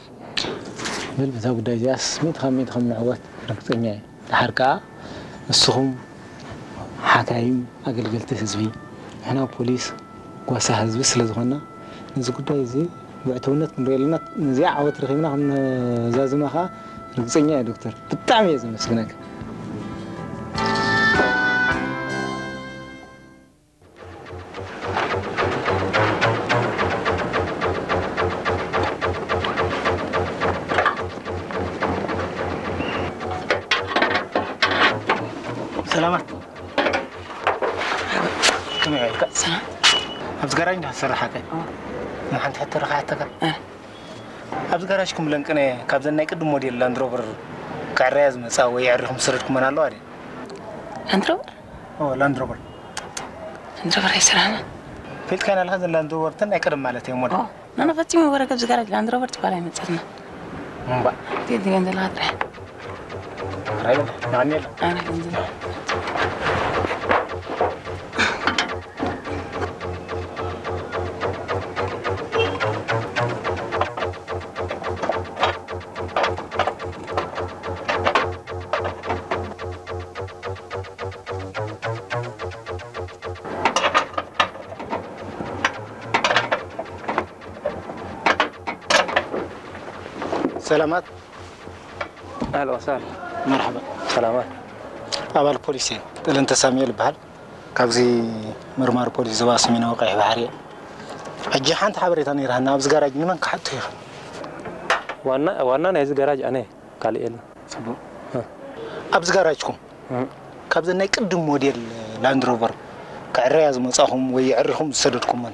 በል በዛ ጉዳይ እዚኣስ ሚእቲ ካብ ሚእቲ ከም ንዕወት ርግጸኛ እየ። ደሓር ከኣ ንስኹም ሓካይም ኣገልገልቲ ህዝቢ፣ ንሕና ፖሊስ ጓሳ ህዝቢ ስለ ዝኾንና፣ ነዚ ጉዳይ እዚ ብዕቱብነት ክንሪኦ ኣለና። ነዚኣ ዓወት ረኺብና ከም ነዛዝማ ከኣ ርግጸኛ እየ ዶክተር። ብጣዕሚ እየ ዘመስግነካ። ሰላማት። ከመይ ኢልካ? ሰላም። ኣብዚ ጋራጅ እንዳ ትሰርሕ ኣከ? ኣዎ። ንሓንቲ ሕቶ ረኺሓተካ? እ። ኣብዚ ጋራጅኩም ለንቅነ ካብዘን ናይ ቅድም ሞዴል ላንድ ሮቨር ክዕረያ ዝመጻ ወይ ኣዕሪኹም ዝሰደድኩመን ኣለዋ ድየን? ላንድ ሮቨር? ኦ፣ ላንድ ሮቨር። ላንድ ሮቨር ኣይሰራሕና። ፈልጥካየን ኣለኻ፣ እዘን ላንድ ሮቨር እተን ናይ ቀደም ማለት እየን ሞዴል። ኦ፣ ናና ፈጺሙ ወረ ካብዚ ጋራጅ ላንድ ሮቨር ትበሃል ኣይመጸትና። እምባ። እቲ ገንዘብ ጥራሕ። ራይበል፣ ናኒ የለ። ኣረ ገንዘብ። ሰላማት። ኣህለን ወሰህለን። መርሓባ። ሰላማት። ኣባል ፖሊስ እየ። ጥልንተ ሳሙኤል ይበሃል። ካብዚ መርማሪ ፖሊስ ዞባ ሰሜናዊ ቀይሕ ባሕሪ እየ። ሕጂ ሓንቲ ሓበሬታ ነይራና፣ ኣብዚ ጋራጅ ንመን ክሓቶ ይኽእል? ዋና፣ ዋና ናይዚ ጋራጅ ኣነ፣ ካልእ የለን። ጽቡቕ። እ። ኣብዚ ጋራጅኩም እ። ካብዘን ናይ ቅድም ሞዴል ላንድ ሮቨር ክዕረያ ዝመጻኹም ወይ የዕሪኹም ዝሰደድኩመን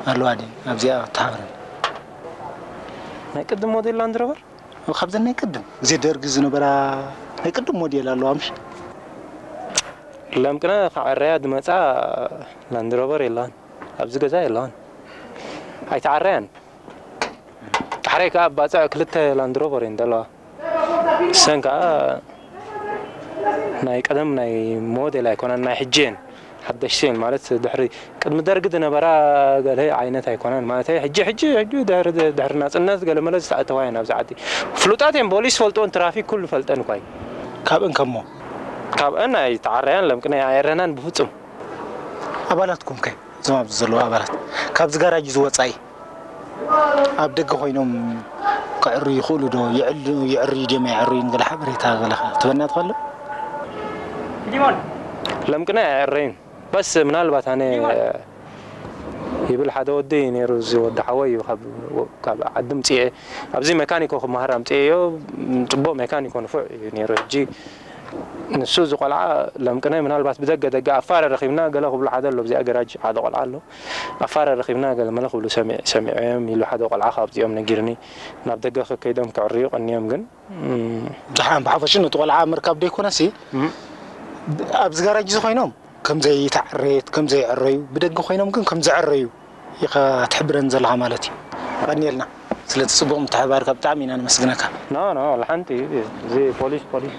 ኣለዋ ድየን? ኣብዚኣ ተሓብረን። ናይ ቅድም ሞዴል ላንድ ሮቨር? ካብዘን ናይ ቅድም፣ ግዜ ደርጊ ዝነበራ ናይ ቅድም ሞዴል ኣለዋ፣ ምሽ? ለምቅነ ክዕረያ ዝመጻ ላንድ ሮቨር የላን። ኣብዚ ገዛ የላን። ኣይተዓረያን። ዳሕረይ ከኣ ባጽዕ ክልተ ላንድ ሮቨር እየን ዘለዋ። እሰን ከኣ ናይ ቀደም ናይ ሞዴል ኣይኮነን፣ ናይ ሕጂ እየን። ሓደሽቲ እየን ማለት ድሕሪ ቅድሚ ደርጊ ዝነበራ ገለ ዓይነት ኣይኮነን። ማለተይ ሕጂ፣ ሕጂ፣ ሕጂ ድሕሪ፣ ድሕሪ ናጽነት ገለ መለ ዝተኣተዋ እየን ኣብዚ ዓዲ። ፍሉጣት እየን፣ ፖሊስ ፈልጥወን፣ ትራፊክ ኩሉ ፈልጠን እኳ እዩ። ካብእን ከሞ? ካብእን ኣይተዓረያን፣ ለምቅነ ኣየረናን ብፍጹም። ኣባላትኩም ከ? እዞም ኣብዚ ዘለዉ ኣባላት ካብዚ ጋራጅ እዚ ወጻኢ ኣብ ደገ ኮይኖም ክዕርዩ ይኽእሉ ዶ? ይዕል-፣ ይዕርዩ ድዮም ኣይዕርዩን? ገለ ሓበሬታ ገለ ከ ትበና ትኽእል ዶ? ለምቅና ኣየዕረይን። በስ ምናልባት ኣነ ይብል ሓደ ወዲ እዩ ነይሩ፣ እዚ ወዲ ሓወይ እዩ፣ ካብ ዓዲ ምፅኤ ኣብዚ መካኒኮ ክመሃር ኣምፅኤዮ። ፅቡቅ ሜካኒኮ ንፉዕ እዩ ነይሩ። ሕጂ ንሱ እዚ ቆልዓ ለምቅነ ምናልባት ብደገ ደገ ኣፋረ ረኺብና ገለ ክብሉ ሓደ ኣሎ። ኣብዚኣ ገራጅ ሓደ ቆልዓ ኣሎ። ኣፋረ ረኺብና ገለ መለ ክብሉ ሰሚዐዮም ኢሉ ሓደ ቆልዓ ካብዚኦም ነጊርኒ። ናብ ደገ ከከይዶም ክዕርዩ ቀንዮም ግን ብሓፈሽኡ ነቲ ቆልዓ ምርካብ ደይኮነሲ ኣብዚ ጋራጅ እዚ ኮይኖም ከምዘይተዓረየት ከምዘይዕረዩ ብደገ ኮይኖም ግን ከምዝዕረዩ ኢኻ ትሕብረን ዘለኻ ማለት እዩ። የቐንየልና ስለቲ ጽቡቕ ምትሕብባርካ ብጣዕሚ ኢና ነመስግነካ። No, no, ወላ ሓንቲ እዚ ፖሊስ ፖሊስ።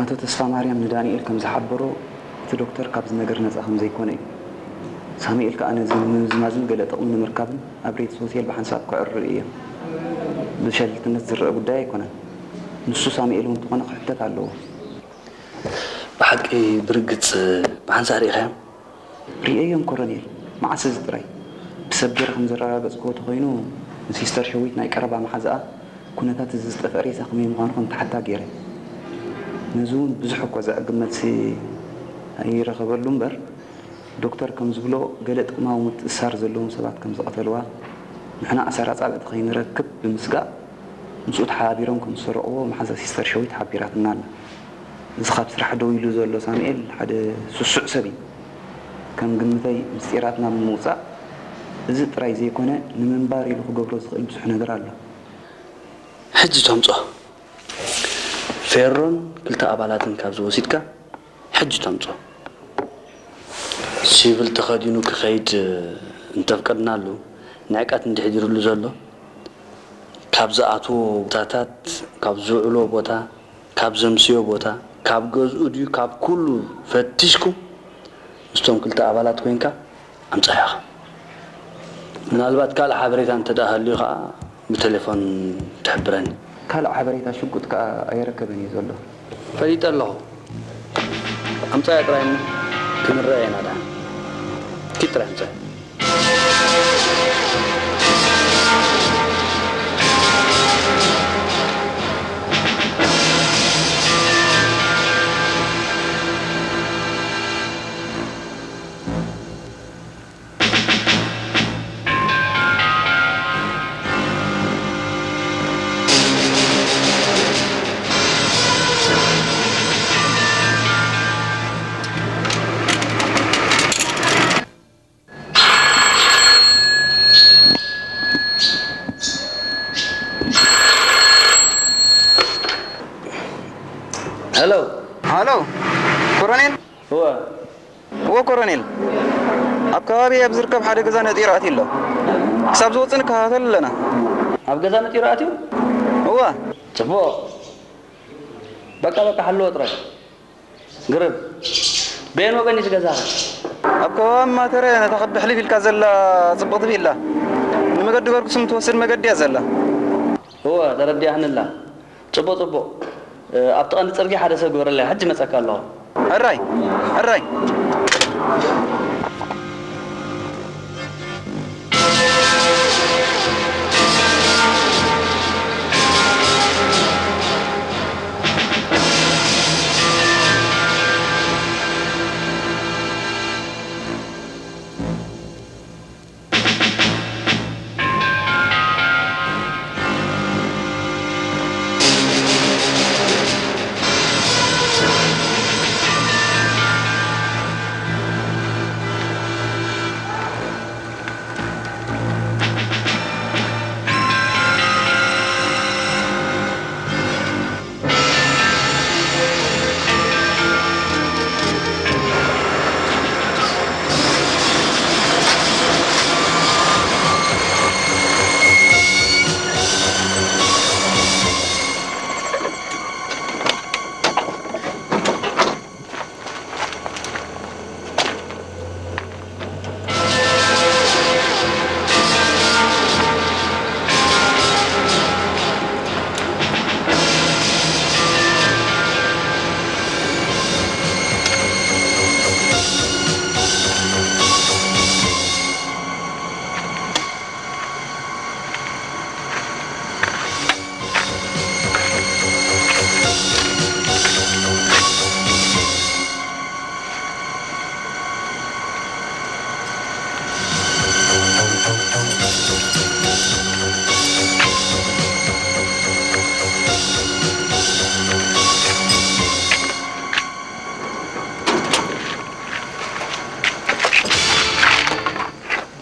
ኣቶ ተስፋማርያም ንዳንኤል ከም ዝሓበሮ፣ እቲ ዶክተር ካብዚ ነገር ነጻ ከም ዘይኮነ እዩ። ሳሙኤል ከኣ ነዚ ንምምዝማዝን ገለ ጥቕሚ ንምርካብን ኣብ ሬድስ ሆቴል ብሓንሳብ ክዕርዩ እዮም። ብሸለልትነት ዝረኣ ጉዳይ ኣይኮነን። ንሱ ሳሙኤል እውን እንተኾነ ክሕተት ኣለዎ። ብሓቂ ብርግጽ ብሓንሳእ ርኢኻዮም? ርእየዮም ኮረኔል፣ መዓስ እዚ ጥራይ። ብሰብ ገይረ ከም ዘረጋገጽክዎ ተኾይኑ ንሲስተር ሸዊት ናይ ቀረባ መሓዛኣ ኩነታት እዚ ዝጠፍአ ሬሳ ከመይ ምዃኑ ከም ትሓታ ገይረ። ነዚ እውን ብዙሕ እኳ ዘዕግብ መልሲ ኣይረኸበሉ እምበር፣ ዶክተር ከም ዝብሎ ገለ ጥቕማዊ ምትእስሳር ዘለዎም ሰባት ከም ዝቐተልዋ፣ ንሕና ኣሰር ኣጻብዕቲ ከይንረክብ ብምስጋእ ምስኡ ተሓባቢሮም ከም ዝሰረቕዎ መሓዛ ሲስተር ሸዊት ሓቢራትና ኣላ። እዚ ካብ ስራሕ ደው ኢሉ ዘሎ ሳሙኤል ሓደ ስሱዕ ሰብ እዩ። ከም ግምተይ ምስጢራትና ብምውጻእ እዚ ጥራይ ዘይኮነ ንምንባር ኢሉ ክገብሮ ዝኽእል ብዙሕ ነገር ኣሎ። ሕጂ ተምጾ ፌሮን ክልተ ኣባላትን ካብዚ ወሲድካ ሕጂ ተምጾ። ሲቪል ተኸዲኑ ክኸይድ እንተፍቀድናሉ ንዕቀት እንድሕዲሩሉ ዘሎ ካብ ዝኣትዎ ቦታታት ካብ ዝውዕሎ ቦታ ካብ ዘምስዮ ቦታ ካብ ገዝኡ ድዩ ካብ ኩሉ ፈቲሽኩም ምስቶም ክልተ ኣባላት ኮይንካ ኣምጻያ ኢኻ። ምናልባት ካልእ ሓበሬታ እንተ ደኣ ሃልዩ ኸኣ ብቴሌፎን ትሕብረኒ። ካልእ ሓበሬታ ሽጉጥ ከኣ ኣይረከበን እዩ ዘሎ። ፈሊጠ ኣለኹ። ኣምጻያ ጥራይ እሞ ክንረኣ ኢና ደኣ። ኪድ ጥራይ ኣምጻያ። ሄሎ። ሃሎ፣ ኮሎኔል? እወ። እወ፣ ኮሎኔል። ኣብ ከባቢ ኣብ ዝርከብ ሓደ ገዛ ነጢሩ ኣትዩ ኣሎ። ክሳብ ዝወጽእ ንከታተል ኣለና። ኣብ ገዛ ነጢሩ ኣትዩ? እወ። ጽቡቕ። በቃ፣ በቃ፣ ሓልዎ ጥራይ። ግርም። በየን ወገን እዩ እቲ ገዛኻ? ኣብ ከባቢ ማተረ ነታ ክቢ ሕልፍ ኢልካ ዘላ ጽብቕቲ ቪላ። ንመገዲ ገርግሱም ትወስድ መገዲ እያ ዘላ። እወ፣ ተረዲኣኒ ኣላ። ጽቡቕ፣ ጽቡቕ። እ፣ ኣብቲ ቀንዲ ጽርግያ ሓደ ሰብ ግበረለይ፣ ሕጂ መጸካ ኣለኹ። ሕራይ፣ ሕራይ።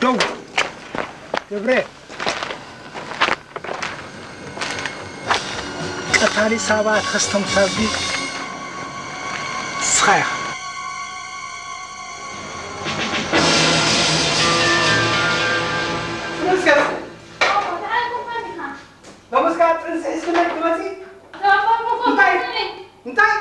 ደው። ገብረ፣ ቀታሊ ሳባ ተኸስተምሳቢ ንስኻ ኢኻ። ሎምስ ከኣ ጥንሲ ሒዝክለይ ትመጺ? እንታይ? እንታይ?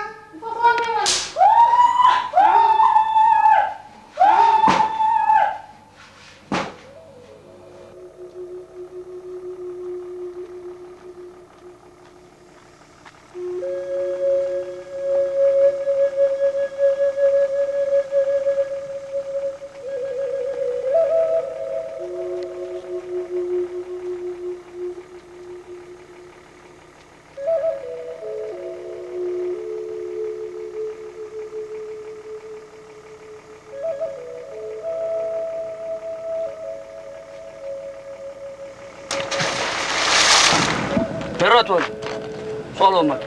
ሄሮት ወልድ፣ ሶሎሞን፣